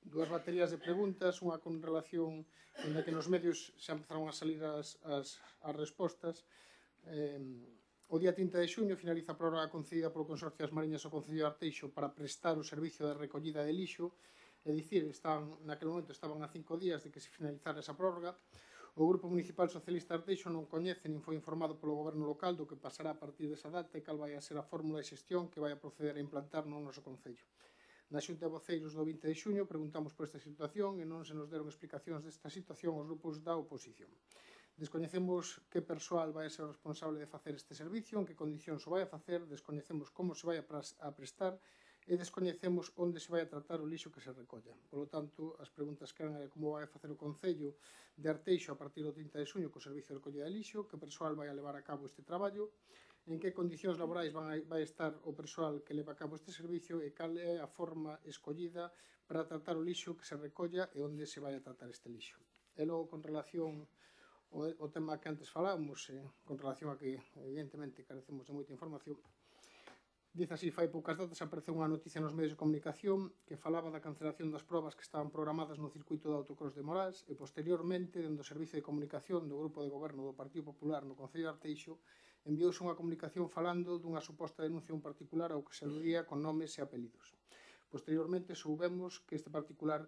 dúas baterías de preguntas, unha con relación en que nos medios xa empezaron a salir as respostas. O día 30 de xuño finaliza a prórroga concedida polo Consorcio das Mariñas ao Concello de Arteixo para prestar o servicio de recollida de lixo, é dicir, naquele momento estaban a 5 días de que se finalizara esa prórroga. O Grupo Municipal Socialista Arteixo non coñece nin foi informado polo Goberno local do que pasará a partir desa data e cal vai a ser a fórmula de xestión que vai a proceder a implantar no noso Concello. Na Xunta de Voceiros do 20 de xuño preguntamos por esta situación e non se nos deron explicacións desta situación aos grupos da oposición. Descoñecemos que persoal vai a ser responsable de facer este servicio, en que condicións o vai a facer, descoñecemos como se vai a prestar e descoñecemos onde se vai a tratar o lixo que se recolla. Por lo tanto, as preguntas que eran como vai a facer o Concello de Arteixo a partir do 30 de xuño co servicio de recollida de lixo, que persoal vai a levar a cabo este traballo, en que condicións laborais vai estar o persoal que leva a cabo este servicio e cal é a forma escollida para tratar o lixo que se recolla e onde se vai a tratar este lixo. E logo, con relación ao tema que antes falábamos, con relación a que evidentemente carecemos de moita información, dice así: fai poucas datas apareceu unha noticia nos medios de comunicación que falaba da cancelación das probas que estaban programadas no circuito de autocross de Morás e posteriormente, dentro do Servicio de Comunicación do Grupo de Goberno do Partido Popular no Concello de Arteixo, enviouse unha comunicación falando dunha suposta denuncia a un particular ao que se aludía con nomes e apelidos. Posteriormente soubemos que este particular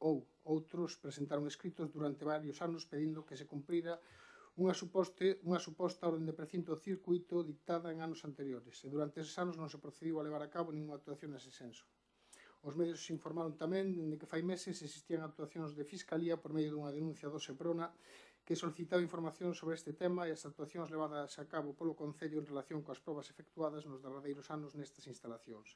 ou outros presentaron escritos durante varios anos pedindo que se cumprira unha suposta orden de precinto do circuito dictada en anos anteriores e durante eses anos non se procediu a levar a cabo ninguna actuación nese senso. Os medios informaron tamén de que fai meses existían actuacións de Fiscalía por medio dunha denuncia do Seprona que solicitaba información sobre este tema e as actuacións levadas a cabo polo Concello en relación coas probas efectuadas nos derradeiros anos nestas instalacións.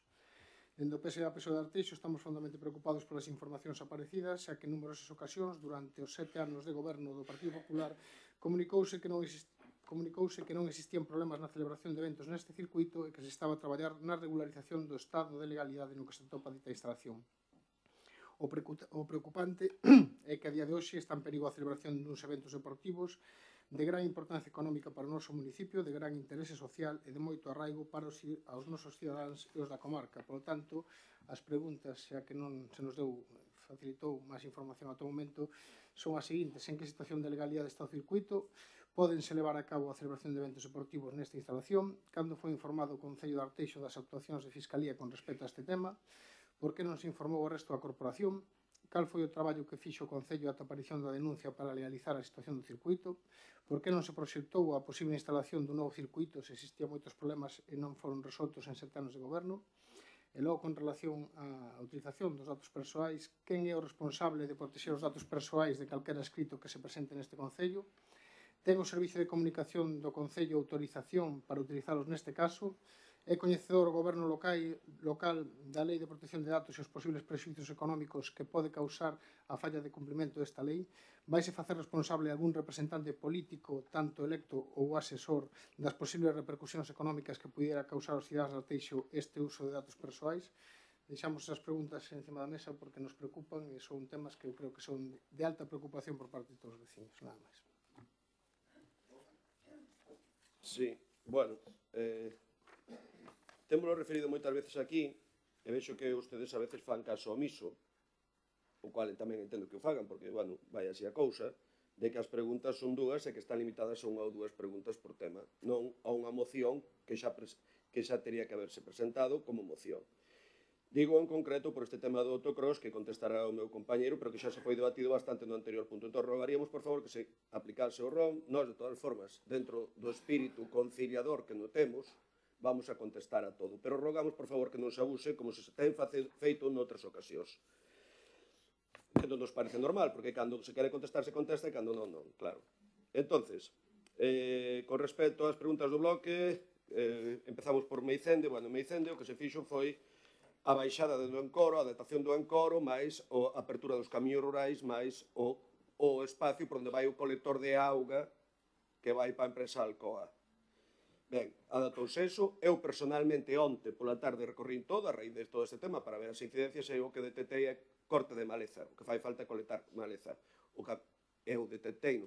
Dende o PSA-PSOE de Arteixo estamos fondamente preocupados polas informacións aparecidas, xa que en numerosas ocasións, durante os 7 anos de goberno do Partido Popular, comunicouse que non existían problemas na celebración de eventos neste circuito e que se estaba a traballar na regularización do estado de legalidade no que se atopa dita instalación. O preocupante é que a día de hoxe está en perigo a celebración duns eventos deportivos de gran importancia económica para o noso municipio, de gran interese social e de moito arraigo para os nosos cidadáns e os da comarca. Por lo tanto, as preguntas, xa que non se nos facilitou máis información ata o momento, son as seguintes: en que situación de legalidade está o circuito? Pódense levar a cabo a celebración de eventos deportivos nesta instalación? Cando foi informado o Concello de Arteixo das actuacións de Fiscalía con respecto a este tema? Por que non se informou o resto da corporación? Cal foi o traballo que fixo o Concello ata a aparición da denuncia para legalizar a situación do circuito? Por que non se proxectou a posible instalación dun novo circuito se existían moitos problemas e non foron resoltos en 7 anos de goberno? E logo, con relación á utilización dos datos persoais, quen é o responsable de protexer os datos persoais de calquera escrito que se presente neste Concello? Ten o Servicio de Comunicación do Concello autorización para utilizalos neste caso? É coñecedor o Goberno local da Lei de Protección de Datos e os posibles prexuízos económicos que pode causar a falla de cumprimento desta lei? Vaise facer responsable algún representante político, tanto electo ou asesor, das posibles repercusións económicas que pudiera causar aos cidadáns de Arteixo este uso de datos persoais? Deixamos esas preguntas encima da mesa porque nos preocupan e son temas que eu creo que son de alta preocupación por parte de todos os vecinos. Nada máis. Sí, bueno, témolo referido moitas veces aquí e vexo que ustedes a veces fan caso omiso, o cual tamén entendo que o fagan, porque, bueno, vai así a cousa, de que as preguntas son dúas e que están limitadas a unha ou dúas preguntas por tema, non a unha moción que xa teria que haberse presentado como moción. Digo en concreto por este tema do autocross que contestará o meu compañeiro, pero que xa se foi debatido bastante no anterior punto. Entón, rogaríamos, por favor, que se aplicase o ROM. Nós, de todas formas, dentro do espírito conciliador que no temos, vamos a contestar a todo. Pero rogamos, por favor, que non se abuse como se ten feito noutras ocasións. Que non nos parece normal, porque cando se quere contestar, se contesta, e cando non, non, claro. Entonces, con respecto ás preguntas do bloque, empezamos por Meicende. Bueno, Meicende o que se fixo foi a baixada do encoro, a adaptación do encoro, máis a apertura dos camiños rurais, máis o espacio por onde vai o colector de auga que vai para a empresa Alcoa. Ben, adaptouse eso. Eu personalmente onte pola tarde recorrín todo a raíz de todo este tema para ver as incidencias e o que detectei é corte de maleza, o que fai falta é colectar maleza. Eu detectei,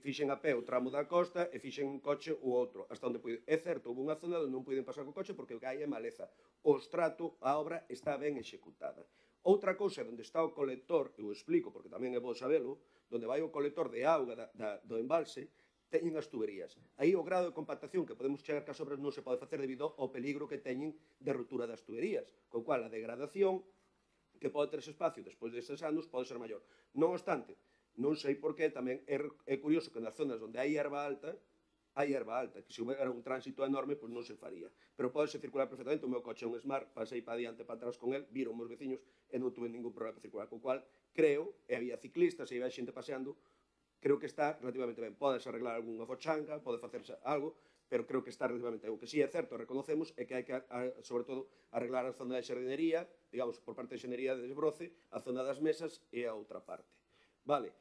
fixen a pé o tramo da costa e fixen un coche o outro, hasta onde pude. É certo, houve unha zona onde non puiden pasar co coche porque o que hai é maleza. O estrato, a obra está ben executada. Outra cousa onde está o colector, eu explico porque tamén é bo sabelo, onde vai o colector de auga do embalse, teñen as tuberías. Aí o grado de compactación que podemos chegar que as obras non se pode facer debido ao peligro que teñen de ruptura das tuberías, co cual a degradación que pode ter ese espacio despois destes anos pode ser maior. Non obstante, non sei por que tamén é curioso que nas zonas onde hai erva alta, que se houbera un tránsito enorme, pois non se faría. Pero podese circular perfectamente. O meu coche é un Smart, pasei para diante, para atrás con el, viron meus veciños e non tuve ningún problema para circular. Co cual, creo, e había ciclistas e había xente paseando, creo que está relativamente ben. Podes arreglar algunha fochanga, pode facerse algo, pero creo que está relativamente ben. O que sí é certo, reconocemos, é que hai que, sobre todo, arreglar a zona de xardinería, digamos, por parte de xardinería de desbroce, a zona das mesas e a outra parte. Vale.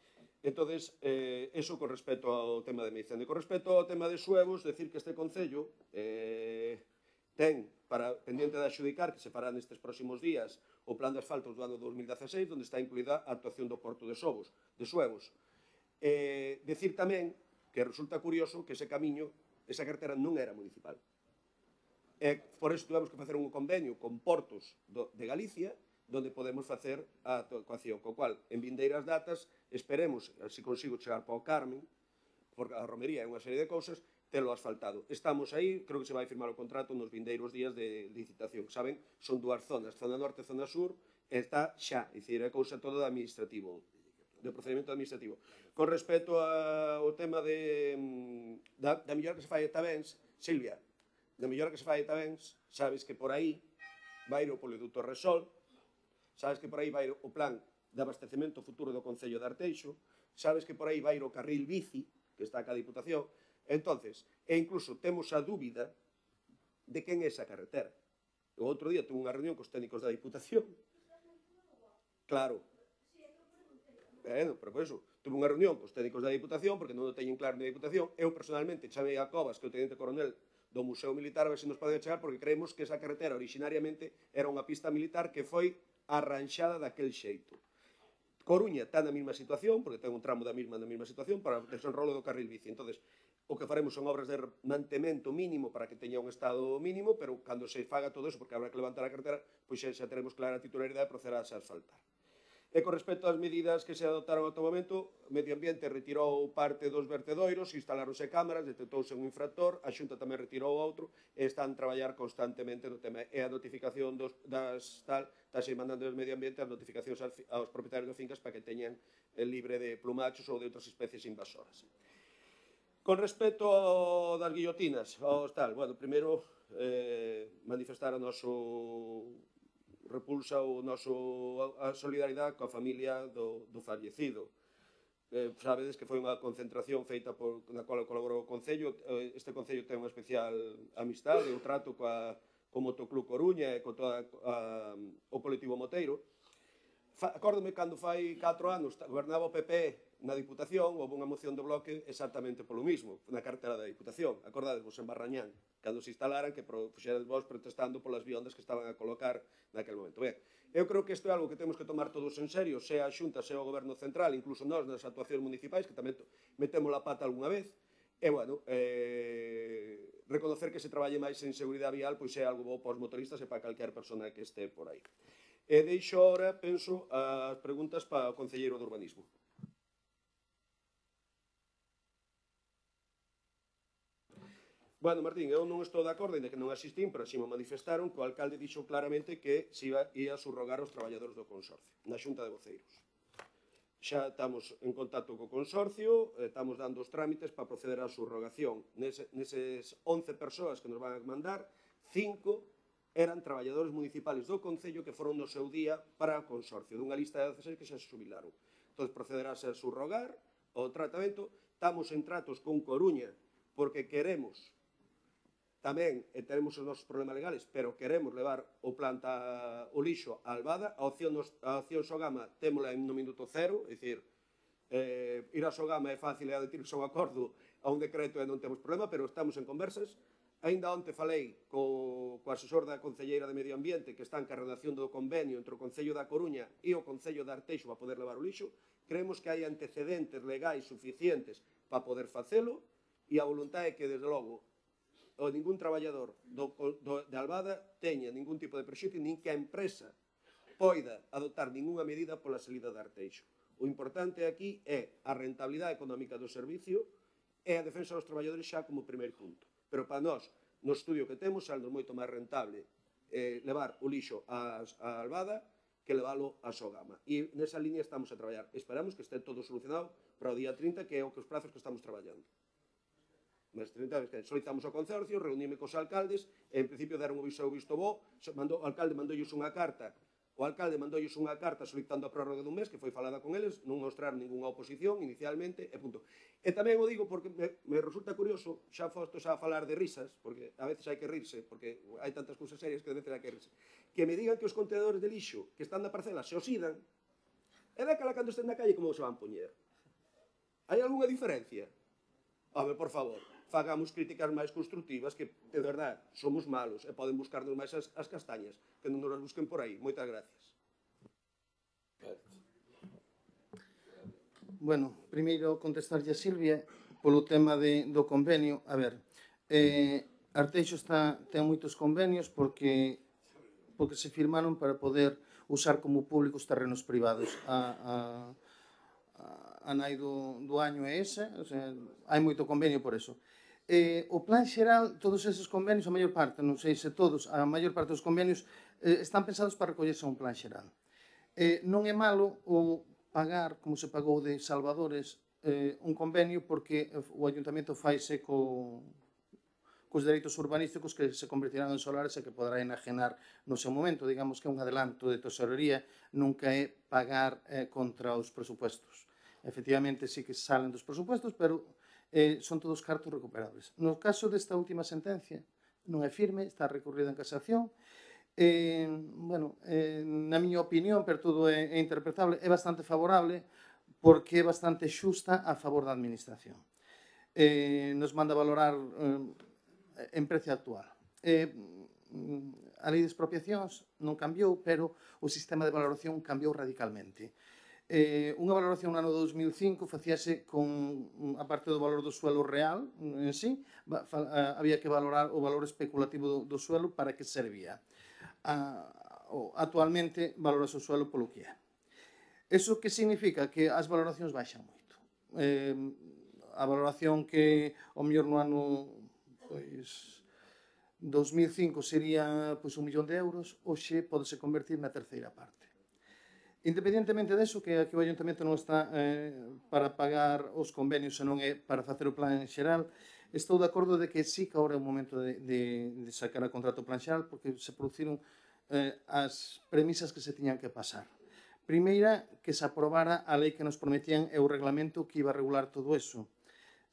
Entonces, eso con respecto ao tema de Meicende. Con respecto ao tema de Suevos, decir que este Concello ten pendiente de adxudicar, que se fará nestes próximos días, o plan de asfaltos do ano 2016, onde está incluída a actuación do Porto de Suevos. Decir tamén que resulta curioso que ese camiño, esa carretera non era municipal. Por eso tuvemos que facer un convenio con Portos de Galicia, donde podemos facer a actuación, co cual, en vindeiras datas, esperemos, se consigo chegar para o Carmen, porque a romería é unha serie de cousas, telo asfaltado. Estamos aí, creo que se vai firmar o contrato nos vindeiros días de licitación. Saben, son dúas zonas, zona norte e zona sur, e está xa, é dicir, é cousa toda de administrativo, de procedimento administrativo. Con respecto ao tema da mellora que se fai a Tabens, Silvia, da mellora que se fai a Tabens, sabes que por aí vai o poliducto Resol, sabes que por aí vai o plan de abastecemento futuro do Concello de Arteixo, sabes que por aí vai o carril bici, que está ca Diputación, entonces, e incluso temos a dúbida de quen é esa carretera. O outro día tuve unha reunión cos técnicos da Diputación. Claro. Pero por eso, tuve unha reunión cos técnicos da Diputación, porque non o teñen claro na Diputación. Eu, personalmente, chamei a Covas, que é o teniente coronel do Museo Militar, a ver se nos pode chegar, porque creemos que esa carretera originariamente era unha pista militar que foi arranxada daquel xeito. Coruña está na mesma situación, porque ten un tramo na mesma situación para o desenrolo do carril bici. Entonces, o que faremos son obras de mantemento mínimo para que teña un estado mínimo, pero cando se faga todo eso, porque habrá que levantar a carretera, pois xa teremos clara a titularidade de proceder a asfaltar. E con respecto ás medidas que se adoptaron ata o momento, o Medio Ambiente retirou parte dos vertedoiros, instalaronse cámaras, detectouse un infractor, a Xunta tamén retirou outro, e están a traballar constantemente no tema. E a notificación estáse mandando do Medio Ambiente as notificacións aos propietarios de fincas para que teñan libre de plumachos ou de outras especies invasoras. Con respecto das guillotinas, bueno, primeiro manifestar o noso repulsa a solidaridade coa familia do fallecido. Sabedes que foi unha concentración feita na qual colaborou o Concello. Este Concello ten unha especial amistade, o trato co Motoclub Coruña e con todo o colectivo moteiro. Acórdome cando fai 4 anos gobernaba o PP na Diputación, houve unha moción de bloque exactamente polo mismo, na cartera da Diputación. Acordadevos en Barrañán, cando se instalaran, que fuxeran vos protestando polas viondas que estaban a colocar naquele momento. Ben, eu creo que isto é algo que temos que tomar todos en serio, sea a Xunta, sea o Goberno Central, incluso nós nas actuacións municipais, que tamén metemos a pata algunha vez, e, bueno, reconocer que se traballe máis en seguridade vial, pois é algo bo para os motoristas e para calquer persona que este por aí. E deixo ahora, penso, as preguntas para o Concelleiro de Urbanismo. Bueno, Martín, eu non estou de acordo, ainda que non asistín, pero así me manifestaron que o alcalde dixo claramente que se ia subrogar os traballadores do consorcio, na xunta de voceiros. Xa estamos en contacto co consorcio, estamos dando os trámites para proceder á subrogación. Neses 11 persoas que nos van a mandar, 5 eran traballadores municipales do Concello que foron no seu día para o consorcio, dunha lista de 16 que xa se jubilaron. Entón, procederáse a subrogar o tratamento. Estamos en tratos con Coruña, porque queremos tamén, e tenemos os nosos problemas legales, pero queremos levar o lixo a Albada. A opción Sogama témola no minuto cero, é dicir, ir a Sogama é fácil e adherirse a un acordo a un decreto e non temos problema, pero estamos en conversas. Ainda onte falei co asesor da Concelleira de Medio Ambiente que está en redacción do convenio entre o Concello da Coruña e o Concello de Arteixo para poder levar o lixo. Creemos que hai antecedentes legais suficientes para poder facelo e a voluntade é que, desde logo, ningún traballador de Albada teña ningún tipo de prexuízo, nin que a empresa poida adoptar ninguna medida pola salida de Arteixo. O importante aquí é a rentabilidade económica do servicio e a defensa dos traballadores xa como primeiro punto. Pero para nós, no estudio que temos, saldo moito máis rentable levar o lixo a Albada que levalo a Sogama. E nesa línea estamos a traballar. Esperamos que este todo solucionado para o día 30, que é o que os prazos que estamos traballando. Mas 30 que solicitamos ao consorcio, reunime cos alcaldes, e en principio deron o visto bo, o alcalde mandoulles unha carta, solicitando a prórroga dun mes, que foi falada con eles, non mostraron ninguna oposición inicialmente, e punto. E tamén o digo porque me resulta curioso, xa fosto xa a falar de risas, porque a veces hai que rirse, porque hai tantas cousas serias que a veces hai que rirse, que me digan que os contenedores de lixo que están na parcela se oxidan, e daquela cando estén na calle como se van poñer? Hai algunha diferencia? Home, por favor, fagamos críticas máis constructivas, que, de verdade, somos malos e poden buscarnos máis as castañas, que non nos as busquen por aí. Moitas gracias. Bueno, primeiro contestarlle a Silvia polo tema do convenio. A ver, Arteixo ten moitos convenios porque se firmaron para poder usar como público os terrenos privados. A nai do año é esa, o sea, hai moito convenio por eso. O plan xeral, todos eses convenios, a maior parte, non sei se todos, a maior parte dos convenios están pensados para recollerse un plan xeral. Non é malo o pagar, como se pagou de Salvadores, un convenio, porque o Ayuntamento faise co cos dereitos urbanísticos que se convertirán en solares e que poderá enajenar no seu momento. Digamos que un adelanto de tesorería nunca é pagar contra os presupuestos. Efectivamente, sí que salen dos presupuestos, pero son todos cartos recuperables. No caso desta última sentencia, non é firme, está recurrida en casación. Na miña opinión, pero todo é interpretable, é bastante favorable porque é bastante xusta a favor da administración. Nos manda valorar en precio actual. A lei de expropiacións non cambiou, pero o sistema de valoración cambiou radicalmente. Unha valoración no ano 2005 facíase con a parte do valor do suelo real en sí, había que valorar o valor especulativo do suelo para que servía. Actualmente valorase o suelo polo que é. Iso que significa? Que as valoracións baixan moito. A valoración que ao mellor no ano 2005 sería 1 millón de euros, hoxe podese convertir na terceira parte. Independentemente deso, que aquí o Ayuntamento non está para pagar os convenios, senón é para facer o plan xeral, estou de acordo de que sí que agora é o momento de sacar a contrato plan xeral, porque se produciron as premisas que se tiñan que pasar. Primeira, que se aprobara a lei que nos prometían e o reglamento que iba a regular todo eso.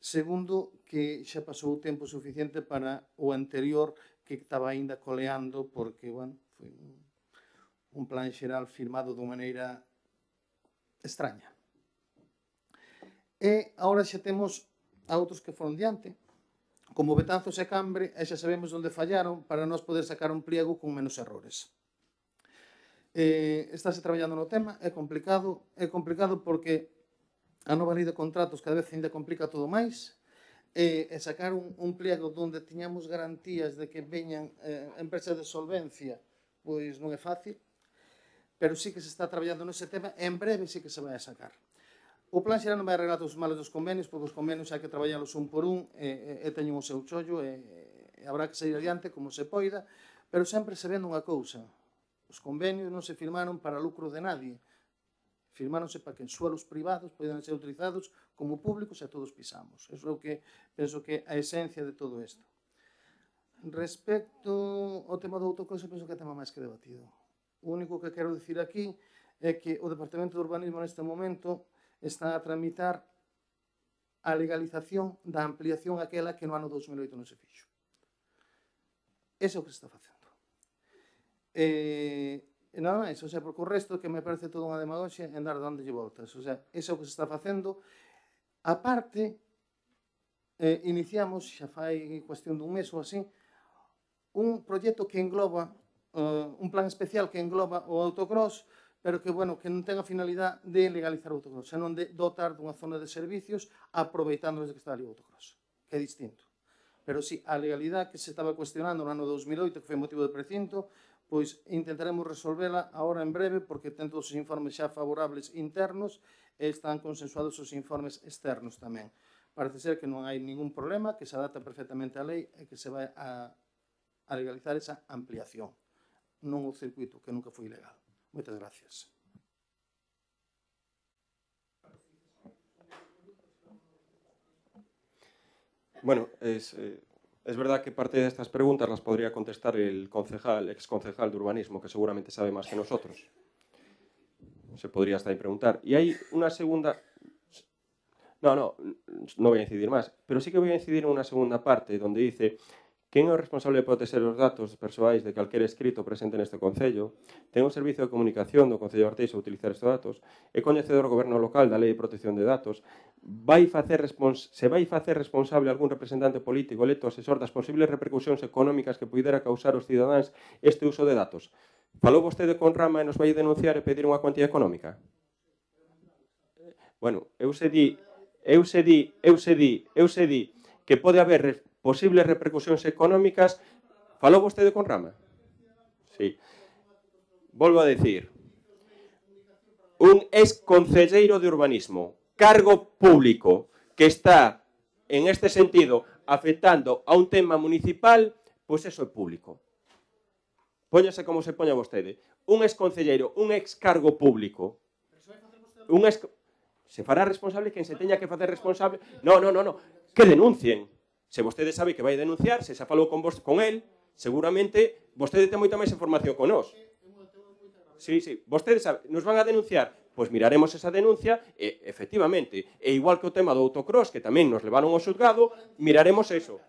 Segundo, que xa pasou o tempo suficiente para o anterior que estaba aínda coleando, porque, bueno, foi un plan xeral firmado de maneira extraña. E agora xa temos a outros que foron diante, como Betanzos e Cambre, e xa sabemos onde fallaron para nós poder sacar un pliego con menos errores. Estáse traballando no tema, é complicado porque a nova lei de contratos cada vez ainda complica todo máis, e sacar un pliego onde tiñamos garantías de que veñan empresas de solvencia, pois non é fácil, pero sí que se está traballando nese tema e en breve sí que se vai a sacar. O plan xeral non vai arreglar os males dos convenios, porque os convenios hai que traballalos un por un e teñen o seu chollo e habrá que sair adiante como se poida, pero sempre se vendo unha cousa. Os convenios non se firmaron para lucro de nadie, firmáronse para que en suelos privados poidan ser utilizados como públicos e todos pisamos. Eso é o que penso que é a esencia de todo isto. Respecto ao tema do autocross, penso que é tema máis que debatido. O único que quero dicir aquí é que o Departamento de Urbanismo neste momento está a tramitar a legalización da ampliación aquela que no ano 2008 non se fixo. Ese é o que se está facendo. E nada máis, porque o resto que me parece toda unha demagoxia en dar dándolle voltas. Ese é o que se está facendo. A parte, iniciamos, xa fai cuestión dun mes ou así, un proxecto que engloba, un plan especial que engloba o autocross, pero que, bueno, que non ten a finalidade de legalizar o autocross, senón de dotar dunha zona de servicios aproveitando desde que está ali o autocross, que é distinto. Pero sí, a legalidade que se estaba cuestionando no ano 2008, que foi motivo de precinto, pois intentaremos resolvela agora en breve, porque ten todos os informes xa favorables internos e están consensuados os informes externos tamén. Parece ser que non hai ningún problema, que se adapta perfectamente á lei e que se vai a legalizar esa ampliación, non o circuito, que nunca foi ilegal. Moitas gracias. Bueno, es verdad que parte de estas preguntas las podría contestar el exconcejal de urbanismo, que seguramente sabe más que nosotros. Se podría hasta ahí preguntar. Y hay una segunda... No voy a incidir más, pero sí que voy a incidir en una segunda parte, donde dice: quen é o responsable de proteger os datos persoais de calquer escrito presente neste Concello, ten un servicio de comunicación do Concello de Arteixo a utilizar estes datos, é coñecedor do Goberno local da Lei de Protección de Datos, se vai facer responsable algún representante político electo asesor das posibles repercusións económicas que puidera causar aos cidadáns este uso de datos. Falou vostede con Rama e nos vai denunciar e pedir unha cuantía económica? Bueno, eu se di que pode haber posibles repercusións económicas. Falou vostede con Rama? Sí. Volvo a decir. Un exconcelleiro de urbanismo, cargo público, que está, en este sentido, afectando a un tema municipal, pois eso é público. Póñase como se poña vostede. Un exconcelleiro, un excargo público, se fará responsable quen se teña que facer responsable. No. Que denuncien. Se vostede sabe que vai denunciar, se xa falou con el, seguramente vostede ten moita máis información con nós. Sí, vostede sabe, nos van a denunciar, pois miraremos esa denuncia e, efectivamente, e igual que o tema do autocross, que tamén nos levaron ao xulgado, miraremos eso.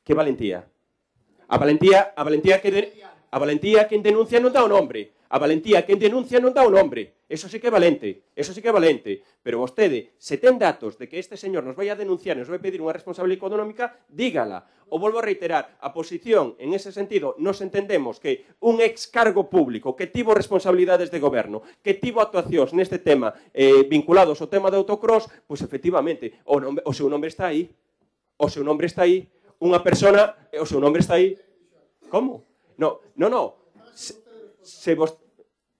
Que valentía? A valentía quen denuncia non dá o nombre. A valentía quen denuncia non dá o nombre. Eso sí que é valente. Pero vostede, se ten datos de que este señor nos vai a denunciar, nos vai pedir unha responsabilidade económica, dígala. O volvo a reiterar, a posición, en ese sentido, nos entendemos que un excargo público que tivo responsabilidades de goberno, que tivo actuacións neste tema vinculados ao tema de autocross, pois efectivamente, o seu nombre está aí. Unha persona, o seu nombre está aí. Como? No.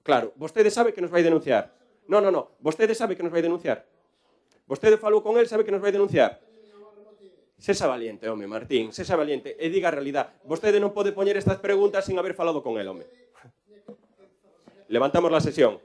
Claro, vostede sabe que nos vai denunciar. No, vostede sabe que nos vai denunciar. Vostede falou con el, sabe que nos vai denunciar. Sexa valiente, home, Martín, sexa valiente e diga a realidade. Vostede non pode poñer estas preguntas sin haber falado con el, home. Levantamos la sesión.